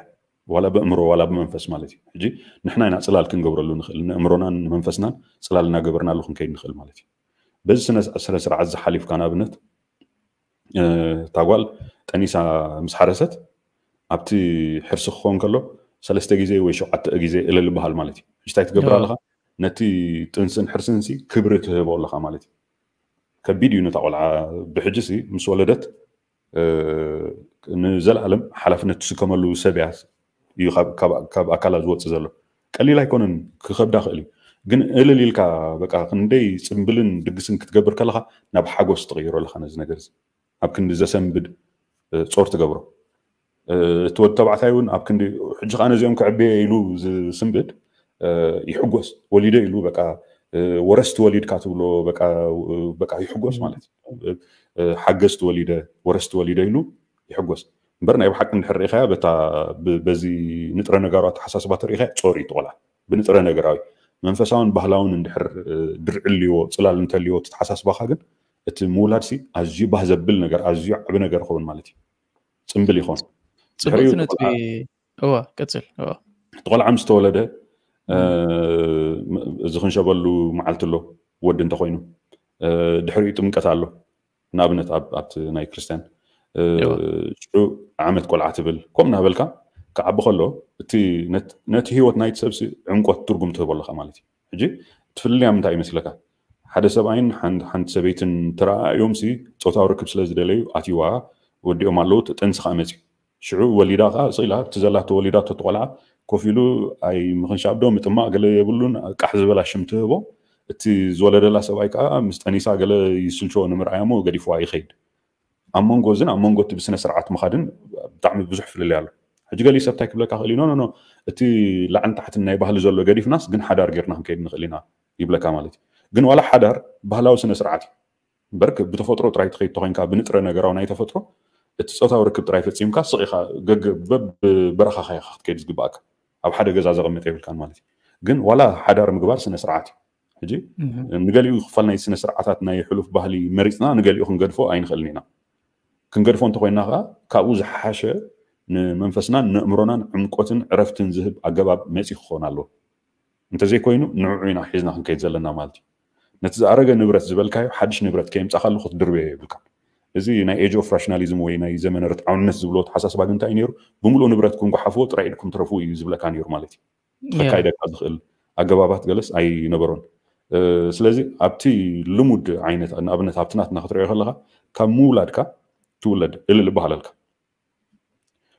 ዋላ ብእምሮ ዋላ ብመንፈስ ማለት እዩ። ሕጂ ንሕና ኢና ፅላል ክንገብረሉ ንኽእል ንእምሮናን ንመንፈስናን ፅላል እናገበርናሉ ክንከይድ ንኽእል ማለት እዩ። በዚ ስነ ስርዓት ዝሓሊፍካ ንኣብነት እታ ጓል ጠኒሳ ምስ ሓረሰት ኣብቲ ሕርሲ ክኸውን ከሎ ሰለስተ ግዜ ወይ ሸውዓተ ግዜ እልል በሃል ማለት እዩ። ሕጂ እንታይ ትገብር ኣለኻ? ነቲ ጥንስን ሕርስን ሲ ክብሪ ትህቦ ኣለኻ ማለት እዩ። ከቢድ እዩ ነታ ቆልዓ። ብሕጂ ሲ ምስ ወለደት ንዘለኣለም ሓላፍነት ትስከመሉ ሰብ እያ እዩ ካብ ኣካላ ዝወፅእ ዘሎ። ቀሊል ኣይኮነን፣ ክኸብዳ ክእል እዩ። ግን እልል ኢልካ በቃ ክንደይ ፅምብልን ድግስን ክትገብር ከለካ ናብ ሓጎስ ትቕይሮ ኣለካ ነዚ ነገር እዚ። ኣብ ክንዲ ዘሰንብድ ጾር ትገብሮ። እቲ ወዲ ተባዕታይ እውን ኣብ ክንዲ ሕጂ ከዓ ነዚኦም ክዕበየ ኢሉ ዝስንብድ ይሕጎስ። ወሊደ ኢሉ በቃ ወረስቲ ወሊድካ ትብሎ በቃ ይሕጎስ ማለት እዩ። ሓገዝቲ ወሊደ ወረስቲ ወሊደ ኢሉ ይሕጎስ። እምበር ናይ ብሓቂ እንድሕር ርኢኻያ በዚ ንጥረ ነገራዊ ኣተሓሳስባ ተርኢኻያ ጾር እዩ ትቆልዓ። ብንጥረ ነገራዊ መንፈሳውን ባህላውን እንድሕር ድርዒ ልዎ ፅላል እንተልዎ ተተሓሳስባካ ግን እቲ ምውላድ ሲ ኣዝዩ ባህ ዘብል ነገር ኣዝዩ ዓቢ ነገር ይኸውን ማለት እዩ። ፅምብል ይኾን ፅቡቅ ነጥቢ። እዋ ቀፅል። እዋ እቲ ቆልዓ ምስ ተወለደ እዚ ክንሸበሉ መዓልቲ ኣሎ። ወዲ እንተኮይኑ ድሕሪኡ ጥምቀት ኣሎ። ንኣብነት ኣብቲ ናይ ክርስትያን ሽዑ ዓመት ቆልዓ ትብል ከምኡ እናበልካ ክዓቢ ከሎ እቲ ነቲ ህይወት ናይቲ ሰብሲ ዕምቆት ትርጉም ትህቦ ኣለካ ማለት እዩ። ሕጂ እቲ ፍልልያ ምንታይ ይመስለካ? ሓደ ሰብኣይን ሓንቲ ሰበይትን ተረኣእዮም ሲ ፆታዊ ርክብ ስለ ዝደለዩ ኣትይዋ ወዲኦም ኣለዉ። ጥንሲ ከዓ መፅዩ ሽዑ ወሊዳ ከዓ ስኢላ እቲ ዘላቶ ወሊዳቶ ትቆልዓ ኮፍ ኢሉ ኣይ ምኽንሻብ ዶ ምጥማቕ ገለ የብሉን። ቃሕ ዝበላ ሽም ትህቦ። እቲ ዝወለደላ ሰብኣይ ከዓ ምስ ጠኒሳ ገለ ይስልችዎ ንምርኣያ እሞ ገዲፍዋ ይኸይድ። ኣብ መንጎ እዝን ኣብ መንጎ እቲ ብስነ ስርዓት ምኻድን ብጣዕሚ ብዙሕ ፍልልይ ኣሎ። ሕጂ ገሊኡ ሰብ እንታይ ክብለካ ክእል እዩ፣ ኖ ኖ ኖ፣ እቲ ላዕልን ታሕትን ናይ ባህሊ ዘሎ ገዲፍናስ ግን ሓዳር ጌርና ክንከይድ ንኽእል ኢና ይብለካ ማለት እዩ። ግን ዋላ ሓዳር ባህላዊ ስነ ስርዓት እዩ እምበር፣ ብተፈጥሮ ጥራይ ትኸይድ ተኾይንካ፣ ብንጥረ ነገራዊ ናይ ተፈጥሮ እቲ ፆታዊ ርክብ ጥራይ ፈፂምካ ስቕ ኢኻ፣ ገገ በብ በረኻኻ ኢኻ ክትከይድ ዝግባእካ። ኣብ ሓደ ገዛ ዘቐምጥ የብልካን ማለት እዩ። ግን ዋላ ሓዳር ምግባር ስነ ስርዓት እዩ። ሕጂ ንገሊኡ ክፋል ናይ ስነ ስርዓታት ናይ ሕሉፍ ባህሊ መሪፅና ንገሊኡ ክንገድፎ ኣይንኽእልን ኢና። ክንገድፎ እንተኮይንና ከዓ ካብኡ ዝሓሸ ንመንፈስናን ንእምሮናን ዕምቆትን ዕረፍትን ዝህብ ኣገባብ መፂ ክኸውን ኣለዎ። እንተዘይኮይኑ ንዕዑ ኢና ሒዝና ክንከይድ ዘለና ማለት እዩ። ነቲ ዝኣረገ ንብረት ዝበልካዮ ሓድሽ ንብረት ከየምፃእካሉ ክትድርብዮ የብልካን። እዚ ናይ age of rationalism ወይ ናይ ዘመነ ርትዓውነት ዝብሎ ተሓሳስባ ግን እንታይ እዩ ነይሩ? ብምሉእ ንብረትኩም ጓሓፍዎ ጥራይ ኢድኩም ትረፍዎ እዩ ዝብለካ ነይሩ ማለት እዩ። ከካይደካ ዝኽእል ኣገባባት ገለስ ኣይነበሮን። ስለዚ ኣብቲ ልሙድ ዓይነት ንኣብነት ኣብቲ ናትና ክትሪኦ ከለካ ካብ ምውላድካ ትውለድ እልል ይበሃለልካ።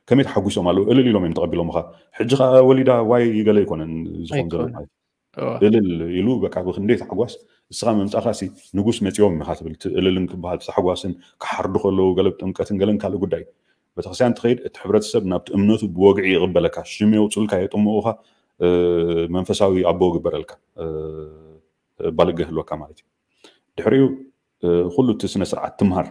ከመይ ተሓጒሶም ኣለዉ እልል ኢሎም እዮም ተቐቢሎምኻ። ሕጂ ከዓ ወሊዳ ዋይ ገለ ኣይኮነን ዝኾን ዘሎ ማለት እዩ። እልል ኢሉ በቃ ብክንደይ ታሕጓስ እስኻ ምምፃእካ ሲ ንጉስ መፂኦም ኢኻ ትብል። እቲ እልልን ክበሃል ታሕጓስን ክሓርዱ ከለዉ ገለ ብጥምቀትን ገለን ካልእ ጉዳይ። ቤተክርስትያን ትኸይድ እቲ ሕብረተሰብ ናብቲ እምነቱ ብወግዒ ይቕበለካ። ሽም የውፅኡልካ የጥምቑኻ መንፈሳዊ ኣቦ ግበረልካ ባልገ ህልወካ ማለት እዩ። ድሕሪኡ ኩሉ እቲ ስነ ስርዓት ትምሃር።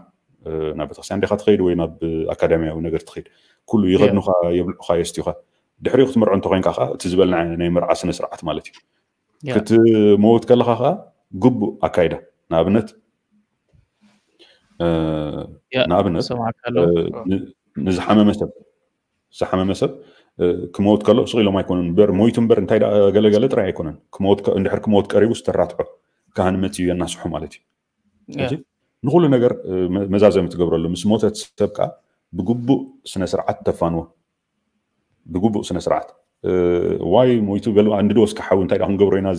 ናብ ቤተክርስትያን ዲኻ ትኸይድ ወይ ናብ ኣካዳሚያዊ ነገር ትኸይድ? ኩሉ ይኸድኑኻ፣ የብልዑኻ፣ የስትዩኻ። ድሕሪኡ ክትምርዖ እንተኮይንካ ከዓ እቲ ዝበልና ናይ መርዓ ስነ ስርዓት ማለት እዩ። ክትመውት ከለካ ከዓ ግቡእ ኣካይዳ፣ ንኣብነት ንኣብነት ንዝሓመመ ሰብ ዝሓመመ ሰብ ክመውት ከሎ ስቕ ኢሎም ኣይኮኑን እምበር፣ ሞይቱ እምበር እንታይ ገለገለ ጥራይ ኣይኮነን። እንድሕር ክመውት ቀሪቡ ዝተራትዖ ካህን መፅዩ የናስሖ ማለት እዩ። ንኩሉ ነገር መዛዘሚ ትገብረሉ። ምስ ሞተት ሰብ ከዓ ብግቡእ ስነ ስርዓት ተፋንዎ። ብግቡእ ስነ ስርዓት ዋይ ሞይቱ በሉ እንድዶ እስከ ሓዊ እንታይ ደኣ ክንገብሮ ኢና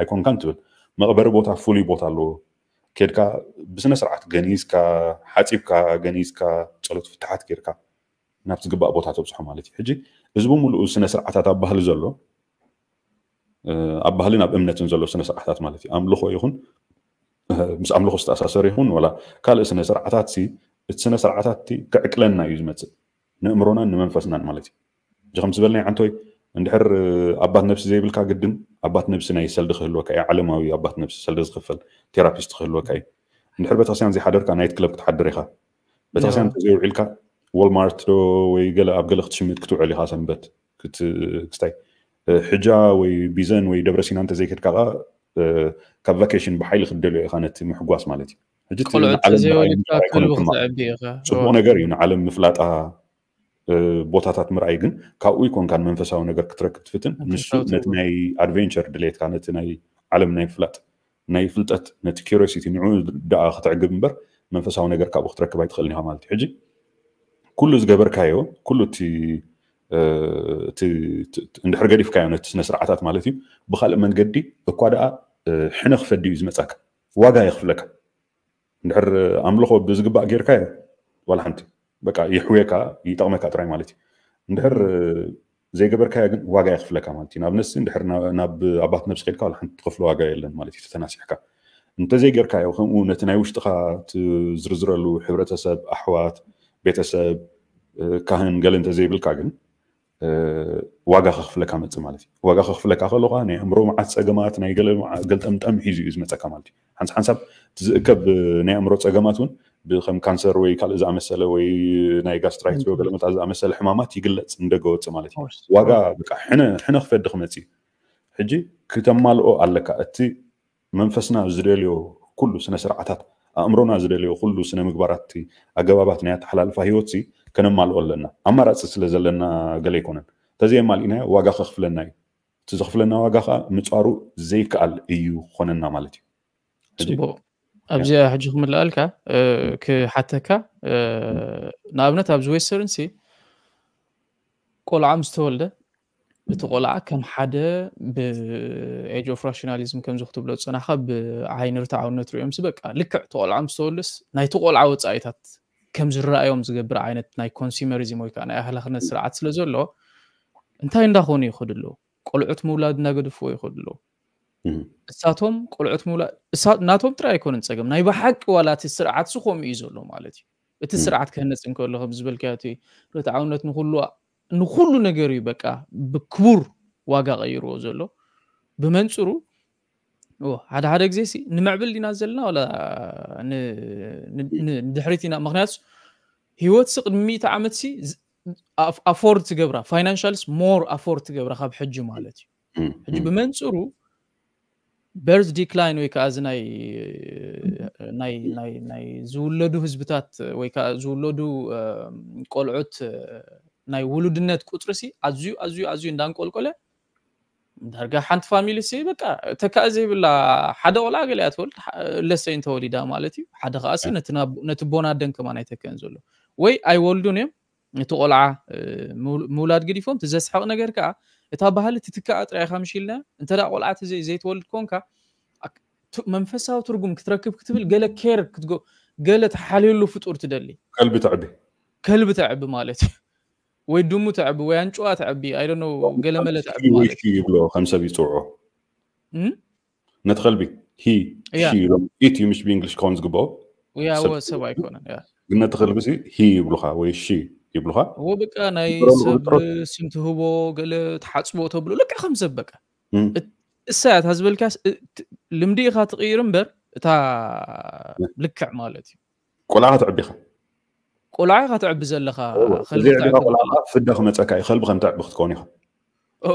ኣይኮንካን ትብል። መቕበሪ ቦታ ፍሉይ ቦታ ኣለዎ። ኬድካ ብስነ ስርዓት ገኒዝካ ሓፂብካ ገኒዝካ ፀሎት ፍትሓት ጌርካ ናብ ዝግባእ ቦታ ተብፅሖ ማለት እዩ። ሕጂ እዚ ብምሉኡ ስነ ስርዓታት ኣብ ባህሊ ዘሎ ኣብ ባህልን ኣብ እምነትን ዘሎ ስነ ስርዓታት ማለት እዩ። ኣምልኾ ይኹን ምስ ኣምልኾ ዝተኣሳሰር ይኹን ዋላ ካልእ ስነ ስርዓታት ሲ እቲ ስነ ስርዓታት እቲ ክዕቅለና እዩ ዝመፅእ ንእምሮናን ንመንፈስናን ማለት እዩ። እዚ ከም ዝበልናይ ዓንቶይ እንድሕር ኣባት ነብሲ ዘይብልካ ግድን ኣባት ነብሲ ናይ ሰልዲ ክህልወካ እዩ። ዓለማዊ ኣባት ነብሲ ሰልዲ ዝኽፈል ቴራፒስት ክህልወካ እዩ። እንድሕር ቤተክርስትያን ዘይሓደርካ ናይት ክለብ ክትሓድር ኢኻ። ቤተክርስትያን እንተዘይውዒልካ ወልማርት ዶ ወይ ገለ ኣብ ገለ ክትሽምት ክትውዕል ኢኻ ሰንበት ክስታይ ሕጃ ወይ ቢዘን ወይ ደብረ ሲና እንተዘይከድካ ከዓ ካብ ቫኬሽን ብሓይሊ ክትደልዮ ኢኻ ነቲ ምሕጓስ ማለት እዩ። ሕጂ እቲ ቆልዑ ንዓለም ምርኣይ ተዘይወሊድካ ምሻር ኣይኮነን ክልቡ ሕማቕ። ክትዕቢ ኢኻ። ጽቡቕ ነገር እዩ ንዓለም ምፍላጣ፣ እ፣ ቦታታት ምርኣይ፣ ግን ካብኡ ይኮንካ ንመንፈሳዊ ነገር ክትረክብ ትፍትን። ንሱ መንፈሳዊ ነቲ ትርጉም። ናይ ኣድቬንቸር ድሌትካ፣ ነቲ ናይ ዓለም ናይ ምፍላጥ፣ ናይ ፍልጠት፣ ነቲ ኪሪዮሲቲ ንዕኡ ደኣ ክትዕግብ እምበር መንፈሳዊ ነገር ካብኡ ክትረክብ ኣይትኽእልን ኢኻ ማለት እዩ። ሕጂ ኩሉ ዝገበርካዮ፣ ኩሉ እቲ፣ እ፣ እቲ፣ እቲ፣ እንድሕር ገዲፍካዮ ነቲ ስነ ስርዓታት ማለት እዩ፣ ብኻልእ መንገዲ እኳ ደኣ፣ እ፣ ሕነ ክፈዲ እዩ ዝመጻካ። ዋጋ የኽፍለካ። እንድሕር ኣምልኾ ብዝግባእ ጌርካዮ ዋላ ሓንቲ በቃ ይሕውየካ፣ ይጠቕመካ ጥራይ ማለት እዩ። እንድሕር ዘይገበርካዮ ግን ዋጋ የኽፍለካ ማለት እዩ። ንኣብነት እንድሕር ና-፣ ናብ ኣባት ነብሲ ከድካ ዋላ ሓንቲ ትኸፍሎ ዋጋ የለን ማለት እዩ። ተተናሲሕካ እንተዘይጌርካዮ፣ ከምኡ ነቲ ናይ ውሽጥኻ ትዝርዝረሉ ሕብረተሰብ፣ ኣሕዋት፣ ቤተሰብ፣ እ፣ ካህን ገለ እንተዘይብልካ ግን እ፣ ዋጋ ከኽፍለካ መጽእ ማለት እዩ። ዋጋ ከኽፍለካ ከሎ ኸዓ ናይ ኣእምሮ መዓት ጸገማት፣ ናይ ገለ መዓ-፣ ገልጠምጠም ሒዙ እዩ ዝመጸካ ማለት እዩ። ሓንስ ሓንሳብ እቲ ዝእከብ፣ እ፣ ናይ ኣእምሮ ጸገማት እውን ብከም ካንሰር ወይ ካልእ ዝኣመሰለ ወይ ናይ ጋስትራይትስ ወይ ገለ መታ ዝኣመሰለ ሕማማት ይግለጽ ንደገ ወጽእ ማለት እዩ። ኦርስ-፣ ዋጋ ኦር-፣ በቃ ሕነ፣ ሕነ ክፈዲ ክመጽእ እዩ። ሕጂ ክተማልኦ ኣለካ። እቲ መንፈስና ዝደልዮ ኩሉ ስነ ስርዓታት፣ ኣእምሮና ዝደልዮ ኩሉ ስነ ምግባራት፣ ኣገባባት ናይ ኣተሓላልፋ ህይወት ሲ ከነማልኦ ኣለና። ኣማራጺ ስለ ዘለና ገለ ኣይኮነን። ተዘየማሊእናዮ ዋጋ ከኽፍለና እዩ። እቲ ዘኽፍለና ዋጋ ኸዓ ምጻሩ ዘይከኣል እዩ ክኾነና ማለት እዩ። ሕጂ ጽቡቕ። ኣብዚኣ ሕጂ ክምልኣልካ፣ እ፣ ክሓተካ፣ እ፣ ንኣብነት ኣብዚ ዌስተርን ሲ ቆልዓ ምስ ተወልደ፣ እቲ ቆልዓ ከም ሓደ ብ ኤጅ ኦፍ ራሽናሊዝም ከምዚ ክትብሎ ዝጸናሕካ ብዓይኒ ርትዓውነት ሪኦምሲ በቃ ልክዕ እቲ ቆልዓ ምስ ተወልደስ ናይቲ ቆልዓ ወጻኢታት ከም ዝረኣዮም ዝገብር ዓይነት ናይ ኮንሱመሪዝም ወይ ከኣ ናይ ኣህላኽነት ስርዓት ስለ ዘሎ እንታይ እንዳኾኑ ይኸዱ ኣለዉ? ቆልዑት ምውላድ እናገድፍዎ ይኸዱ ኣለዉ። እሳቶም ቆልዑት ምውላድ፣ እሳ-፣ ናቶም ጥራይ ኣይኮነን ጸገም፣ ናይ ብሓቂ ዋላ እቲ ስርዓት ሲ ከምኡ እዩ ዘሎ ማለት እዩ። እቲ ስርዓት ክህነጽ እንከሎ ከም ዝበልካዮ እቲ ርትዓውነት ንኹሉ፣ ንኹሉ ነገር እዩ በቃ ብክቡር ዋጋ ቀይርዎ ዘሎ። ብመንጽሩ ኦ፣ ሓደ ሓደ ግዜ ሲ ንምዕብል ዲና ዘለና ዋላ ን-፣ ን-፣ ን-፣ ንድሕሪት ኢና? ምኽንያቱ ህይወት ሲ ቅድሚ ሚእቲ ዓመት ሲ ዝ-፣ ኣፍ-፣ ኣፎርድ ትገብራ፣ ፋይናንሻልስ ሞር ኣፎርድ ትገብራ ካብ ሕጂ ማለት እዩ። ሕጂ ብመንጽሩ በርዝ ዲክላይን ወይ ከዓ እዚ ናይ፣ ናይ፣ ናይ፣ ናይ ዝውለዱ ህዝብታት ወይ ከዓ ዝውለዱ፣ እ፣ ቆልዑት፣ እ፣ ናይ ውሉድነት ቁጽሪ ሲ ኣዝዩ፣ ኣዝዩ፣ ኣዝዩ እንዳንቆልቆለ ዳርጋ ሓንቲ ፋሚሊ ሲ በቃ ተካእ ዘይብላ ሓደ ቆልዓ ገለ እያ ትወልድ፣ ሓ-፣ ለሰይን ተወሊዳ ማለት እዩ። ሓደ ከዓ ሲ ነቲ ናብ-፣ ነቲ ቦን ኣደን ከማን ኣይተክእን ዘሎ። ወይ ኣይወልዱን እዮም፣ እቲ ቆልዓ፣ እ፣ ምው-፣ ምውላድ ገዲፎም፣ እቲ ዘስሕቕ ነገር ከዓ እታ ባህሊ ትትካእ ጥራይ ኢኻ ምሽ ኢልና፣ እንተ ደኣ ቆልዓ ተዘይ-፣ ዘይትወልድ ኮንካ፣ ኣክ-፣ ቱ-፣ መንፈሳዊ ትርጉም ክትረክብ ክትብል ገለ ኬር ክትጎ-፣ ገለ ትሓልየሉ ፍጡር ትደሊ። ከልቢ ተዕቢ። ከልቢ ተዕቢ ማለት እዩ። ወይ ድሙ ተዕቢ፣ ወይ ኣንጭዋ ተዕቢ፣ I don't know፣ ገለ መለ ተዕቢ ወይ ማለት ሺ ይብሎ ከም ሰብ ይጽውዖ። እም? ነቲ ከልቢ ሂ፣ ያ። ሺ ኢሎም፣ ኢት እዩ ምሽ ብእንግሊሽ ክኸውን ዝግብኦ። ያ፣ ሰብ እወ፣ ሰብ ኣይኮነን፣ ያ። ግን ነቲ ከልቢ ሲ ሂ ይብሉኻ ወይ ሺ ይብሉኻ። እወ፣ በቃ ናይ ይብረሉ ሰብ ፍጥረት። ስም ትህቦ፣ ገለ ትሓጽቦ ተብሎ፣ ልክዕ ከም ሰብ በቃ። እም። እት-፣ እሳ እያ እታ ዝበልካስ፣ እ-፣ ት-፣ ልምዲ ኢኻ ትቕይር እምበር፣ እታ እ። ልክዕ ማለት እዩ። ቆልዓ ተዕቢኻ። ቆልዓ ኢኻ ተዕቢ ዘለኻ፣ እወ፣ ከልቢ እዚ ዕቢኻ ተዕቢ ቆልዓ ዘለኻ። ከኣ ፍዳ ክመጸካ እዩ፣ ከልቢ ከም ተዕቢ ክትከውን ኢኻ። ኦ።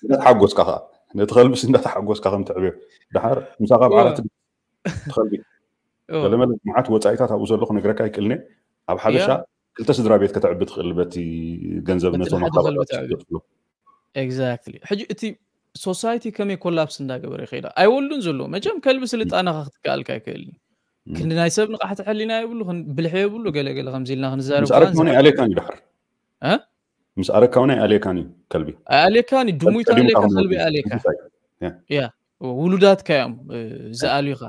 እንዳተሓጎስካ ከኣ፣ ነቲ ከልብስ እንዳተሓጎስካ ከም ተዕብዮ። ደሓር ምሳኻ ኣብ እወ። ዓራት ትኸልቢ። እወ። ገለመለ መዓት ወጻኢታት ኣብኡ ዘሎ ክነግረካ ኣይክእልን እየ። ኣብ ሓበሻ ያ። ክልተ ስድራ ቤት ከተዕቢ ትኽእል በቲ ገንዘብ በቲ ነቶም ሓደ ኣኻባቢ ከልቢ ተዕቢ። ትኽእሉ። ኤግዛክትሊ። ሕጂ እቲ ሶሳይቲ ከመይ ኮላፕስ እንዳገበረ ይኸይዳ? ኣይወልዱን ዘለዉ። መቸም ከልቢ ስልጣነኻ ክትከኣልካ ኣይክእልን። እም። ክንዲ ናይ ሰብ ንቕሓት ሕሊና የብሉ፣ ክን-፣ ብልሒ የብሉ፣ ገለ ገለ ከምዚ ኢልና ክንዛረብ ምስ ኣረግካ ከኣ እውን ኣይኣልየካን እዩ ደሓር። እ? ምስ ኣረግካ እውን ኣይኣልየካን እዩ ከልቢ። ኣይኣልየካን እዩ፣ ድሙ ከልቢ ይተኣልየካ፣ ከልቢ ይኣልየካ። ሕጉስ ኣይ-፣ ያ። ያ፣ ውሉዳትካ እዮም፣ እ፣ ዝኣልዩኻ።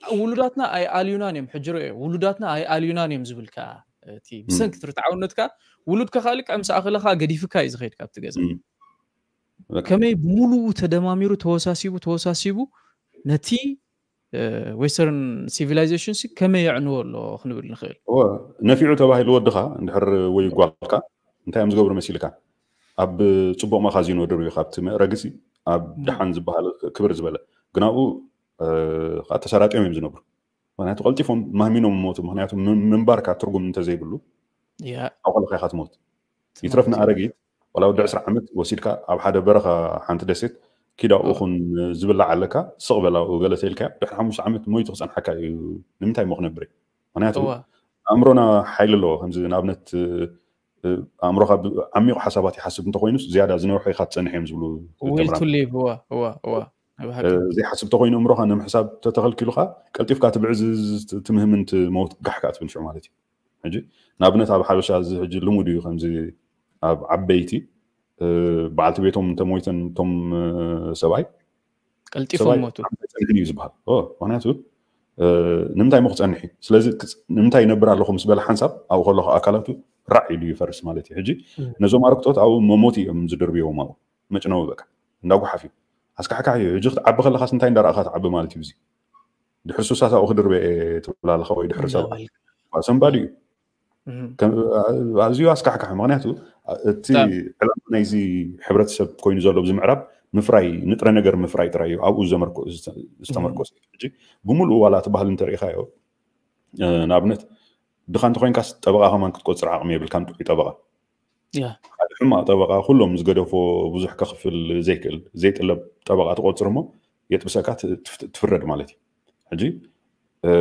ውሉዳትና ኣይኣልዩናን እዮም፣ ሕጂ ርኦ፣ ውሉዳትና ኣይኣልዩናን እዮም ዝብል ከኣ፣ እቲ እም። ብሰንኪ ትርትዓውነትካ፣ ውሉድካ ከኣ ልክዕ ምስ ኣኸለ ከኣ ገዲፍካ እዩ ዝኸይድ ካብቲ ገዛ። እም። በቃ። ከመይ ብምሉኡ ተደማሚሩ፣ ተወሳሲቡ፣ ተወሳሲቡ፣ ነቲ፣ እ፣ ዌስተርን ሲቪላይዜሽን ሲ ከመይ የዕንዎ ኣሎ ክንብል ንኽእል? እወ፣ ነፊዑ ተባሂሉ ወድኻ እንድሕር ወይ ጓልካ እንታይ እዮም ዝገብሩ መሲልካ? ኣብ ጽቡቕ መኻዚኖ ድርብዩ ካብቲ መእረግሲ ኣብ እም። ደሓን ዝበሃል ክብር ዝበለ። ግን ኣብኡ፣ እ፣ ከኣ ተሰራጥዮም እዮም ዝነብሩ። ምኽንያቱ ቀልጢፎም ማህሚኖም ሞቱ። ምኽንያቱ ም-፣ ምንባርካ ትርጉም እንተዘይብሉ፣ ያ። ኣብ ቆልኻ ኢኻ ትሞት። ትሞት፣ ይትረፍ ያ። ንኣረጊት፣ ዋላ ወዲ ዕስራ ዓመት ወሲድካ ኣብ ሓደ በረኻ ሓንቲ ደሴት ኪድ ኣብኡ እወ። ኹን ዝብላዕ ኣለካ፣ ስቕ በል ኣብኡ ገለ ተኢልካዮ፣ ድሕሪ ሓሙሽተ ዓመት ሞይቱ ክጸንሓካ እዩ። ንምንታይ እሞ ክነብር እየ? ምኽንያቱ እወ። ኣእምሮና ሓይሊ ኣለዎ። ከምዚ ንኣብነት፣ እ፣ ኣእምሮኻ ብ-፣ ዓሚቑ ሓሳባት ይሓስብ እንተኾይኑስ ዝያዳ ዝነውሑ ኢኻ ትጸንሕ እዮም ዝብሉ ዊል ቱ ተምራን። ሊቭ፣ እወ፣ እወ፣ እወ። ናይ ብሓቂ። እ፣ ዘይሓስብ እንተኾይኑ እምሮኻ ንምሕሳብ ተተኸልኪሉኻ ቀልጢፍካ ትብዕዝ ትምህምን ትመውት ጋሕ ከኣ ትብል ሽዑ ማለት እዩ። ሕጂ ንኣብነት ኣብ ሓበሻ እዚ ሕጂ ልሙድ እዩ፣ ከምዚ ኣብ ዓበይቲ፣ እ፣ በዓልቲ ቤቶም እንተሞይተን እቶም፣ እ፣ ሰብኣይ፣ ቀልጢፎም ሰብኣይ ሞቱ። ሓንቲ ጸኒሑ እዩ ዝበሃል። ኦ፣ ምኽንያቱ፣ እ፣ ንምንታይ እሞ ክጸንሕ እዩ? ስለዚ ክጽ-፣ ንምንታይ ይነብር ኣለኹ ምስ በለ ሓንሳብ ኣብኡ ከለኹ ኣካላቱ ራዕ ኢሉ ይፈርስ ማለት እዩ። ሕጂ እም። ነዞም ኣረግቶት ኣብኡ መሞት እዮም ዝድርብዎም ኣብኡ። መጭነዊ በቃ። እንዳጓሓፍ እዩ። ኣስካሕካሕ እዩ። ሕጂ ክትዓቢ ከለኻስ እንታይ እንዳረኣኻ ትዓቢ ማለት እዩ እዚ? ድሕሪ ሱሳት ኣብኡ ክድርበ እየ ትብል ኣለኻ ወይ ድሕሪ ሰብኣ። እንዳበልካ። ሰንባዲ እዩ። እም። ከም-፣ ኣዝዩ ኣስካሕካሒ። ምኽንያቱ፣ እቲ ብጣዕሚ። ዕላማ ናይዚ ሕብረተሰብ ኮይኑ ዘሎ ኣብዚ ምዕራብ ምፍራይ፣ ንጥረ ነገር ምፍራይ ጥራይ እዩ። ኣብኡ ዘመርኮ-፣ ዝተ-፣ ዝተመርኮሰ እዩ። ሕጂ ብምሉኡ ዋላ እቲ ባህሊ እንተሪኢኻዮ፣ እ፣ ንኣብነት፣ ድኻ እንተኾይንካስ ጠበቓ ከማን ክትቆጽር ዓቕሚ የብልካን፣ ጥዑይ ጠበቓ። ያ። ሓደ ሕማቕ ጠበቓ፣ ኩሎም ዝገደፎ ብዙሕ ከኽፍል ዘይክእል፣ ዘይጥለብ ጠበቓ ትቆጽር እሞ የጥብሰካ፣ ት-፣ ትፍ-፣ ትፍረድ ማለት እዩ። ሕጂ፣ እ፣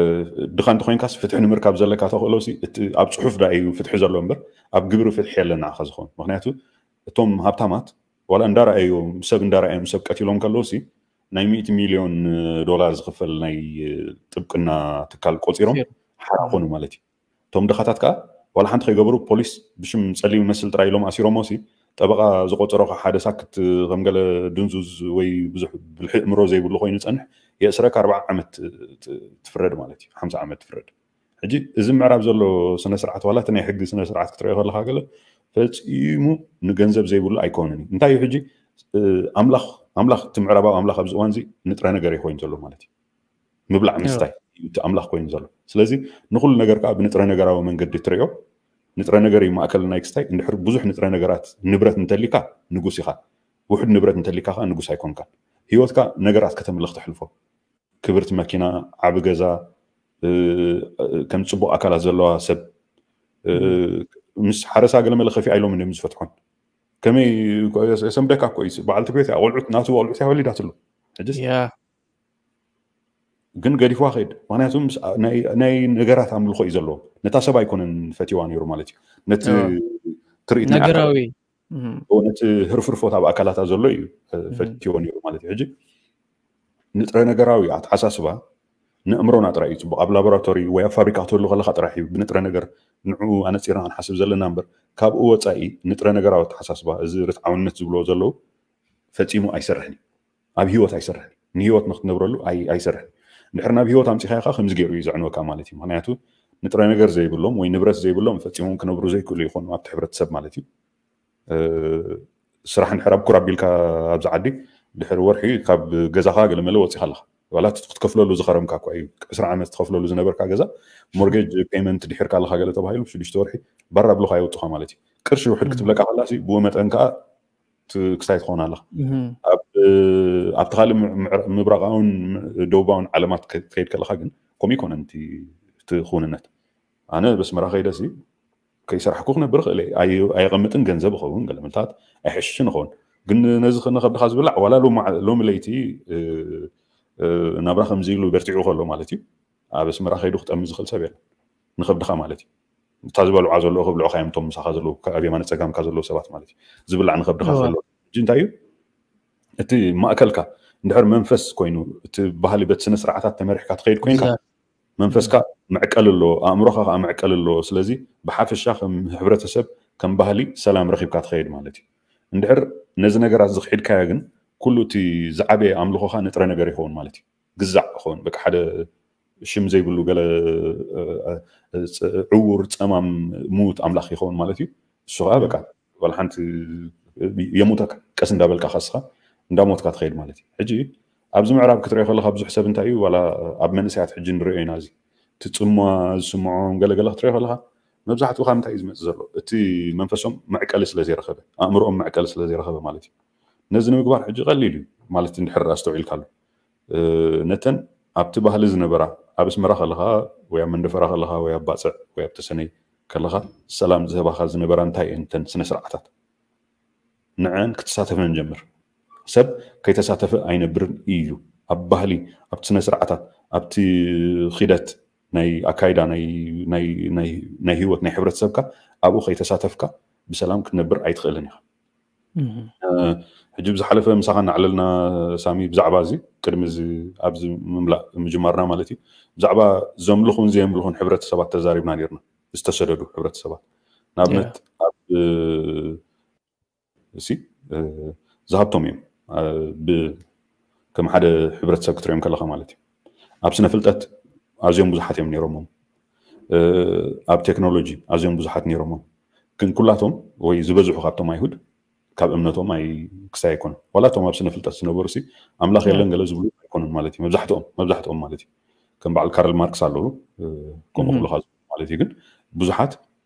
ድኻ እንተኾይንካስ ፍትሒ ንምርካብ ዘለካ ተኽእሎ ሲ፣ እቲ ኣብ ጽሑፍ ደኣ እዩ ፍትሒ ዘሎ እምበር፣ ኣብ ግብሪ ፍትሒ የለን ንዓኻ ዝኸውን። ምኽንያቱ፣ እቶም ሃብታማት፣ ዋላ እንዳረኣዮም፣ ሰብ እንዳረኣዮም፣ ሰብ ቀቲሎም ከለዉ ሲ፣ ናይ ሚእቲ ሚልዮን ዶላር ዝኽፈል ናይ ጥብቅና ትካል ቆጺሮም ፊርም። ሓራ ኮኑ ማለት እዩ። እቶም ድኻታት ከኣ ዋላ ሓንቲ ከይገበሩ ፖሊስ ብሽም ጸሊም ይመስል ጥራይ ኢሎም ኣሲሮሞ ሲ፣ ጠበቓ ዝቆጸሮ ከኣ ሓደ ሳክት ከም ገለ ድንዙዝ ወይ ብዙሕ ብልሒ እምሮ ዘይብሉ ኮይኑ ይጸንሕ፣ የእስረካ ኣርብዓ ዓመት ት-፣ ትፍረድ ማለት እዩ፣ ሓምሳ ዓመት ትፍረድ። ሕጂ እዚ ምዕራብ ዘሎ ስነ ስርዓት ዋላ እቲ ናይ ሕጊ ስነ ስርዓት ክትሪኦ ከለኻ ገለ ፈፂሙ ንገንዘብ ዘይብሉ ኣይኮነን እዩ። እንታይ እዩ ሕጂ? ኣምላኽ ኣምላኽ እቲ ምዕራባዊ ኣምላኽ ኣብዚ እዋን እዚ ንጥረ ነገር እዩ ኮይኑ ዘሎ ማለት እዩ። ምብላዕ ምስታይ እዩ እቲ ኣምላኽ ኮይኑ ዘሎ። ስለዚ ንኩሉ ነገር ከዓ ብንጥረ ነገራዊ መንገዲ ትሪኦ። ንጥረ ነገር እዩ ማእከል ናይ ክስታይ። እንድሕር ብዙሕ ንጥረ ነገራት ንብረት እንተሊካ ንጉስ ኢኻ። ውሑድ ንብረት እንተሊካ ከዓ ንጉስ ኣይኮንካን። ህይወትካ ነገራት ከተምልኽ ተሕልፎ። ክብርቲ መኪና፣ ዓቢ ገዛ፣ ከም ፅቡቅ ኣካላት ዘለዋ ሰብ፣ ምስ ሓረሳ ገለመለ ከፊኣ ኢሎም እዮም ዝፈትሖን። ከመይ የሰምደካ እኮ እዩ። በዓልቲ ቤት እያ፣ ቆልዑት ናቱ ቆልዑት እያ ወሊዳትሉ። ሕጅስ ግን ገዲፍዋ ከይድ። ምክንያቱ ናይ ነገራት ኣምልኮ እዩ ዘለዎ። ነታ ሰብ ኣይኮነን ፈትዋ ነይሩ ማለት እዩ። ነቲ ትርኢት ናይ ኣካል፣ ነገራዊ ነቲ ህርፍርፎት ኣብ ኣካላታ ዘሎ እዩ ፈትዎ ነይሩ ማለት እዩ። ሕጂ ንጥረ ነገራዊ ኣተሓሳስባ ንእምሮና ጥራይ እዩ ፅቡቅ። ኣብ ላቦራቶሪ ወይ ኣብ ፋብሪካ ክትህሉ ከለካ ጥራሕ እዩ ብንጥረ ነገር ንዕኡ ኣነፂርና ክንሓስብ ዘለና እምበር፣ ካብኡ ወፃኢ ንጥረ ነገራዊ ኣተሓሳስባ፣ እዚ ርትዓውነት ዝብልዎ ዘለዉ፣ ፈፂሙ ኣይሰርሕን እዩ። ኣብ ህይወት ኣይሰርሕን እዩ። ንህይወት ንክትነብረሉ ኣይ- ኣይሰርሕን። እንድሕር ናብ ህይወት ኣምፂኻዮ ከዓ ከምዚ ገይሩ እዩ ዘዕንወካ ማለት እዩ። ምክንያቱ ንጥረ ነገር ዘይብሎም ወይ ንብረት ዘይብሎም ፈፂሞም ክነብሩ ዘይክእሉ ይኾኑ ኣብቲ ሕብረተሰብ ማለት እዩ። ስራሕ እንድሕር ኣብ ኩር ኣቢልካ ኣብዚ ዓዲ ድሕሪ ወርሒ ካብ ገዛኻ ገለመለ ወፂኻ ኣለኻ። ዋላ እቲ ክትከፍለሉ ዝኸረምካ እኳ እዩ፣ ዕስራ ዓመት ትኸፍለሉ ዝነበርካ ገዛ ሞርጌጅ ፔመንት ድሒርካ ኣለኻ ገለ ተባሂሉ ሽዱሽተ ወርሒ ባራ ብሎኻ የውፅኻ ማለት እዩ። ቅርሺ ውሕድ ክትብለካ ከላሲ ብኡ መጠን ከዓ ክስታይ ትኸውን ኣለኻ። ኣብቲ ካልእ ምብራቃውን ደቡባውን ዓለማት ክትከይድ ከለኻ ግን ከምኡ ይኮነን እቲ ክውንነት። ኣነ በስመራ ከይደሲ ከይሰራሕኩ ክነብር ክእል፣ ኣየቐምጥን ገንዘብ ይኸውን ገለመልታት ኣይሕሽን ይኸውን። ግን ነዚ ንኸብድኻ ዝብላዕ ዋላ ሎሚ ለይቲ ናብራ ከምዚ ኢሉ በርቲዑ ከሎ ማለት እዩ፣ ኣብ ኣስመራ ከይዱ ክጠሚ ዝኽእል ሰብ የለን። ንኸብድኻ ማለት እዩ። እታ ዝበልዓ ዘለዉ ክብልዑኻ እዮም እቶም ምሳኻ ዘለዉ፣ ኣብ የማነ ጸጋምካ ዘለዉ ሰባት ማለት እዩ። ዝብላዕ ንኸብድኻ ዘሎ ሕጂ እንታይ እዩ? እቲ ማእከልካ እንድሕር መንፈስ ኮይኑ፣ እቲ ባህሊ በቲ ስነ ስርዓታት ተመሪሕካ ትኸይድ ኮይንካ፣ መንፈስካ መዕቀሊ ኣለዎ፣ ኣእምሮኻ ከዓ መዕቀሊ ኣለዎ። ስለዚ ብሓፈሻ ከም ሕብረተሰብ፣ ከም ባህሊ ሰላም ረኺብካ ትኸይድ ማለት እዩ። እንድሕር ነዚ ነገራት ዝኽሒድካዮ ግን ኩሉ እቲ ዝዓበየ ኣምልኾኻ ንጥረ ነገር ይኸውን ማለት እዩ። ግዛዕ ይኸውን፣ በቃ ሓደ ሽም ዘይብሉ ገለ ዕውር ጸማም ምዉት ኣምላኽ ይኸውን ማለት እዩ። እሱ ከዓ በቃ ዋላ ሓንቲ የሙተካ፣ ቀስ እንዳበልካ ከስኻ እንዳሞትካ ትኸይድ ማለት እዩ። ሕጂ ኣብዚ ምዕራብ ክትሪኦ ከለካ ብዙሕ ሰብ እንታይ እዩ ዋላ ኣብ መንእሰያት ሕጂ ንሪኦ ኢና፣ እዚ እቲ ጽምዋ ዝስምዖም ገለገለ ክትሪኦ ከለካ መብዛሕትኡ ካብ እንታይ እዩ ዝመጽእ ዘሎ? እቲ መንፈሶም መዕቀሊ ስለ ዘይረኸበ፣ ኣእምሮኦም መዕቀሊ ስለ ዘይረኸበ ማለት እዩ። ነዚ ንምግባር ሕጂ ቀሊል እዩ ማለት እንድሕር ኣስተውዒልካሉ። ነተን ኣብቲ ባህሊ ዝነበራ ኣብ ኣስመራ ከለካ ወይ ኣብ መንደፈራ ከለካ ወይ ኣብ ባጽዕ ወይ ኣብ ተሰነይ ከለካ ሰላም ዝህባካ ዝነበራ እንታይ እየን እተን ስነ ስርዓታት? ንዐን ክትሳተፈን ጀምር። ሰብ ከይተሳተፈ ኣይነብርን እዩ። ኣብ ባህሊ፣ ኣብቲ ስነ ስርዓታት፣ ኣብቲ ኺደት ናይ ኣካይዳ ናይ ህይወት ናይ ሕብረተሰብካ ኣብኡ ከይተሳተፍካ ብሰላም ክትነብር ኣይትኽእልን ኢኻ። ሕጂ ብዝሓለፈ ምሳኻ እናዕለልና ሳሚ ብዛዕባ እዚ ቅድሚ ኣብዚ ምምላእ ምጅማርና ማለት እዩ ብዛዕባ ዘምልኹን ዘየምልኹን ሕብረተሰባት ተዛሪብና ነርና። ዝተሰደዱ ሕብረተሰባት ንኣብነት ኣብ እሲ ዝሃብቶም እዮም ከም ሓደ ሕብረተሰብ ክትሪኦም ከለካ ማለት እዩ። ኣብ ስነ ፍልጠት ኣዝዮም ብዙሓት እዮም ነይሮሞም። ኣብ ቴክኖሎጂ ኣዝዮም ብዙሓት ነይሮሞም። ግን ኩላቶም ወይ ዝበዝሑ ካብቶም ኣይሁድ ካብ እምነቶም ኣይ ክስታይ ኣይኮኑን። ዋላ እቶም ኣብ ስነ ፍልጠት ዝነበሩ ሲ ኣምላኽ የለን ገለ ዝብሉ ኣይኮኑን ማለት እዩ። መብዛሕትኦም መብዛሕትኦም ማለት እዩ። ከም በዓል ካርል ማርክስ ኣለዉ ከምኡ ክብሉካ ማለት እዩ። ግን ብዙሓት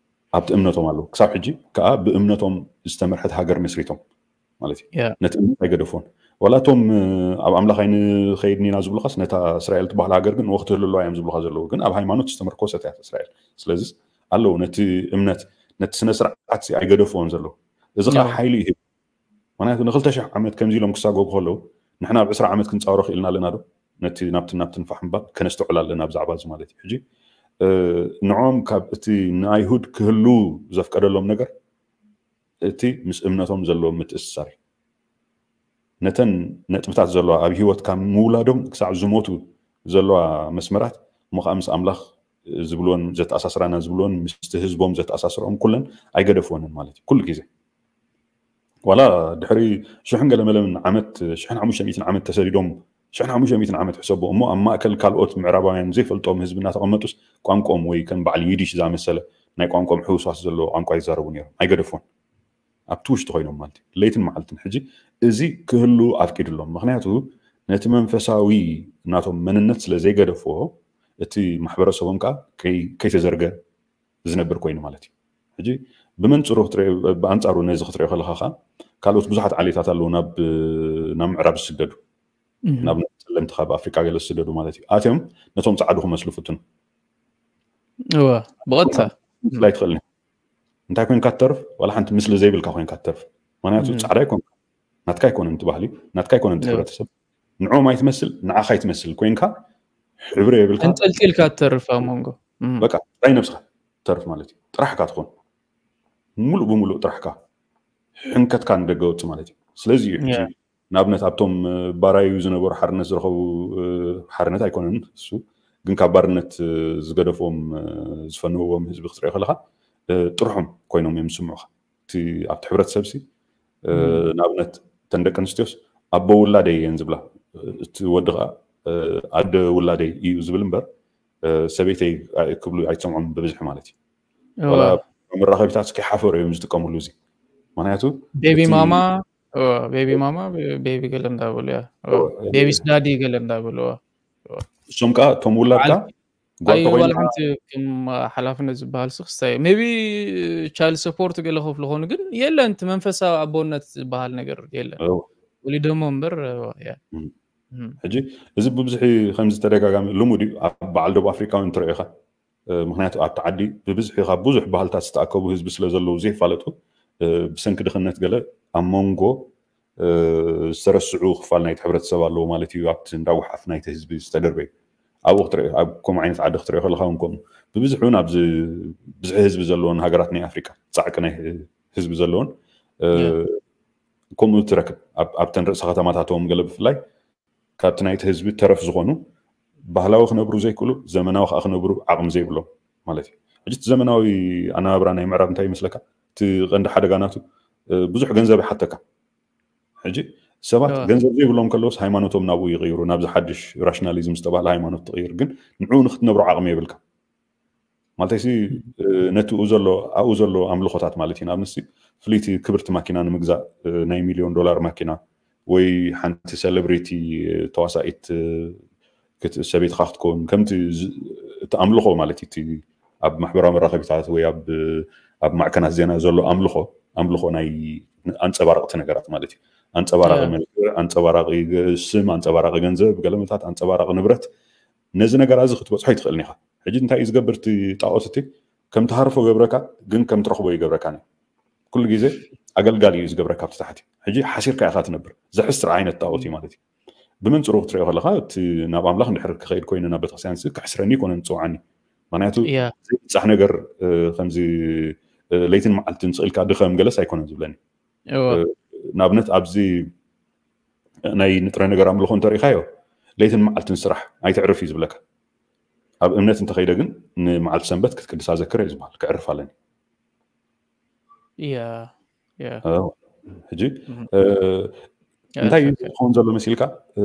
ኣብቲ እምነቶም ኣለዉ። ክሳብ ሕጂ ከዓ ብእምነቶም ዝተመርሐት ሃገር መስሪቶም ማለት እዩ። ነቲ እምነት ኣይገደፎን። ዋላ እቶም ኣብ ኣምላኽ ኣይንኸይድን ኢና ዝብሉኻስ ነታ እስራኤል ትበሃል ሃገር ግን ወክትህልዋ እዮም ዝብሉኻ ዘለዉ። ግን ኣብ ሃይማኖት ዝተመርኮሰት እያ እስራኤል። ስለዚ ኣለዉ ነቲ እምነት ነቲ ስነ ስርዓት ኣይገደፍዎን ዘለዉ። እዚ ከዓ ሓይሊ እዩ። ምክንያቱ ንክልተ ሽሕ ዓመት ከምዚ ኢሎም ክሳጎጉ ከለዉ ንሕና ኣብ ዕስራ ዓመት ክንፃወሮ ክኢልና ኣለና ዶ? ነቲ ናብቲ ናብቲ ንፋሕ ምባል ከነስተውዕል ኣለና ብዛዕባ እዚ ማለት እዩ። ሕጂ ንዖም ካብ እቲ ንኣይሁድ ክህሉ ዘፍቀደሎም ነገር እቲ ምስ እምነቶም ዘለዎ ምትእስሳር እዩ። ነተን ነጥብታት ዘለዋ ኣብ ህይወት ካብ ምውላዶም ክሳዕ ዝሞቱ ዘለዋ መስመራት እሞ ከዓ ምስ ኣምላኽ ዝብልዎን ዘተኣሳስራና ዝብልዎን ምስቲ ህዝቦም ዘተኣሳስርኦም ኩለን ኣይገደፍዎንን ማለት እዩ። ኩሉ ግዜ ዋላ ድሕሪ ሽሕን ገለመለን ዓመት ሽሕን ሓሙሽተ ሚእትን ዓመት ተሰዲዶም ሽሕን ሓሙሽተ ሚእትን ዓመት ሕሰቡ እሞ ኣብ ማእከል ካልኦት ምዕራባውያን ዘይፈልጦም ህዝቢ እናተቐመጡስ ቋንቋኦም ወይ ከም በዓል ይዲሽ ዝኣመሰለ ናይ ቋንቋኦም ሕውስዋስ ዘለዎ ቋንቋ ይዛረቡ ነይሮም፣ ኣይገደፎን። ኣብቲ ውሽጢ ኮይኖም ማለት እዩ፣ ለይትን መዓልትን። ሕጂ እዚ ክህሉ ኣፍቂድሎም፣ ምክንያቱ ነቲ መንፈሳዊ ናቶም መንነት ስለ ዘይገደፍዎ፣ እቲ ማሕበረሰቦም ከዓ ከይ- ከይተዘርገ ዝነብር ኮይኑ ማለት እዩ። ሕጂ ብመንፅሩ ክትሪኦ- ብኣንፃሩ ነዚ ክትሪኦ ከለካ ከዓ ካልኦት ብዙሓት ዓሌታት ኣለዉ ናብ ናብ ምዕራብ ዝስደዱ፣ ናብ ጸለምቲ ካብ ኣፍሪቃ ገለ ዝስደዱ ማለት እዩ። ኣትዮም ነቶም ፃዕዱ ክመስሉ ፍትኑ። እወ፣ ብቐጥታ ምስላ ኣይትኽእልን። እንታይ ኮይንካ ትተርፍ? ዋላ ሓንቲ ምስሊ ዘይብልካ ኮይንካ ትተርፍ። ምክንያቱ ጻዕዳ ኣይኮንካ፣ ናትካ ኣይኮነን እቲ ባህሊ፣ ናትካ ኣይኮነን እቲ ሕብረተሰብ። ንዕኦም ኣይትመስል፣ ንዓኻ ኣይትመስል ኮይንካ፣ ሕብሪ የብልካ። እንጠልጢልካ ትተርፍ ኣብ መንጎ። እም። በቃ ጥራይ ነብስኻ ትተርፍ ማለት እዩ። ጥራሕካ ትኾን፣ ሙሉእ ብሙሉእ ጥራሕካ፣ ሕንከትካ ንደገ ወፅእ ማለት እዩ። ስለዚ እዩ ሕጂ ያ። ንኣብነት ኣብቶም እ፣ ባራዩ ዝነበሩ ሓርነት ዝረኸቡ እ፣ ሓርነት ኣይኮነን እሱ፣ ግን ካብ ባርነት እ፣ ዝገደፍዎም እ፣ ዝፈንውዎም ህዝቢ ክትሪኦ ከለካ እ፣ ጥርሖም ኮይኖም እዮም ዝስምዑኻ። እቲ ኣብቲ ሕብረተሰብ ሲ እ፣ ንኣብነት እተን ደቂ ኣንስትዮስ ኣቦ ውላደይ እየን ዝብላ፣ እ፣ እቲ ወዲ ከዓ እ፣ ኣደ ውላደይ እዩ ዝብል እምበር እ፣ ሰበይተይ ኣ- ክብሉ ኣይትሰምዖም ብብዝሒ ማለት እዩ። እወ። ዋላ መራኸቢታት እስኪ ሓፈሩ እዮም ዝጥቀምሉ እዚ። ምክንያቱ ቤቢ እቲ- ማማ እወ፣ ቤቢ ማማ ቤቢ ገለ እንዳበሉ ያ። እወ፣ እወ። ቤቢ ስዳዲ ገለ እንዳበሉ እወ። እሶም ከዓ እቶም ውላድካ በዓል- ጓል ኣይ ዋላ ተኮይንካ ሓንቲ ከም ሓላፍነት ዝበሃል ስክስታይ ሜቢ ቻይልድ ሰፖርት ገለ ከፍሉ ኾኑ ግን የለን እቲ መንፈሳዊ ኣቦነት ዝበሃል ነገር የለን። እወ። ወሊዶሞ እምበር እወ፣ ያ። እም። እም። ሕጂ እዚ ብብዝሒ ከምዚ ተደጋጋሚ ልሙድ እዩ ኣብ በዓል ደቡብ ኣፍሪካ እውን ትሪኦ ኢኻ። እ፣ ምክንያቱ ኣብቲ ዓዲ ብብዝሒ ካብ ብዙሕ ባህልታት ዝተኣከቡ ህዝቢ ስለ ዘለዉ ዘይፋለጡ እ፣ ብሰንኪ ድኽነት ገለ ኣብ መንጎ እ፣ ዝተረስዑ ክፋል ናይቲ ሕብረተሰብ ኣለዎ ማለት እዩ። ኣብቲ እንዳጉሓፍ ናይቲ ህዝቢ ዝተደርበዩ ኣብኡ ክትሪኦ ኣብ ከምኡ ዓይነት ዓዲ ክትሪኦ ከለካ እውን ከምኡ ብብዝሒ እውን ኣብዚ ብዝሒ ህዝቢ ዘለዎን ሃገራት ናይ ኣፍሪካ ፃዕቂ ናይ ህዝቢ ዘለዎን እ፣ ከምኡ ትረክብ ኣብ- ኣብተን ርእሰ ከተማታቶም ገለ ብፍላይ ካብቲ ናይቲ ህዝቢ ተረፍ ዝኾኑ ባህላዊ ክነብሩ ዘይክእሉ ዘመናዊ ከዓ ክነብሩ ዓቕሚ ዘይብሎም ማለት እዩ። ሕጂ እቲ ዘመናዊ ኣነባብራ ናይ ምዕራብ እንታይ ይመስለካ? እቲ ቀንዲ ሓደጋ ናቱ እ፣ ብዙሕ ገንዘብ ይሓተካ። ሕጂ ሰባት እወ። ገንዘብ ዘይብሎም ከለውስ ሃይማኖቶም ናብኡ ይቕይሩ፣ ናብዚ ሓድሽ ራሽናሊዝም ዝተባህለ ሃይማኖት ትቕይር፣ ግን ንዕኡ ንክትነብሮ ዓቕሚ የብልካ። ማለተይሲ እ፣ ነቲ ኡ ዘሎ ኣብኡ ዘሎ ኣምልኾታት ማለት እዩ። ንኣብነት ፍልይቲ ክብርቲ ማኪና ንምግዛእ እ፣ ናይ ሚሊዮን ዶላር ማኪና ወይ ሓንቲ ሴሌብሪቲ እ፣ ተዋሳኢት እ፣ ክት- ሰበይትኻ ክትከውን ከምቲ ዝ- እቲ ኣምልኾ ማለት እዩ። እቲ ኣብ ማሕበራዊ መራኸቢታት ወይ ኣብ ኣብ ማዕከናት ዜና ዘሎ ኣምልኾ ኣምልኾ ናይ ኣንፀባረቕቲ ነገራት ማለት እዩ። ኣንፀባራቂ ያ። መልክዕ፣ ኣንፀባራቂ ገ- ስም፣ ኣንፀባራቂ ገንዘብ፣ ገለመታት ኣንፀባራቂ ንብረት። ነዚ ነገራ እዚ ክትበፅሖ ኣይትኽእልን ኢኻ። ሕጂ እንታይ እዩ ዝገብር እቲ ጣዖት እቲ ከም ትሃርፎ ገብረካ ግን ከም ትረኽቦ ይገብረካ። ኩሉ ግዜ ኣገልጋሊ እዩ ዝገብረካ ኣብቲ ታሕቲ። ሕጂ ሓሲርካ ኢኻ ትነብር። ዘሕስር ዓይነት ጣዖት እዩ ማለት እዩ። ብመንፅሩ ክትሪኦ ከለካ እቲ ናብ ኣምላኽ እንድሕር ክኸይድ ኮይኑ ናብ ቤተክርስትያን ሲ ክሕስረኒ ይኮነን ዝፅውዓኒ። ምክንያቱ ያ። ዘይብፃሕ ነገር እ፣ ከምዚ እ፣ ለይትን መዓልትን ስቕ ኢልካ ድኸም ገለስ ኣይኮነን ዝብለኒ። እወ። እ፣ ንኣብነት ኣብዚ ናይ ንጥረ ነገር ኣምልኾ እንተሪኢኻዮ ለይትን መዓልትን ስራሕ ኣይትዕርፍ እዩ ዝብለካ። ኣብ እምነት እንተኸይደ ግን ንመዓልቲ ሰንበት ክትቅድሳ ዘክር እዩ ዝበሃል። ክዕርፍ ኣለኒ። ያ ያ እ፣ ሕጂ እም። እ፣ ያ፣ እንታይ እዩ ትክክል። ዝኸውን ዘሎ መሲልካ እ፣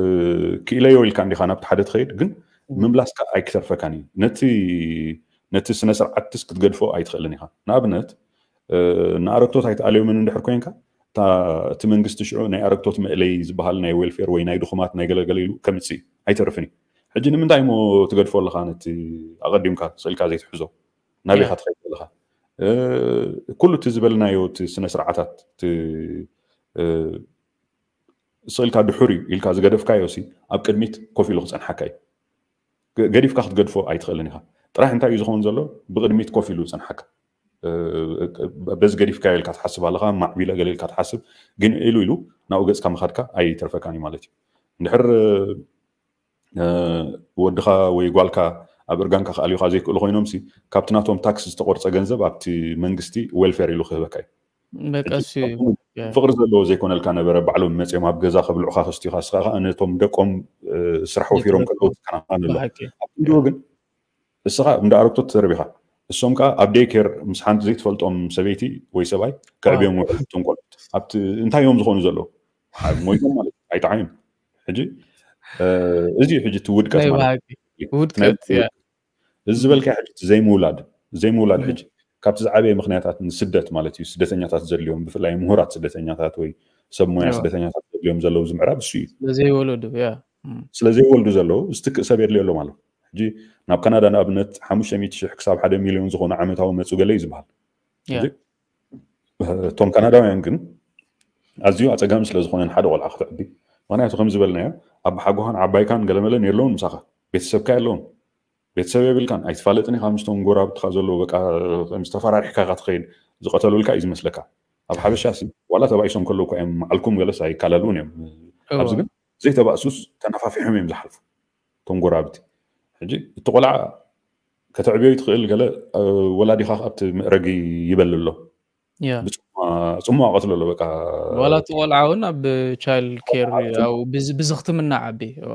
ክኢለዮ ኢልካ እንዲኻ ናብቲ ሓደ ትኸይድ ግን እም። ምምላስካ ኣይክተርፈካን እዩ። ነቲ ነቲ ስነ ስርዓትስ ክትገድፎ ኣይትኽእልን ኢኻ። ንኣብነት እ፣ ንኣረግቶት ኣይትኣልዮምን እንድሕር ኮይንካ እታ እቲ መንግስቲ ሽዑ ናይ ኣረግቶት መእለይ ዝበሃል ናይ ዌልፌር ወይ ናይ ድኹማት ናይ ገለገለ ኢሉ ከምፅእ ኣይተርፍን እዩ። ሕጂ ንምንታይ እሞ ትገድፎ ኣለኻ ነቲ ኣቐዲምካ ስእልካ ዘይትሕዞ? ናበይ ያ። ኢኻ ትኸይድ ዘለኻ? እ፣ ኩሉ እቲ ዝበልናዮ እቲ ስነ ስርዓታት እቲ እ፣ ስእልካ ድሑር እዩ ኢልካ ዝገደፍካዮ ሲ ኣብ ቅድሚት ኮፍ ኢሉ ክፀንሓካ እዩ። ገ- ገዲፍካ ክትገድፎ ኣይትኽእልን ኢኻ። ጥራሕ እንታይ እዩ ዝኸውን ዘሎ? ብቅድሚት ኮፍ ኢሉ ዝፀንሓካ እ፣ በዚ ገዲፍካዮ ኢልካ ትሓስብ ኣለኻ፣ ማዕቢለ ገለ ኢልካ ትሓስብ፣ ግን ኢሉ ኢሉ ናብኡ ገፅካ ምኻድካ ኣይተርፈካን እዩ ማለት እዩ። እንድሕር እ፣ ወድኻ ወይ ጓልካ ኣብ እርጋንካ ክኣልዩኻ ዘይክእሉ ኮይኖም ሲ ካብቲ ናቶም ታክስ ዝተቆርፀ ገንዘብ ኣብቲ መንግስቲ ዌልፌር ኢሉ ክህበካ እዩ። በቃ ሕጂ እሱ እዩ። ያ። ፍቅሪ ዘለዎ ዘይኮነልካ ነበረ ባዕሎም መፅኦም ኣብ ገዛ ከብልዑኻ ከስትዩኻ እስኻ ከዓ ነቶም ደቆም እ፣ ስራሕ ወፊሮም ንብረት ከለዉ ትከናኸን ኣሎ። ብሓቂ ኣብ ክንድኡ ግን እስኻ እንዳ ኣረግቶት ትተርቢኻ እሶም ከዓ ኣብ ዴይኬር ምስ ሓንቲ ዘይትፈልጦም ሰበይቲ ወይ ሰብኣይ ከዕብዮም ውዕል እቶም ቆልዑት ኣብቲ እንታይ እዮም ዝኾኑ ዘለዉ? ኣብ ሞይቶም ማለት እዩ። ኣይጠዓዩን። ሕጂ እ፣ እዚ እዩ ሕጂ እቲ ውድቀት ናይ ማለት ብሓቂ እዩ። ውድቀት ናይ- ያ። እዚ ዝበልካ ሕጂ እቲ ዘይምውላድ ዘይምውላድ እም። ሕጂ ካብቲ ዝዓበየ ምክንያታት ንስደት ማለት እዩ። ስደተኛታት ዘድልዮም፣ ብፍላይ ምሁራት ስደተኛታት ወይ ሰብ ሞያ እዎ። ስደተኛታት ዘድልዮም ዘለዉ እዚ ምዕራብ እሱ እዩ። ስለዘይወለዱ፣ ያ። እም። ስለ ዘይወልዱ ዘለዉ ዝትክእ ሰብ የድልዮ ኣሎ ማለት። ሕጂ ናብ ካናዳ ንኣብነት ሓሙሽተ ሚእቲ ሽሕ ክሳብ ሓደ ሚልዮን ዝኾኑ ዓመታዊ መጹ ገለ እዩ ዝበሃል። ያ። ሕጂ እቶም ካናዳውያን ግን ኣዝዩ ኣጸጋሚ ስለ ዝኾነ ንሓደ ቆልዓ ከተዕቢ፣ ምክንያቱ ከም ዝበልናዮ ኣብ ሓጎኻን ዓባይካን ገለመለን የለውን ምሳኻ፣ ቤተሰብካ የለውን፣ ቤተሰብ የብልካን፣ ኣይትፋለጥን ኢኻ ምስቶም ጎረባብትኻ ዘለዉ፣ በቃ ከም ዝተፈራሪሕካ ኢኻ ትኸይድ፣ ዝቐተሉልካ እዩ ዝመስለካ። ኣብ ሓበሻ ሲ ዋላ ተባኢሶም ከለዉ እኳ እዮም መዓልኩም ገለስ ኣይካለሉን እዮም። ኣብዚ እዎ። ግን ዘይተባእሱስ ተነፋፊሖም እዮም ዝሓልፉ እቶም ጎረባብቲ። ሕጂ እቲ ቆልዓ ከተዕብዮ ትኽእል ገለ፣ እ፣ ወላዲኻ ኣብቲ መእረጊ ይበል ኣሎ። ያ። ብጽሙዋ፣ ጽሙዋ ቀትሎ ኣሎ በቃ። ዋላ እቲ ቆልዓ እውን ኣብ ቻይልድ ኬር፣ ኣብ ብዝኽትምና ዓቢ። እዋ።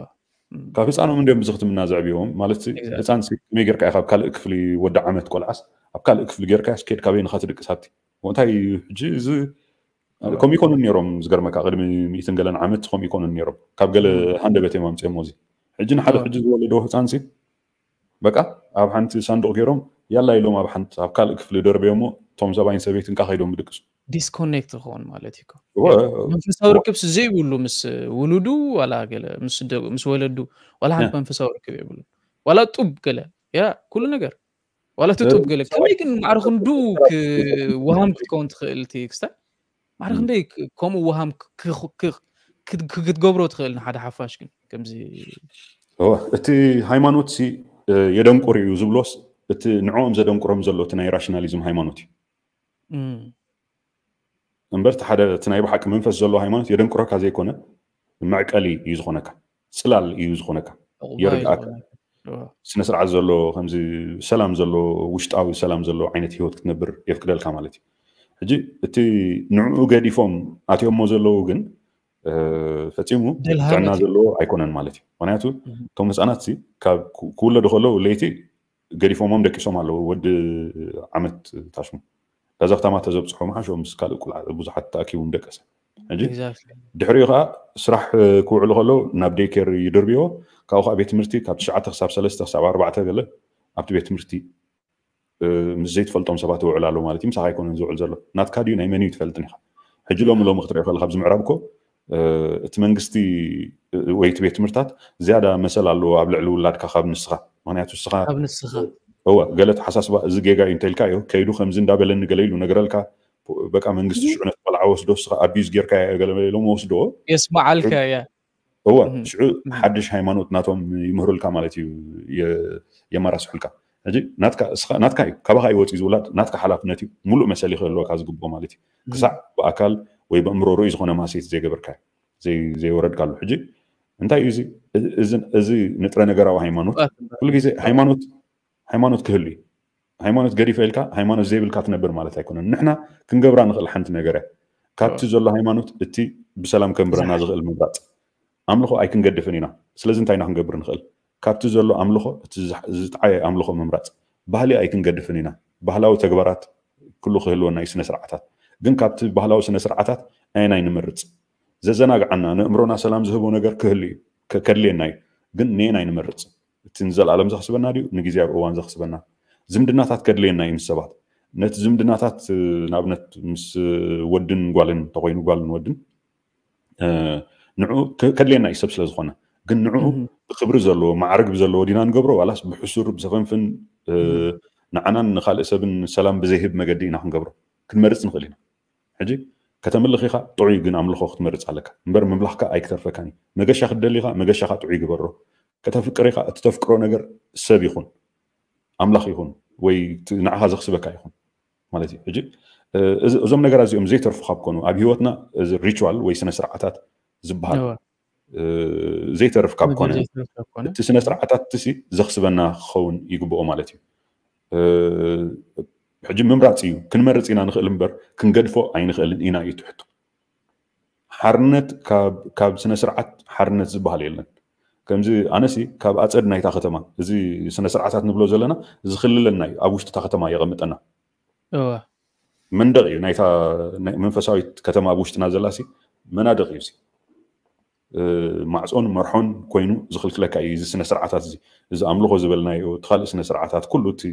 እም። ካብ ህፃኖም እንዲዮም ብዝኽትምና ዘዕብዮም ማለት ሲ፣ Exactly. ህፃን ሲ ከመይ ጌርካ ኢኻ ኣብ ካልእ ክፍሊ ወዲ ዓመት ቆልዓስ ኣብ ካልእ ክፍሊ ጌርካ ስኬድ ካበይ ንኻ ትድቅስ ኣብቲ እንታይ እዩ? ሕጂ እዚ እዋ። ከምኡ ይኮኑን ነይሮም። ዝገርመካ ቅድሚ ሚእትን ገለን ዓመት ከምኡ ይኮኑን ነይሮም። ካብ ገለ እም። ሃንደበት እዮም ኣምፅኦሞ። እዚ ሕጂ ንሓደ እዋ። ሕጂ ዝወለዶ ህፃን ሲ በቃ ኣብ ሓንቲ ሳንዱቕ ገይሮም ያላ ኢሎም ኣብ ሓንቲ ኣብ ካልእ ክፍሊ ደርበዮሞ እቶም ሰብኣይን ሰበይትን ካ ከይዶም ብድቅሱ። ዲስኮኔክት ክኸውን ማለት እዩ እኮ። እወ፣ ያ። መንፈሳዊ እወ። ርክብ ስ-፣ ዘይብሉ ምስ ውሉዱ ዋላ ገለ ምስ ደ-፣ ምስ ወለዱ ዋላ ሓንቲ ያ። መንፈሳዊ ርክብ የብሉ። ዋላ ጡብ ገለ። ያ፣ ኩሉ ነገር። ዋላ እቲ እ፣ ጡብ ገለ። ሰብኣይ ከመይ ግን ማዕረ ክንድኡ ክ-፣ ወሃም ክትከውን ትኽእል እቲ ክስታይ? ማዕረ እም። ክንደይ ክ-፣ ከምኡ ወሃም ክ-፣ ክ-፣ ክ-፣ ክት-፣ ክ-፣ ክትገብሮ ትኽእል ንሓደ ሓፋሽ ግን ከምዚ እወ፣ እቲ ሃይማኖት ሲ፣ እ፣ የደንቁር እዩ ዝብሎስ እቲ ንዕኦም ዘደንቁሮም ዘሎ እቲ ናይ ራሽናሊዝም ሃይማኖት እዩ። እም። እምበር እቲ ሓደ እቲ ናይ ብሓቂ መንፈስ ዘሎ ሃይማኖት የደንቁረካ ዘይኮነ መዕቀሊ እዩ ዝኾነካ፣ ጽላል እዩ ዝኾነካ፣ ዕቑባ እዩ የርድኣካ። ዝኾነካ። እወ። ስነ ስርዓት ዘሎ ከምዚ ሰላም ዘሎ ውሽጣዊ ሰላም ዘሎ ዓይነት ህይወት ክትነብር የፍቅደልካ ማለት እዩ። ሕጂ እቲ ንዕኡ ገዲፎም ኣትዮሞ ዘለዉ ግን፣ እ፣ ፈጺሙ ደልሃመት ጥዕና እዩ። ዘለዎ ኣይኮነን ማለት እዩ። ምኽንያቱ እም። እቶም ህፃናት ሲ ካብ ክ-፣ ክውለዱ ከለዉ ለይቲ ገዲፎሞም ደቂሶም ኣለዉ። ወዲ ዓመት ታሽሙ ዳዛ ከተማ ተዘብፅሖ መሓሾ ምስ ካልእ ቁልዓ ብዙሓት ተኣኪቡ ደቀሰ። ሕጂ Exactly. ድሕሪኡ ከዓ ስራሕ ክውዕሉ ከለዉ ናብ ዴይ ኬር ይድርብዮ። ካብኡ ከዓ ቤት ትምህርቲ ካብ ትሽዓተ ክሳብ ሰለስተ ክሳብ ኣርባዕተ ገለ ኣብቲ ቤት ትምህርቲ፣ እ፣ ምስ ዘይትፈልጦም ሰባት ይውዕል ኣሎ ማለት እዩ። ምሳኻ ኣይኮነን ዝውዕል ዘሎ። ናትካ ድዩ ናይ መን እዩ ትፈልጥን ኢኻ። ሕጂ ሎሚ ሎሚ ክትሪኦ ከለካ ኣብዚ ምዕራብ እኮ፣ እ፣ እቲ መንግስቲ፣ እ፣ ወይ እቲ ቤት ትምህርታት ዝያዳ መሰል ኣለዎ ኣብ ልዕሊ ውላድካ ካብ ንስኻ። ምኽንያቱ ንስኻ ካብ ንስኻ። እወ፣ ገለ ተሓሳስባ እዚ ጌጋ እዩ እንተልካ እዩ ከይዱ ከምዚ እንዳበለኒ ገለ ኢሉ ነገረልካ። በቃ መንግስቲ ሽዑ ነቲ ቆልዓ ወስዶ ንስኻ ኣቢዩዝ ጌርካ ገለ ኢሎም ወስዶ። የስምዓልካ እያ። እወ፣ እም፣ ሽዑ እም። ሓድሽ ሃይማኖት ናቶም ይምህሩልካ ማለት እዩ፣ የ-፣ የመራስሑልካ። ሕጂ ናትካ፣ እስኻ፣ ናትካ እዩ፣ ካባኻ እዩ ወፂኡ ዝውላድ፣ ናትካ ሓላፍነት እዩ፣ ሙሉእ መሰል እዩ ክህልወካ ዝግብኦ ማለት እዩ። እም። ክሳዕ ብኣካል ወይ በእምሮ ርኡይ ዝኾነ ማሴት ዘይገበርካ፣ ዘይ-፣ ዘይወረድካሉ። ሕጂ እንታይ እዩ እዚ? እዚ፣ እዚ ንጥረ ነገራዊ ሃይማኖት፣ ኩሉ ግዜ ሃይማኖት፣ ሃይማኖት ክህሉ እዩ። ሃይማኖት ገዲፈ ኢልካ ሃይማኖት ዘይብልካ ትነብር ማለት ኣይኮነን። ንሕና ክንገብራ ንኽእል ሓንቲ ነገር እያ። ካብቲ እወ። ዘሎ ሃይማኖት እቲ ብሰላም ከንብረና ዝኽእል ምምራፅ። ኣምልኾ ኣይክንገድፍን ኢና። ስለዚ እንታይ ኢና ክንገብር ንኽእል? ካብቲ ዘሎ ኣምልኾ እቲ ዝሕ-፣ ዝጥዓየ ኣምልኾ ምምራፅ። ባህሊ ኣይክንገድፍን ኢና። ባህላዊ ተግባራት ኩሉ ክህልወና እዩ፣ ስነ ስርዓታት። ግን ካብቲ ባህላዊ ስነ ስርዓታት ኣየናይ ንምርፅ? ዘዘናግዓና፣ ንእምሮና ሰላም ዝህቦ ነገር ክህሉ እዩ፣ ከ-፣ ከድልየና እዩ። ግን ንየናይ ንምርፅ? እቲ ንዘለኣለም ዘኽስበና ድዩ ንግዜያዊ እዋን ዘኽስበና? ዝምድናታት ከድልየና እዩ ምስ ሰባት። ነቲ ዝምድናታት፣ እ፣ ንኣብነት ምስ፣ እ፣ ወድን ጓልን እንተኾይኑ፣ ጓልን ወድን፣ እ፣ ንዕኡ ከ-፣ ከድልየና እዩ ሰብ ስለ ዝኾነ። ግን ንዕኡ እህ። ብክብሪ ዘለዎ፣ ማዕርግ ብዘለዎ ዲና ንገብሮ፣ ዋላስ ብሕሱር፣ ብሰፈንፍን፣ እ፣ እህ። ንዓናን ንኻልእ ሰብን ሰላም ብዘይህብ መገዲ ኢና ክንገብሮ? ክንመርጽ ንኽእል ኢና። ሕጂ ከተምልኽ ኢኻ፣ ጥዑይ ግን ኣምልኾ ክትመርጽ ኣለካ። እምበር ምምላኽካ ኣይክተርፈካን እዩ። መገሻ ክትደሊ ኢኻ፣ መገሻኻ ጥዑይ ግበሮ። ከተፍቅር ኢኻ፣ እቲ ተፍቅሮ ነገር ሰብ ይኹን፣ ኣምላኽ ይኹን፣ ወይ እቲ ንዓኻ ዘኽስበካ ይኹን ማለት እዩ። ሕጂ፣ እ፣ እዚ፣ እዞም ነገራት እዚኦም ዘይተርፉ ካብ ኮኑ፣ ኣብ ህይወትና እዚ ሪቹዋል ወይ ስነ ስርዓታት ዝበሃል፣ እወ። እ፣ ዘይተርፍ ካብ ነገር ኮነ፣ ዘይተርፍ ካብ ኮነ። እቲ ስነ ስርዓታት እቲ ሲ ዘኽስበና ክኸውን ይግብኦ ማለት እዩ። እ፣ ሕጂ ምምራፅ እዩ። ክንመርፅ ኢና ንኽእል እምበር ክንገድፎ ኣይንኽእልን ኢና እዩ እቲ ሕቶ። ሓርነት ካብ፣ ካብ ስነ ስርዓት ሓርነት ዝበሃል የለን። ከምዚ ኣነሲ ካብ ኣፀድ ናይታ ከተማ፣ እዚ ስነ ስርዓታት ንብሎ ዘለና ዝኽልለና እዩ፣ ኣብ ውሽጢ እታ ከተማ የቐምጠና። እወ። መንደቕ እዩ ናይታ ናይ መንፈሳዊት ከተማ ኣብ ውሽጥና ዘላሲ መናድቕ እዩ እዚ። እ፣ ማዕጾን መርሖን ኮይኑ ዝኽልክለካ እዩ እዚ ስነ ስርዓታት እዚ። እዚ ኣምልኾ ዝበልናዮ፣ እቲ ካልእ ስነ ስርዓታት፣ ኩሉ እቲ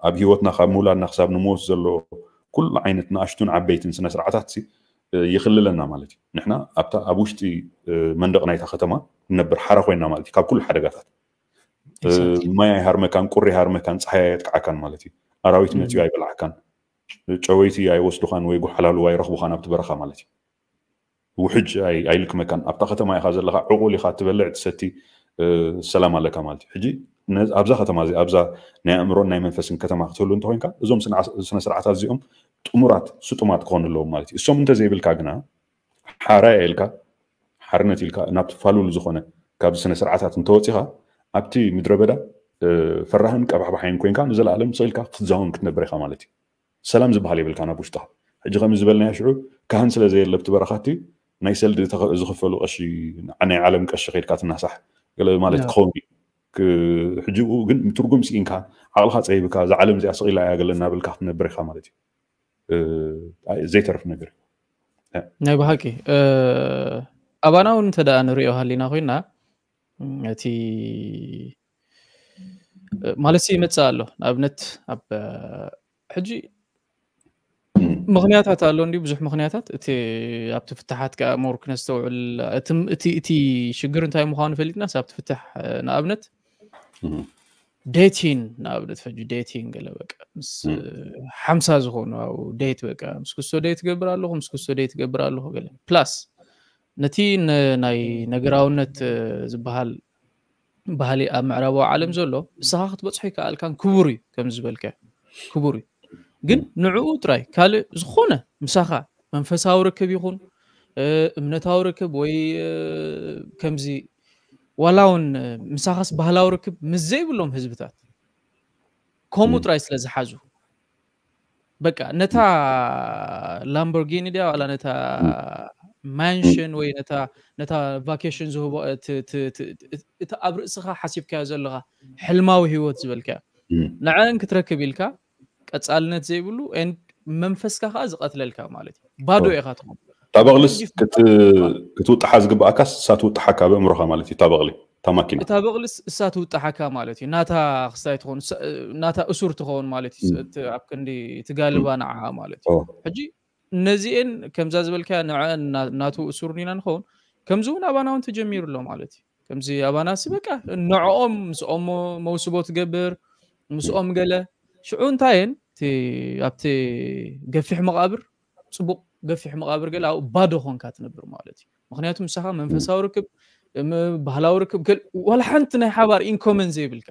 ኣብ ህይወትና ካብ ምውላድና ክሳብ ንሞት ዘሎ ኩሉ ዓይነት ንኣሽቱን ዓበይትን ስነ ስርዓታት ይክልለና ማለት እዩ። ንሕና ኣብታ ኣብ ውሽጢ መንደቕ ናይታ ከተማ ንነብር ሓራ ኮይና ማለት እዩ። ካብ ኩሉ ሓደጋታት ማይ ኣይሃርመካን፣ ቁሪ ኣይሃርመካን፣ ፀሓይ ኣየጥቅዓካን ማለት እዩ። ኣራዊት መፅዩ ኣይበልዓካን፣ ጨወይቲ ኣይወስዱኻን ወይ ጎሓላሉ ኣይረኽቡኻን ኣብቲ በረኻ ማለት እዩ። ውሕጅ ኣይልክመካን። ኣብታ ከተማ ኢኻ ዘለኻ፣ ዕቑል ኢኻ፣ ትበልዕ ትሰቲ፣ ሰላም ኣለካ ማለት እዩ። ሕጂ ኣብዛ ከተማ እዚ ኣብዛ ናይ ኣእምሮን ናይ መንፈስን ከተማ ክትህሉ እንተኮይንካ እዞም ስነ ስርዓታት እዚኦም ጥሙራት ስጡማት ክኾኑ ኣለዎም ማለት እዩ። እሶም እንተዘይብልካ ግና ሓራይ ኢልካ ሓርነት ኢልካ ናብቲ ፋሉል ዝኾነ ካብዚ ስነ ስርዓታት እንተወፂኻ ኣብቲ ምድረ በዳ ፈራህን ቀባሕባሓይን ኮይንካ ንዘለኣለም ስቕ ኢልካ ክትዛውን ክትነብር ኢኻ ማለት እዩ። ሰላም ዝበሃል የብልካን ኣብ ውሽጥኻ። ሕጂ ከም ዝበልናዮ ሽዑ ካህን ስለ ዘየለ ኣብቲ በረኻቲ ናይ ሰልዲ ዝኽፈሉ ቀሺ ናይ ዓለም ቀሺ ከይድካ ትናሳሕ ገለ ማለት ክኸውን እዩ። ሕጂ ግን ትርጉም ስኢንካ ዓቕልኻ ፀቢብካ እዛ ዓለም እዚኣ ስቕ ኢላ እያ ገለ እናበልካ ክትነብር ኢኻ ማለት እዩ። ዘይተርፍ ነገር እዩ። ናይ ብሓቂ ኣባና እውን እንተ ደኣ ንሪኦ ሃሊና ኮይና እቲ ማለት ይመፅእ ኣሎ። ንኣብነት ኣብ ሕጂ ምኽንያታት ኣሎ እንዲ ብዙሕ ምኽንያታት እቲ ኣብቲ ፍትሓት ከዓ ሞር ክነስተውዕል እቲ ሽግር እንታይ ምዃኑ ፈሊጥናስ ኣብቲ ፍትሕ ንኣብነት ዴቲን ንኣብነት ሕጂ ዴቲን ገለ በቃ ምስ ሓምሳ ዝኾኑ ኣብኡ ዴት በቃ ምስ ክስቶ ዴት ገብር ኣለኹ ምስ ክስቶ ዴት ገብር ኣለኹ ገለ ፕላስ ነቲ ናይ ነገራውነት ዝበሃል ባህሊ ኣብ ምዕራባዊ ዓለም ዘሎ ንስኻ ክትበፅሖ ይከኣልካን ክቡር እዩ ከም ዝበልካ ክቡር እዩ ግን ንዕኡ ጥራይ ካልእ ዝኾነ ምሳኻ መንፈሳዊ ርክብ ይኹን እምነታዊ ርክብ ወይ ከምዚ ዋላ እውን ምሳኻስ ባህላዊ ርክብ ምስ ዘይብሎም ህዝብታት ከምኡ ጥራይ ስለ ዝሓዙ በቃ ነታ ላምቦርጊኒ ድያ ዋላ ነታ ማንሽን ወይ ነታ ነታ ቫኬሽን ዝህቦ እቲ ኣብ ርእስኻ ሓሲብካዮ ዘለኻ ሕልማዊ ህይወት ዝበልካዮ ንዐን ክትረክብ ኢልካ ቀፃልነት ዘይብሉ መንፈስካ ከዓ ዝቀትለልካ ማለት እዩ ባዶ ኢኻ ትኾን ታበቕልስ ክትውጣሓ ዝግብኣካስ እሳ ትውጣሓካ ብእምሮኻ ማለት እዩ ታበቕሊ ታማኪና እታ በቕልስ እሳ ትውጣሓካ ማለት እዩ ናታ ክስታይ ትኾን ናታ እሱር ትኸውን ማለት እዩ ኣብ ክንዲ ትጋልባ ንዓኣ ማለት እዩ ሕጂ እነዚኤን ከምዛ ዝበልካ ንዐን ናቱ እሱር ኢና ንኸውን ከምዚ እውን ኣባና እውን ተጀሚሩ ኣሎ ማለት እዩ ከምዚ ኣባናሲ በቃ ንዕኦም ምስኦም መውስቦ ትገብር ምስኦም ገለ ሽዑ እንታየን ኣብቲ ገፊሕ መቃብር ፅቡቅ ገፊሕ መቃብር ገለ ኣብኡ ባዶ ኮንካ ትነብር ማለት እዩ ምክንያቱ ምሳኻ መንፈሳዊ ርክብ ባህላዊ ርክብ ዋላ ሓንቲ ናይ ሓባር ኢንኮመን ዘይብልካ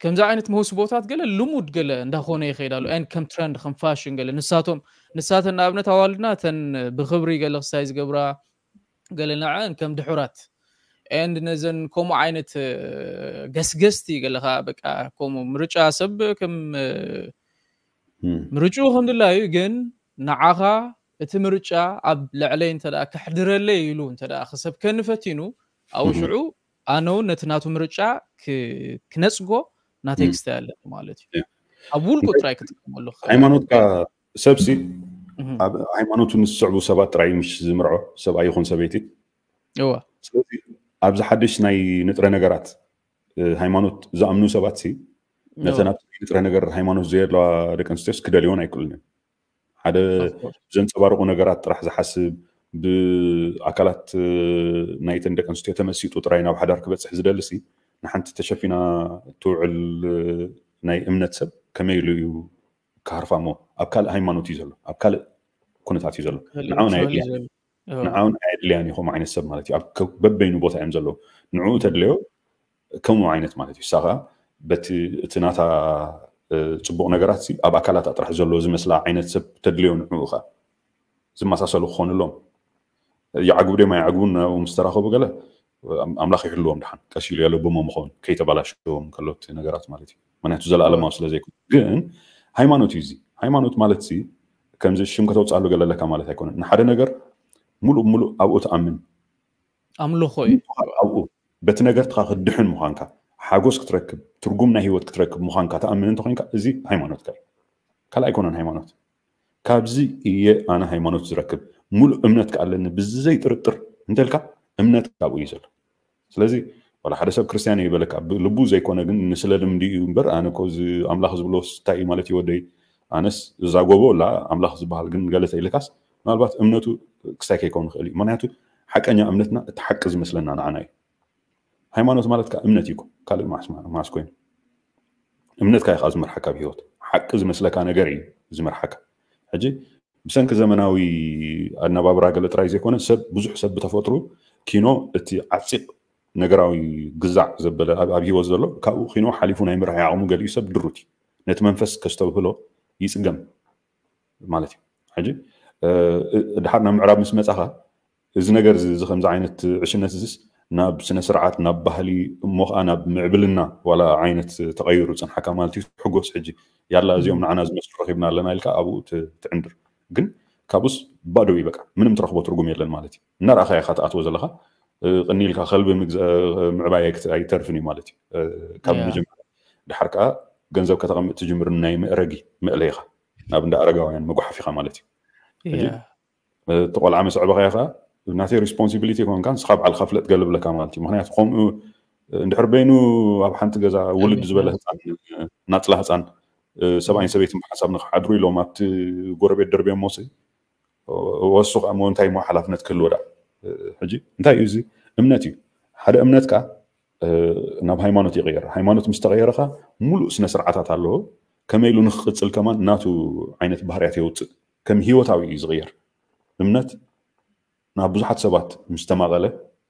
ከምዚ ዓይነት መውስቦታት ገለ ልሙድ ገለ እንዳኾነ ይኸይድ ኣሎ ን ከም ትረንድ ከም ፋሽን ገለ ንሳቶም ንሳተን ንኣብነት ኣዋልድና ተን ብክብሪ ገለ ክስታይ ዝገብራ ገለ ንዐን ከም ድሑራት and ነዘን ከምኡ ዓይነት ገስገስቲ ገለ ከዓ በቃ ከምኡ ምርጫ ሰብ ከም ምርጭኡ ከም ድላዩ ግን ንዓኻ እቲ ምርጫ ኣብ ልዕለይ እንተ ከሕድረለይ ኢሉ እንተ ክሰብከኒ ፈቲኑ ኣብኡ ሽዑ ኣነ እውን ነቲ ናቱ ምርጫ ክነፅጎ ናተይ ክስታይ ኣለኒ ማለት እዩ ኣብ ውልቁ ጥራይ ክጥቀመሉ ሃይማኖትካ ሰብሲ ኣብ ሃይማኖቱ ንዝስዕቡ ሰባት ጥራይ ምሽ ዝምርዖ ሰብኣይ ይኹን ሰበይቲ እዋ ስለዚ ኣብዚ ሓድሽ ናይ ንጥረ ነገራት ሃይማኖት ዝኣምኑ ሰባት ሲ ነተን ኣብቲ ንጥረ ነገር ሃይማኖት ዘየድለዋ ደቂ ኣንስትዮስ ክደልዮን ኣይክእሉን እዮም ሓደ ዘንፀባርቁ ነገራት ጥራሕ ዝሓስብ ብኣካላት ናይተን ደቂ ኣንስትዮ ተመሲጡ ጥራይ ናብ ሓዳር ክበፅሕ ዝደሊ ሲ ንሓንቲ ተሸፊና ትውዕል ናይ እምነት ሰብ ከመይ ኢሉ እዩ ክሃርፋ እሞ ኣብ ካልእ ሃይማኖት እዩ ዘሎ ኣብ ካልእ ኩነታት እዩ ዘሎ ንዓውን ኣየድልያን ንዓውን ኣየድልያን እዩ ከምኡ ዓይነት ሰብ ማለት እዩ በበይኑ ቦታ እዮም ዘለዉ ንዕኡ ተድለዮ ከምኡ ዓይነት ማለት እዩ እሳ ከዓ በቲ እቲ ናታ ፅቡቅ ነገራት ኣብ ኣካላት ጥራሕ ዘሎ ዝመስላ ዓይነት ሰብ ተድልዮ ንዕኡ ከዓ ዝመሳሰሉ ክኾኑ ኣለዎም ይዓግቡ ድዮም ኣይዓግቡን ናብኡ ምስ ተራኸቡ ገለ ኣምላኽ ይሕልዎም ድሓን ቀስ ኢሉ የለብሞም ይኸውን ከይተባላሽዎም ከሎ እቲ ነገራት ማለት እዩ ምክንያቱ ዘለኣለማዊ ስለ ዘይኮነ ግን ሃይማኖት እዩ እዚ ሃይማኖት ማለት ሲ ከምዚ ሽም ከተውፅኣሉ ገለ ኣለካ ማለት ኣይኮነን ንሓደ ነገር ሙሉእ ሙሉእ ኣብኡ ትኣምን ኣምልኾ እዩ ኣብኡ በቲ ነገርትኻ ክትድሕን ምዃንካ ሓጎስ ክትረክብ ትርጉም ናይ ህይወት ክትረክብ ምዃንካ ትኣምን እንተኮይንካ እዚ ሃይማኖትካ እዩ ካልእ ኣይኮነን ሃይማኖት ካብዚ እየ ኣነ ሃይማኖት ዝረክብ ሙሉእ እምነት ከኣለኒ ብዘይ ጥርጥር እንተልካ እምነት ካብኡ እዩ ዘሎ ስለዚ ዋላ ሓደ ሰብ ክርስትያን እዩ ይበለካ፣ ብልቡ ዘይኮነ ግን ንስለ ልምዲ እዩ እምበር፣ ኣነ እኮ እዚ ኣምላኽ ዝብሎ እንታይ እዩ ማለት እዩ ወደይ፣ ኣነስ እዛ ጎቦ ላ ኣምላኽ ዝበሃል ግን ገለ ተኢልካስ፣ ምናልባት እምነቱ ክስታይ ከይከውን ይኽእል እዩ። ምክንያቱ ሓቀኛ እምነትና እቲ ሓቂ ዝመስለና ንዓና እዩ። ሃይማኖት ማለት ከዓ እምነት እዩ እኮ፣ ካልእ ማስ ኮይኑ እምነትካ እዩ ከዓ ዝመርሓካ ብህይወት። ሓቂ ዝመስለካ ነገር እዩ ዝመርሓካ። ሕጂ ብሰንኪ ዘመናዊ ኣነባብራ ገለ ጥራይ ዘይኮነ ሰብ ብዙሕ ሰብ ብተፈጥሩ ኪኖ እቲ ዓፂቕ ነገራዊ ግዛዕ ዘበለ ኣብ ኣብ ህይወት ዘሎ ካብኡ ኪኖ ሓሊፉ ናይ ምርሓይ ዓቕሙ ገሊኡ ሰብ ድሩት እዩ። ነቲ መንፈስ ከስተብህሎ ይፅገም ማለት እዩ። ሕጂ ድሓር ናብ ምዕራብ ምስ መፃኻ እዚ ነገር እዚ ከምዚ ዓይነት ዕሽነት እዚስ ናብ ስነ ስርዓት ናብ ባህሊ እሞ ከዓ ናብ ምዕብልና ዋላ ዓይነት ተቐይሩ ፅንሓካ ማለት እዩ። ትሕጎስ ሕጂ ያላ እዚኦም ንዓና ዝመስሉ ረኪብና ኣለና ኢልካ ኣብኡ ትዕንድር። ግን ካብኡስ ባዶ እዩ በቃ ምንም ትረክቦ ትርጉም የለን ማለት እዩ። እናረኣኻ ኢኻ ትኣትዎ ዘለካ ቅኒ ኢልካ ከልቢ ምዕባይ ኣይተርፍን እዩ ማለት እዩ። ካብ መጀመርያ ድሓር ከዓ ገንዘብ ከተቐምጥ ትጅምር ናይ መእረጊ መእለይኻ ናብ እንዳ ኣረጋውያን መጓሓፊኻ ማለት እዩ። እቲ ቆልዓ ምስ ኣዕበኻዮ ከዓ ናተይ ሪስፖንሲቢሊቲ ኮንካ ንስኻ ባዕልካ ፍለጥ ገልብለካ ማለት እዩ። ምክንያቱ ከምኡ እንድሕር በይኑ ኣብ ሓንቲ ገዛ ውልድ ዝበለ ህፃን ናፅላ ህፃን ሰብኣይን ሰበይትን ብሓንሳብ ንክሓድሩ ኢሎም ኣብቲ ጎረቤት ደርብዮሞ ሲ ወሱ ከዓ ሞ እንታይ ሞ ሓላፍነት ክህልዎ ዳ ሕጂ እንታይ እዩ እዚ እምነት እዩ። ሓደ እምነት ከዓ ናብ ሃይማኖት ይቕየር። ሃይማኖት ምስ ተቐየረ ከዓ ሙሉእ ስነ ስርዓታት ኣለዎ። ከመይ ኢሉ ንክቕፅል ከማን ናቱ ዓይነት ባህርያት የውፅእ። ከም ህይወታዊ እዩ ዝቕየር። እምነት ናብ ብዙሓት ሰባት ምስ ተማቐለ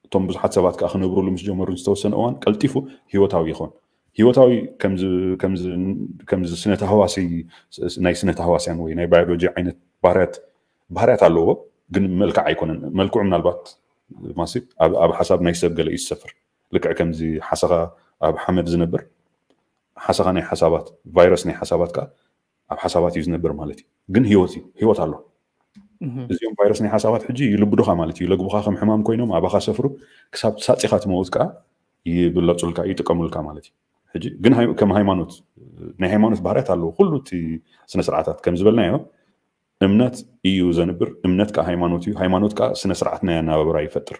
እቶም ብዙሓት ሰባት ከዓ ክነብሩሉ ምስ ጀመሩ ዝተወሰነ እዋን ቀልጢፉ ህይወታዊ ይኾን። ህይወታዊ ከምዚ ስነ ተሃዋሲ ናይ ስነ ተሃዋስያን ወይ ናይ ባዮሎጂ ዓይነት ባህርያት ባህርያት ኣለዎ፣ ግን መልክዕ ኣይኮነን። መልክዑ ምናልባት ማሲ ኣብ ሓሳብ ናይ ሰብ ገለ እዩ ዝሰፍር። ልክዕ ከምዚ ሓሰኻ ኣብ ሓመድ ዝነብር ሓሰኻ ናይ ሓሳባት ቫይረስ ናይ ሓሳባት ከዓ ኣብ ሓሳባት እዩ ዝነብር ማለት እዩ። ግን ህይወት እዩ፣ ህይወት ኣሎ። እዚኦም ቫይረስ ናይ ሓሳባት ሕጂ ይልብዱኻ ማለት እዩ። ይለግቡኻ ከም ሕማም ኮይኖም ኣባኻ ሰፍሩ ክሳብ ሳፂኻ ትመውት ከዓ ይብለፁልካ ይጥቀሙልካ ማለት እዩ። ሕጂ ግን ከም ሃይማኖት ናይ ሃይማኖት ባህርያት ኣለዎ። ኩሉ እቲ ስነ ስርዓታት ከም ዝበልናዮ እምነት እዩ ዘንብር። እምነት ከዓ ሃይማኖት እዩ። ሃይማኖት ከዓ ስነ ስርዓት ናይ ኣነባብራ ይፈጥር።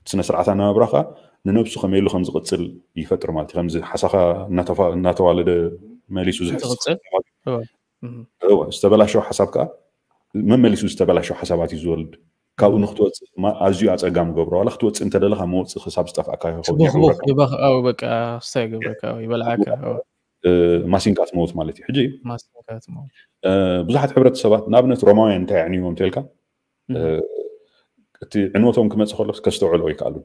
ስነ ስርዓት ኣነባብራ ከዓ ንነብሱ ከመይ ኢሉ ከም ዝቕፅል ይፈጥር ማለት እዩ። ከምዚ ሓሳኻ እናተዋለደ መሊሱ ዝሕስወ ዝተበላሸው ሓሳብ ከዓ መመሊሱ ዝተበላሸው ሓሳባት እዩ ዝወልድ። ካብኡ ንክትወፅእ ኣዝዩ ኣፀጋሚ ገብሮ ዋላ ክትወፅእ እንተደለካ መወፅእ ክሳብ ዝጠፍኣካ ይኸውን። በቃ ስታይ ገብረካ ይበልዓካ። ማሲንካ ትመውት ማለት እዩ። ሕጂ ብዙሓት ሕብረተሰባት ንኣብነት ሮማውያን እንታይ ኣዕንይዎም እንተልካ እቲ ዕንወቶም ክመፅእ ከሎ ከስተውዕሎ ኣይከኣሉን።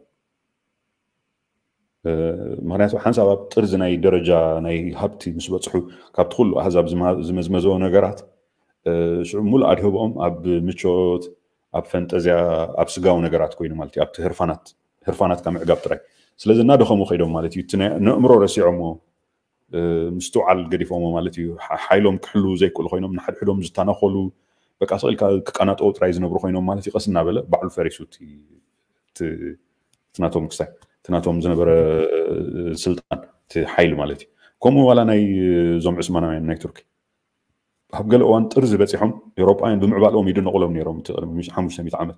ምክንያቱ ሓንሳብ ኣብ ጥርዚ ናይ ደረጃ ናይ ሃብቲ ምስ በፅሑ ካብቲ ኩሉ ኣህዛብ ዝመዝመዘዎ ነገራት ሽዑ ሙሉእ ኣድህቦኦም ኣብ ምቾት ኣብ ፈንጠዝያ ኣብ ስጋዊ ነገራት ኮይኑ ማለት እዩ። ኣብቲ ህርፋናት ህርፋናት ካብ ምዕጋብ ጥራይ ስለዚ እናደኸሙ ከይዶም ማለት እዩ። እቲ ነእምሮ ረሲዖሞ ምስትውዓል ገዲፎሞ ማለት እዩ። ሓይሎም ክሕልዉ ዘይክእሉ ኮይኖም ንሓድሕዶም ዝታናኮሉ በቃ ስቕ ኢልካ ክቀናጠው ጥራይ ዝነብሩ ኮይኖም ማለት እዩ። ቀስ እናበለ ባዕሉ ፈሪሱ እቲ ናቶም ክሳይ እቲ ናቶም ዝነበረ ስልጣን እቲ ሓይሊ ማለት እዩ። ከምኡ ዋላ ናይ እዞም ዑስማናውያን ናይ ቱርኪ ኣብ ገለ እዋን ጥርዚ በፂሖም ኤውሮጳውያን ብምዕባለኦም ይድነቑሎም ነይሮም። እቲ ቅድሚ ሓሙሽተ ሚእቲ ዓመት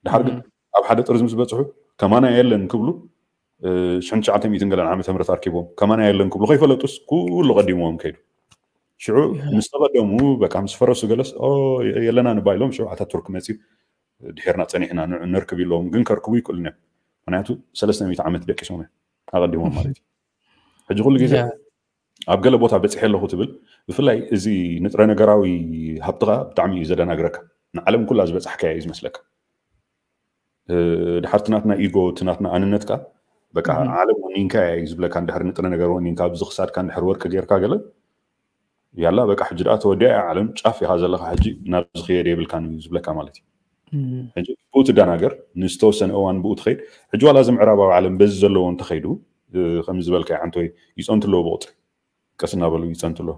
ድሓር ግን ኣብ ሓደ ጥርዚ ምስ በፅሑ ከማና የለን ክብሉ ሽሕን ትሽዓተ ሚእትን ገለን ዓመተ ምህረት ኣርኪቦም ከማና የለን ክብሉ ከይፈለጡስ ኩሉ ቀዲምዎም ከይዱ። ሽዑ ምስ ተቐደሙ በቃ ምስ ፈረሱ ገለስ የለና ንባይሎም ሽዑ ኣታቱርክ መፅዩ ድሒርና ፀኒሕና ንዑ ነርክብ ኢሎም ግን ከርክቡ ይክእሉን እዮም። ምክንያቱ ሰለስተ ሚእቲ ዓመት ደቂሶም እዮም ኣቐዲሞም ማለት እዩ። ሕጂ ኩሉ ግዜ ኣብ ገለ ቦታ በፂሐ ኣለኹ ትብል ብፍላይ እዚ ንጥረ ነገራዊ ሃብትኻ ብጣዕሚ እዩ ዘደናግረካ። ንዓለም ኩላ ዝበፃሕካያ እዩ ዝመስለካ። ድሓር ትናትና ኢጎ ትናትና ኣንነትካ በቃ ዓለም ወኒንካ እዩ ዝብለካ። እንድሕር ንጥረ ነገር ወኒንካ ኣብዚ ክሳድካ እንድሕር ወርቂ ጌርካ ገለ ያላ በቃ ሕጂ ደኣ ተወዲኣ እያ ዓለም ጫፍ ኢኻ ዘለኻ ሕጂ ናብ ዝኽየድ የብልካን እዩ ዝብለካ ማለት እዩ። ሕጂ ብኡ ትደናገር ንዝተወሰነ እዋን ብኡ ትኸይድ። ሕጂ ዋላ እዚ ምዕራባዊ ዓለም በዚ ዘለዎ እንተኸይዱ ከም ዝበልካ ዓንቶይ ይፀንቱ ኣለዎ ብቁፅሪ ቀስ እናበሉ ይፀንቱ ኣለዎ።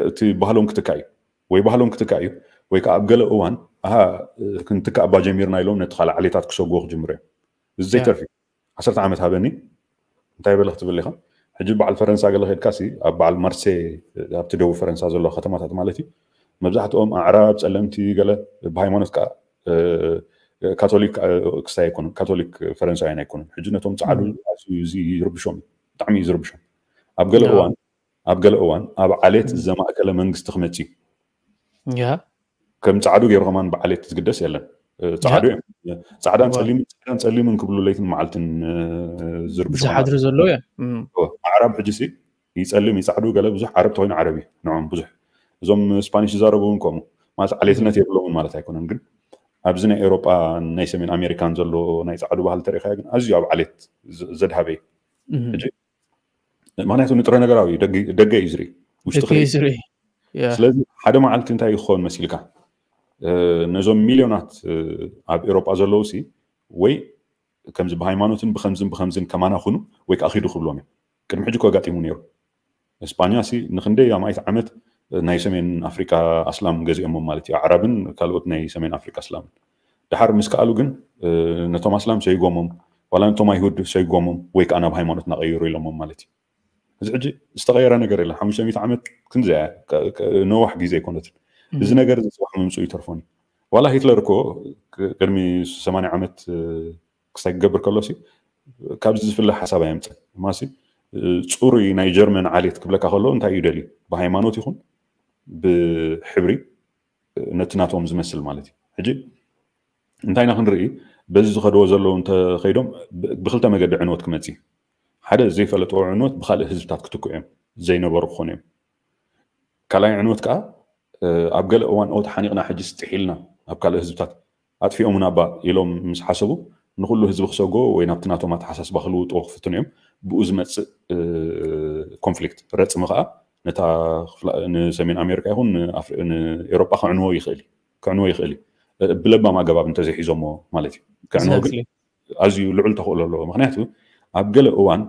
እቲ ባህሎም ክትካ እዩ ወይ ባህሎም ክትካ እዩ ወይ ከዓ ኣብ ገለ እዋን ኣሃ ክንትካእ እባ ጀሚርና ኢሎም ነቲ ካልእ ዓሌታት ክሰጉዎ ክጅምሩ እዮም። እዚ ዘይተርፍ እዩ። ዓሰርተ ዓመት ሃበኒ እንታይ በለ ክትብል ኢኻ። ሕጂ በዓል ፈረንሳ ገለ ከድካ ሲ ኣብ በዓል ማርሴ ኣብቲ ደቡብ ፈረንሳ ዘለዋ ከተማታት ማለት እዩ መብዛሕትኦም ኣዕራብ ፀለምቲ ገለ ብሃይማኖት ከዓ ካቶሊክ ክስታይ ኣይኮኑን፣ ካቶሊክ ፈረንሳውያን ኣይኮኑን። ሕጂ ነቶም ፃዕዱ ኣዝዩ እዚ ይርብሾም፣ ብጣዕሚ እዩ ዝርብሾም። ኣብ ገለ እዋን ኣብ ገለ እዋን ኣብ ዓሌት ዘማእከለ መንግስቲ ክመፅእ እዩ። ከም ፃዕዱ ገይሩ ከማን ብዓሌት ዝግደስ የለን። ፃዕዱ እዮም። ፃዕዳን ፀሊምን፣ ፃዕዳን ፀሊምን ክብሉ ለይትን መዓልትን ዝርብሾም ዝሓድሩ ዘለዉ እዮም። ኣዕራብ ሕጂ ሲ ይፀልም ይፃዕዱ ገለ ብዙሕ ዓረብ ተኮይኑ ዓረብ እዩ ንዖም ብዙሕ። እዞም ስፓኒሽ ዝዛረቡ እውን ከምኡ ማለት ዓሌትነት የብሎምን ማለት ኣይኮነን። ግን ኣብዚ ናይ ኤውሮጳ ናይ ሰሜን ኣሜሪካን ዘሎ ናይ ፃዕዱ ባህሊ ተሪኢኻዮ ግን ኣዝዩ ኣብ ዓሌት ዘድሃበ እዩ። ምክንያቱ ንጥረ ነገራዊ ደገ እዩ ዝርኢ፣ ውሽጢ ስለዚ ሓደ መዓልቲ እንታይ ክኸውን መሲልካ ነዞም ሚልዮናት ኣብ ኤውሮጳ ዘለዉ ሲ ወይ ከምዚ ብሃይማኖትን ብከምዝን ብከምዝን ከማና ኩኑ ወይ ከዓ ኪዱ ክብሎም እዮም። ቅድሚ ሕጂ እኮ ኣጋጢሙ ነይሩ። እስጳኛ ሲ ንክንደይ ኣማኢት ዓመት ናይ ሰሜን ኣፍሪቃ ኣስላም ገዚኦሞም ማለት እዩ። ኣዕራብን ካልኦት ናይ ሰሜን ኣፍሪቃ ኣስላምን ድሓር ምስ ከኣሉ ግን ነቶም ኣስላም ሰይጎሞም ዋላ ነቶም ኣይሁድ ሰይጎሞም ወይ ከዓ ናብ ሃይማኖት እናቀይሩ ኢሎሞም ማለት እዩ። እዚ ሕጂ ዝተቀየረ ነገር የለን። ሓሙሽተ ሚእቲ ዓመት ክንዚ ነዋሕ ግዜ ኣይኮነትን። እዚ ነገር እዚ ፅባሕ ምምፅኡ ይተርፎን እዩ። ዋላ ሂትለር እኮ ቅድሚ ሰማንያ ዓመት ክሳይ ክገብር ከሎ ሲ ካብዚ ዝፍለ ሓሳብ ኣየምፅን። ማሲ ፅሩይ ናይ ጀርመን ዓሌት ክብለካ ከሎ እንታይ እዩ ደልዩ? ብሃይማኖት ይኹን ብሕብሪ ነቲ ናቶም ዝመስል ማለት እዩ። ሕጂ እንታይና ክንርኢ በዚ ዝኸድዎ ዘለዉ እንተኸይዶም ብክልተ መገዲ ዕንወት ክመፅእ ሓደ ዘይፈለጥዎ ዕንወት ብካልእ ህዝብታት ክትክዑ እዮም ዘይነበሩ ክኾኑ እዮም። ካልኣይ ዕንወት ከዓ ኣብ ገለ እዋን ኦ ተሓኒቕና ሕጂ ስጥሕ ኢልና ኣብ ካልእ ህዝብታት ኣጥፊኦሙና እባ ኢሎም ምስ ሓሰቡ ንኩሉ ህዝቢ ክሰጎ ወይ ናብቲ ናቶም ኣተሓሳስባ ክልውጥዎ ክፍትኑ እዮም። ብኡ ዝመፅእ ኮንፍሊክት ረፅሚ ከዓ ነታ ንሰሜን ኣሜሪካ ይኹን ንኤሮጳ ክዕንዎ ይኽእል ክዕንዎ ይኽእል እዩ። ብለባም ኣገባብ እንተዘይሒዞሞ ማለት እዩ። ክዕንዎ ግን ኣዝዩ ልዑል ተኽእሎ ኣለዎ። ምክንያቱ ኣብ ገለ እዋን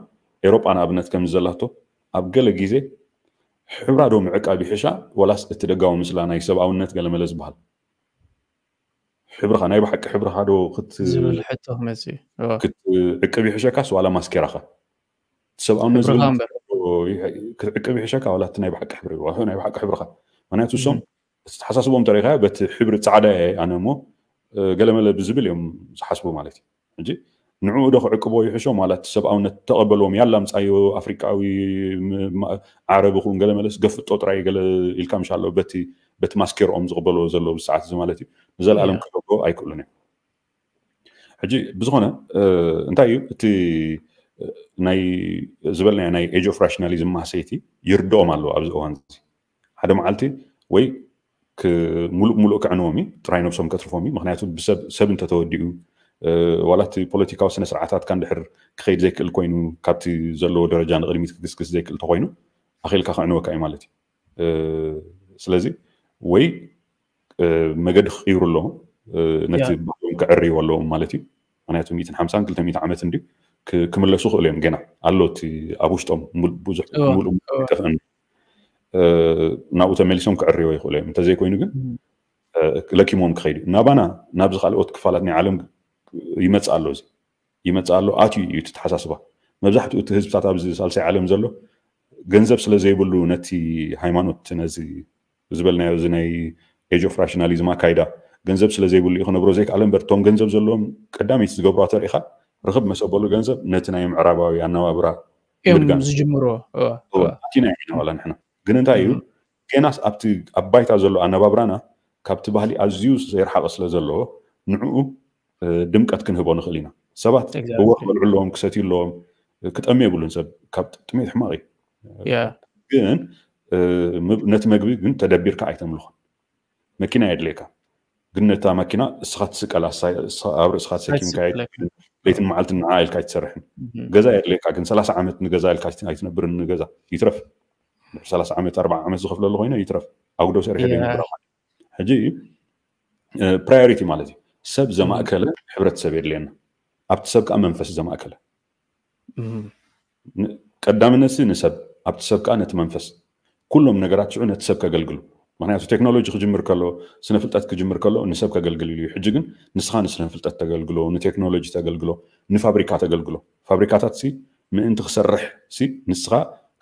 ኤሮጳ ንኣብነት ከም ዘላቶ ኣብ ገለ ግዜ ሕብራ ዶ ምዕቃብ ይሕሻ ዋላስ እቲ ደጋዊ ምስላ ናይ ሰብኣውነት ገለመለ ዝበሃል ሕብርኻ ናይ ብሓቂ ሕብርኻ ዶ ክትዕቅብ ይሕሸካስ ዋላ ማስኬራኻ? ሰብኣውነት ክትዕቅብ ይሕሸካ ዋላ እቲ ናይ ብሓቂ ሕብሪ ናይ ብሓቂ ሕብርኻ? ምክንያቱ እሶም እቲ ተሓሳስቦም ተሪኢኻዮ በቲ ሕብሪ ፃዕዳ እየ ኣነ እሞ ገለመለ ብዝብል እዮም ዝሓስቡ ማለት እዩ። ሕጂ ንዕኡ ዶ ክዕቅቦ ይሕሾም ዋላ እቲ ሰብኣውነት ተቐበልዎም ያላ ምፃዮ ኣፍሪቃዊ ዓረቢ ክውን ገለ መለስ ገፍጦ ጥራይ ገለ ኢልካ ምሻ ኣሎ በቲ በቲ ማስኬርኦም ዝቕበልዎ ዘለዉ ሰዓት እዚ ማለት እዩ ንዘለኣለም ክገብርዎ ኣይክእሉን እዮም። ሕጂ ብዝኾነ እንታይ እዩ እቲ ናይ ዝበልናዮ ናይ age of rationalism ማህሰይቲ ይርድኦም ኣለዎ ኣብዚ እዋን እዚ ሓደ መዓልቲ ወይ ሙሉእ ሙሉእ ከዕንዎም እዩ ጥራይ ነብሶም ከትርፎም እዩ ምክንያቱ ብሰብ ሰብ እንተተወዲኡ ዋላ እቲ ፖለቲካዊ ስነ ስርዓታትካ እንድሕር ክኸይድ ዘይክእል ኮይኑ ካብቲ ዘለዎ ደረጃ ንቅድሚት ክግስግስ ዘይክእል ተኮይኑ ኣኺልካ ከዕንወካ እዩ ማለት እዩ ስለዚ ወይ መገዲ ክቅይሩ ኣለዎም ነቲ ባህሎም ክዕርይዎ ኣለዎም ማለት እዩ ምክንያቱ ሚእትን ሓምሳን ክልተ ሚእቲ ዓመት እንድዩ ክምለሱ ክእሉ እዮም ገና ኣሎ እቲ ኣብ ውሽጦም ብዙሕ ሙሉእ ጠፍአን ናብኡ ተመሊሶም ክዕርይዎ ይኽእሉ እዮም እንተዘይኮይኑ ግን ለኪሞም ክኸይዱ ናባና ናብዚ ካልኦት ክፋላት ናይ ዓለም ይመፅእ ኣሎ እዚ ይመፅእ ኣሎ ኣትዩ እዩ እቲ ተሓሳስባ መብዛሕትኡ እቲ ህዝብታት ኣብዚ ሳልሳይ ዓለም ዘሎ ገንዘብ ስለ ዘይብሉ ነቲ ሃይማኖት ነዚ ዝበልናዮ እዚ ናይ age of rationalism ኣካይዳ ገንዘብ ስለ ዘይብሉ እዩ ክነብሮ ዘይከኣለ እምበር እቶም ገንዘብ ዘለዎም ቀዳመይቲ ዝገብሯ ተሪኢኻ ርኽብ መሰበሉ ገንዘብ ነቲ ናይ ምዕራባዊ ኣነባብራ ምድጋም ዝጅምሮ ኣቲና ኢና ዋላ ንሕና ግን እንታይ እዩ ገናስ ኣብቲ ኣብ ባይታ ዘሎ ኣነባብራና ካብቲ ባህሊ ኣዝዩ ዘይረሓቐ ስለ ዘለዎ ንዕኡ ድምቀት ክንህቦ ንኽእል ኢና ሰባት እወ ክበልዑ ኣለዎም ክሰትዩ ኣለዎም ክጠሚ የብሉን ሰብ ካብ ጥሜት ሕማቕ እዩ ግን ነቲ መግቢ ግን ተደቢርካ ኣይተምልኾን መኪና የድልየካ ግን ነታ መኪና እስኻ ትስቀላ ኣብ ርእስኻ ተሰኪምካ ለይትን መዓልትን ንዓ ኢልካ ኣይትሰርሕን ገዛ የድልየካ ግን ሰላሳ ዓመት ንገዛ ኢልካ ኣይትነብርን ንገዛ ይትረፍ ሰላሳ ዓመት ኣርባዓ ዓመት ዝኸፍለሉ ኮይነ ይትረፍ ኣጉዶ ሰሪሐ ዘይነብራ ሕጂ priority ማለት እዩ ሰብ ዘማእከለ ሕብረተሰብ የድልየና ኣብቲ ሰብ ከዓ መንፈስ ዘማእከለ ቀዳምነት ንሰብ ኣብቲ ሰብ ከዓ ነቲ መንፈስ ኩሎም ነገራት ሽዑ ነቲ ሰብ ከገልግሉ ምክንያቱ ቴክኖሎጂ ክጅምር ከሎ ስነ ፍልጠት ክጅምር ከሎ ንሰብ ከገልግል ኢሉ እዩ ሕጂ ግን ንስኻ ንስነ ፍልጠት ተገልግሎ ንቴክኖሎጂ ተገልግሎ ንፋብሪካ ተገልግሎ ፋብሪካታት ሲ ምእንቲ ክሰርሕ ሲ ንስኻ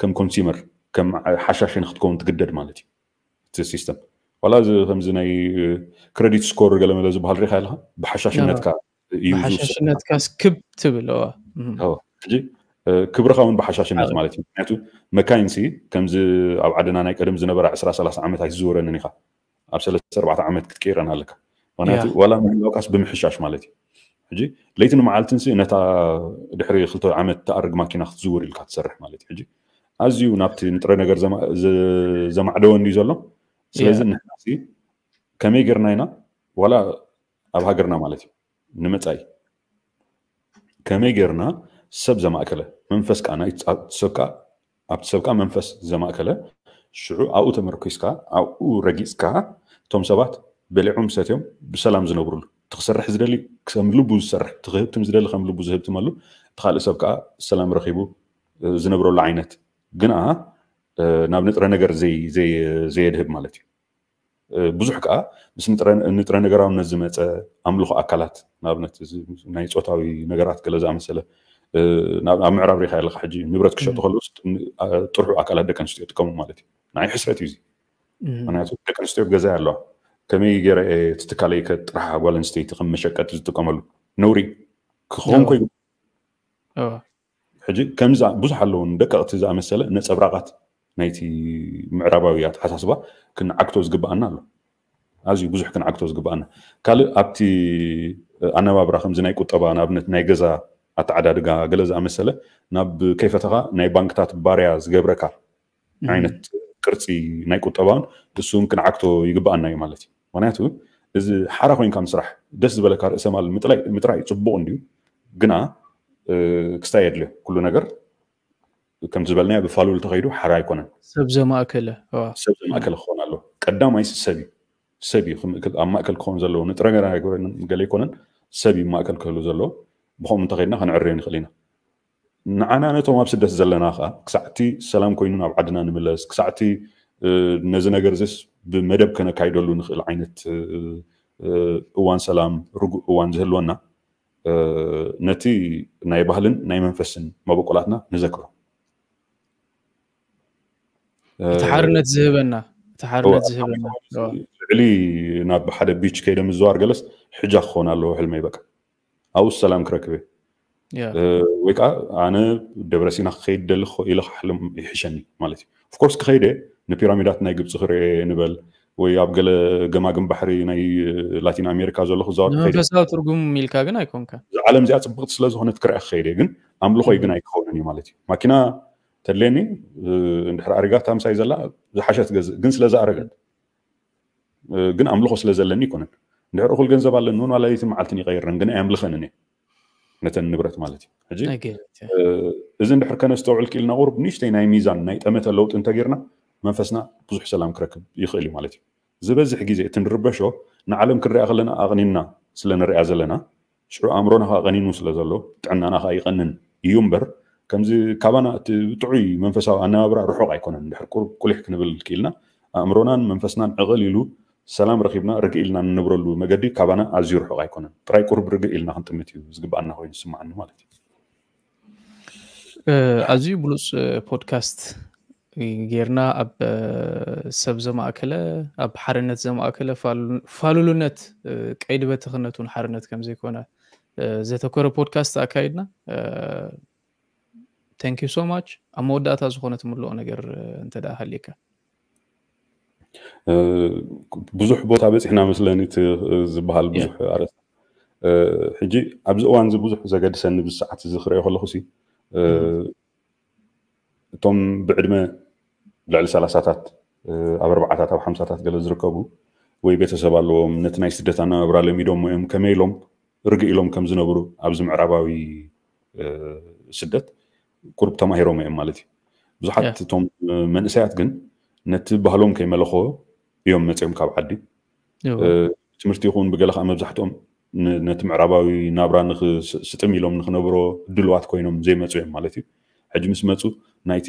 ከም ኮንሱመር ከም ሓሻሽ ንክትከውን ትግደድ ማለት እዩ እቲ ሲስተም ዋላ እዚ ከምዚ ናይ ክረዲት ስኮር ገለመለ ዝበሃል ሪኢኻ ኣለኻ? ብሓሻሽነትካ እዩ ዝውሰን። ብሓሻሽነትካ ስክብ ትብል። ሕጂ ክብርኻ እውን ብሓሻሽነት ማለት እዩ። ምክንያቱ መካይንሲ ከምዚ ኣብ ዓድና ናይ ቀደም ዝነበራ ዕስራ ሰላሳ ዓመት ኣይትዝውረንን ኢኻ። ኣብ ሰለስተ ኣርባዕተ ዓመት ክትቀይረን ኣለካ። ምክንያቱ ዋላ ምህላውካስ ብምሕሻሽ ማለት እዩ። ሕጂ ለይትን መዓልትንሲ ነታ ድሕሪ ክልተ ዓመት ትኣርግ ማኪና ክትዝውር ኢልካ ትሰርሕ ማለት እዩ። ሕጂ ኣዝዩ ናብቲ ንጥረ ነገር ዘማዕደወ እንድዩ ዘሎ። ስለዚ ንሕናሲ ከመይ ጌርና ኢና ዋላ ኣብ ሃገርና ማለት እዩ ንመጻኢ ከመይ ጌርና ሰብ ዘማእከለ መንፈስ ከኣ ናይ ሰብካ ኣብቲ ሰብካ መንፈስ ዘማእከለ ሽዑ ኣብኡ ተመርኪስካ ኣብኡ ረጊጽካ እቶም ሰባት በሊዖም ሰትዮም ብሰላም ዝነብሩሉ እቲ ክሰርሕ ዝደሊ ከም ልቡ ዝሰርሕ እቲ ክህብትም ዝደሊ ከም ልቡ ዝህብትመሉ እቲ ካልእ ሰብ ከኣ ሰላም ረኺቡ ዝነብረሉ ዓይነት ግና ናብ ንጥረ ነገር ዘየድህብ ማለት እዩ። ብዙሕ ከዓ ምስ ንጥረ ነገራውነት ዝመፀ ኣምልኾ ኣካላት ንኣብነት ናይ ፆታዊ ነገራት ገለ ዝኣመሰለ ኣብ ምዕራብ ሪካ ኣለካ ሕጂ ንብረት ክሸጡ ከለውስ ጥርሑ ኣካላት ደቂ ኣንስትዮ ይጥቀሙ ማለት እዩ። ንዓይ ሕስረት እዩ እዚ። ምክንያቱ ደቂ ኣንስትዮ ገዛ ኣለዋ ከመይ ገይረ እቲ ትካለይ ከጥርሓ ጓል ኣንስተይቲ ከም መሸቀጢ ዝጥቀመሉ ነውሪ ክኸውን ኮይ ሕጂ ከምዚ ብዙሕ ኣለውን ደቀቕቲ ዝኣመሰለ ነፀብራቓት ናይቲ ምዕራባዊ ኣተሓሳስባ ክንዓግቶ ዝግብኣና ኣሎ። ኣዝዩ ብዙሕ ክንዓግቶ ዝግብኣና ካልእ ኣብቲ ኣነባብራ ከምዚ ናይ ቁጠባ ንኣብነት ናይ ገዛ ኣተዓዳድጋ ገለ ዝኣመሰለ ናብ ከይፈተኻ ናይ ባንክታት ባርያ ዝገብረካ ዓይነት ቅርፂ ናይ ቁጠባን እሱን ክንዓግቶ ይግብኣና እዩ ማለት እዩ። ምክንያቱ እዚ ሓራ ኮይንካ ምስራሕ ደስ ዝበለካ ርእሰ ማል ምጥራይ ፅቡቅ እንድዩ ግና ክስታይ የድልዮ ኩሉ ነገር ከምቲ ዝበልናዮ ብፋሉል ተኸይዱ ሓራ ኣይኮነን። ሰብ ዘማእከለ ሰብ ዘማእከለ ክኾን ኣሎ። ቀዳማይ ሰብ እዩ ሰብ እዩ ኣብ ማእከል ክኸውን ዘለዎ ንጥረ ገለ ኣይኮነን ሰብ እዩ ማእከል ክህሉ ዘለዎ። ብኸምኡ እንተኸይድና ክንዕርዮ ንኽእል ኢና። ንዓና ነቶም ኣብ ስደት ዘለና ከዓ ክሳዕቲ ሰላም ኮይኑ ናብ ዓድና ንምለስ ክሳዕቲ ነዚ ነገር ዚስ ብመደብ ከነካይደሉ ንኽእል ዓይነት እዋን ሰላም ርጉእ እዋን ዝህልወና ነቲ ናይ ባህልን ናይ መንፈስን መበቆላትና ንዘክሮ። እቲ ሓርነት ዝህበና እቲ ሓርነት ዝህበና ልዕሊ ናብ ሓደ ቢች ከይደ ምዝዋር ገለስ ሕጃ ክኸውን ኣለዎ ሕልመይ በቃ ኣብኡ ሰላም ክረክብ ወይ ከዓ ኣነ ደብረሲና ክኸይድ ደሊ ኢለ ክሓልም ይሕሸኒ ማለት እዩ። ኦፍኮርስ ክኸይደ ንፒራሚዳት ናይ ግብፂ ክርኤ ንበል ወይ ኣብ ገለ ገማግም ባሕሪ ናይ ላቲን ኣሜሪካ ዘሎ ክዛወር መንፈሳዊ ትርጉም ኢልካ ግን ኣይኮንካ። እዛ ዓለም እዚኣ ፅብቅቲ ስለዝኮነት ክርኣ ክኸይደ ግን ኣምልኾይ ግን ኣይክኸውንን እዩ ማለት እዩ። ማኪና ተድልየኒ እንድሕር ኣሪጋታ ምሳይ ዘላ ዝሓሸት ገዝእ ግን ስለዝኣረገት ግን ኣምልኾ ስለ ዘለኒ ይኮነን። እንድሕር እኩል ገንዘብ ኣለኒ እውን ዋላ ለይትን መዓልትን ይቀይረን ግን ኣየምልኸንን እየ ነተን ንብረት ማለት እዩ። ሕጂ እዚ እንድሕር ከነስተውዕል ክኢልና ቁሩብ ንእሽተይ ናይ ሚዛን ናይ ጠመተ ለውጢ እንተጌርና መንፈስና ብዙሕ ሰላም ክረክብ ይኽእል እዩ ማለት እዩ። ዝበዝሕ ግዜ እቲ ንርበሾ ንዓለም ክንሪኣ ከለና ኣቕኒንና ስለ ንሪኣ ዘለና ሽዑ ኣእምሮና ከዓ ቀኒኑ ስለ ዘሎ ጥዕናና ከዓ ይቐንን እዩ እምበር ከምዚ ካባና እቲ ጥዑይ መንፈሳዊ ኣነባብራ ርሑቕ ኣይኮነን። እንድሕር ቁሩብ ቁሊሕ ክንብል ክኢልና ኣእምሮናን መንፈስናን ዕቕል ኢሉ ሰላም ረኺብና ርግእ ኢልና ንነብረሉ መገዲ ካባና ኣዝዩ ርሑቕ ኣይኮነን። ጥራይ ቁሩብ ርግእ ኢልና ክንጥምት እዩ ዝግብኣና ኮይኑ ዝስምዓኒ ማለት እዩ። ኣዝዩ ብሉፅ ፖድካስት ጌርና ኣብ ሰብ ዘማእከለ ኣብ ሓርነት ዘማእከለ ፋሉልነት ቀይዲ በተኽነት እውን ሓርነት ከምዘይኮነ ዘተኮረ ፖድካስት ኣካይድና። Thank you so much። ኣብ መወዳእታ ዝኾነ ትምልኦ ነገር እንተ ደኣ ሃልየካ። ብዙሕ ቦታ በፂሕና መስለኒ እቲ ዝበሃል ብዙሕ ኣርእስቲ ሕጂ ኣብዚ እዋን እዚ ብዙሕ ዘገድሰኒ ብሰዓት እዚ ክሪኦ ከለኹ ሲ እቶም ብዕድመ ልዕሊ ሰላሳታት ኣብ ኣርባዓታት ኣብ ሓምሳታት ገለ ዝርከቡ ወይ ቤተሰብ ኣለዎም ነቲ ናይ ስደት ኣነባብራ ለሚዶሞ እዮም ከመይ ኢሎም ርግእ ኢሎም ከም ዝነብሩ ኣብዚ ምዕራባዊ ስደት ቁሩብ ተማሂሮም እዮም ማለት እዩ። ብዙሓት እቶም መንእሰያት ግን ነቲ ባህሎም ከይመለኾ እዮም መፅኦም ካብ ዓዲ ትምህርቲ ይኹን ብገለ ከዓ መብዛሕትኦም ነቲ ምዕራባዊ ናብራ ስጥም ኢሎም ንክነብሮ ድልዋት ኮይኖም ዘይመፁ እዮም ማለት እዩ። ሕጂ ምስ መፁ ናይቲ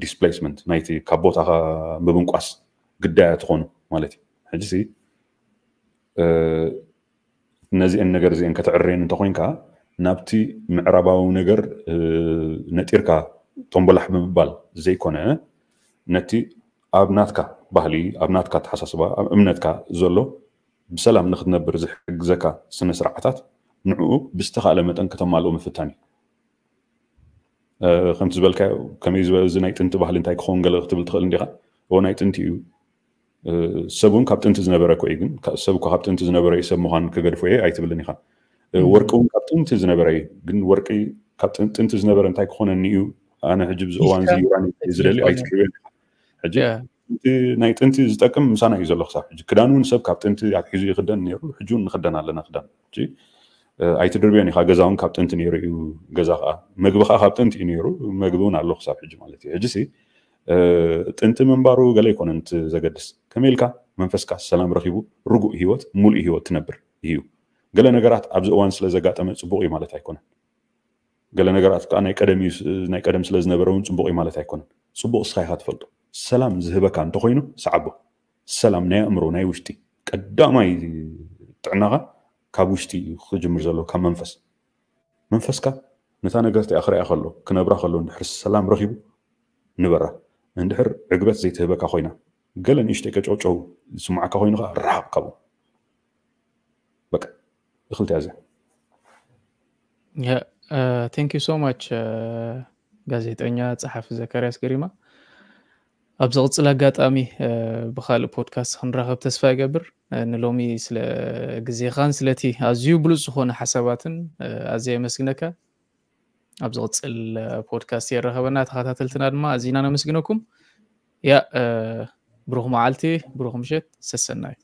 displacement ናይቲ ካብ ቦታኻ ምብንቋስ ግዳያት ትኾኑ ማለት እዩ። ሕጂ ነዚአን ነገር እዚአን ከተዕርየን እንተኮይንካ ናብቲ ምዕራባዊ ነገር ነጢርካ ቶምቦላሕ ብምባል ዘይኮነ ነቲ ኣብ ናትካ ባህሊ፣ ኣብ ናትካ ኣተሓሳስባ፣ ኣብ እምነትካ ዘሎ ብሰላም ንክትነብር ዝሕግዘካ ስነ ስርዓታት ንዕኡ ብዝተኻእለ መጠን ከተማልኦ ምፍታን እዩ። ከምቲ ዝበልካዮ ከመይ ዝበለ እዚ ናይ ጥንቲ ባህሊ እንታይ ክኸውን ገለ ክትብል ትኽእል እንዲኻ። እዎ ናይ ጥንቲ እዩ። ሰብ እውን ካብ ጥንቲ ዝነበረ እኮ እዩ፣ ግን ሰብ እኮ ካብ ጥንቲ ዝነበረ እዩ ሰብ ምዃን ክገድፎ እየ ኣይትብልን ኢኻ። ወርቂ እውን ካብ ጥንቲ ዝነበረ እዩ፣ ግን ወርቂ ካብ ጥንቲ ዝነበረ እንታይ ክኾነኒ እዩ? ኣነ ሕጂ ብዚ እዋን እዚ ዩራኒየም ዝደሊ ኣይትድርብዮን ኢኻ። ሕጂ ናይ ጥንቲ ዝጠቅም ምሳና እዩ ዘሎ ክሳብ ሕጂ። ክዳን እውን ሰብ ካብ ጥንቲ ኣትሒዙ ይኽደን ነይሩ፣ ሕጂ እውን ንኽደን ኣለና ክዳን። ኣይትድርብዮን ኢኻ። ገዛ እውን ካብ ጥንቲ ነይሩ እዩ። ገዛ ከዓ፣ መግቢ ከዓ ካብ ጥንቲ እዩ ነይሩ፣ መግቢ እውን ኣሎ ክሳብ ሕጂ ማለት እዩ። ሕጂ ሲ ጥንቲ ምንባሩ ገለ ኣይኮነን እቲ ዘገድስ። ከመይ ኢልካ መንፈስካ ሰላም ረኺቡ ርጉእ ህይወት፣ ሙሉእ ህይወት ትነብር እዩ። ገለ ነገራት ኣብዚ እዋን ስለ ዘጋጠመ ፅቡቕ እዩ ማለት ኣይኮነን። ገለ ነገራት ከዓ ናይ ቀደም እዩ፣ ናይ ቀደም ስለ ዝነበረ እውን ፅቡቕ እዩ ማለት ኣይኮነን። ፅቡቕ እስኻ ኢኻ ትፈልጦ። ሰላም ዝህበካ እንተኾይኑ ሰዓቦ። ሰላም ናይ ኣእምሮ፣ ናይ ውሽጢ። ቀዳማይ ጥዕናኻ ካብ ውሽጢ እዩ ክጅምር ዘለዎ፣ ካብ መንፈስ። መንፈስካ ነታ ነገር እቲኣ ክሪኣ ከሎ፣ ክነብራ ከሎ፣ እንድሕር ሰላም ረኺቡ ንበራ። እንድሕር ዕግበት ዘይትህበካ ኮይና፣ ገለ ንእሽተይ ቀጨውጨው ዝስምዓካ ኮይኑ ከዓ ርሓቕ ካብኡ። በቃ እኽልቲ ያዘ። Thank you so much ጋዜጠኛ ጸሓፊ ዘካርያስ ገሪማ። ኣብ ዝቕጽል ኣጋጣሚ ብካልእ ፖድካስት ክንራኸብ ተስፋ ይገብር። ንሎሚ ስለ ግዜኻን ስለቲ ኣዝዩ ብሉጽ ዝኾነ ሓሳባትን ኣዝየ የመስግነካ። ኣብ ዝቕጽል ፖድካስት የራኸበና። ተኸታተልትና ድማ ኣዚና ነመስግነኩም። ያ ብሩኽ መዓልቲ፣ ብሩኽ ምሸት፣ ሰሰናዩ።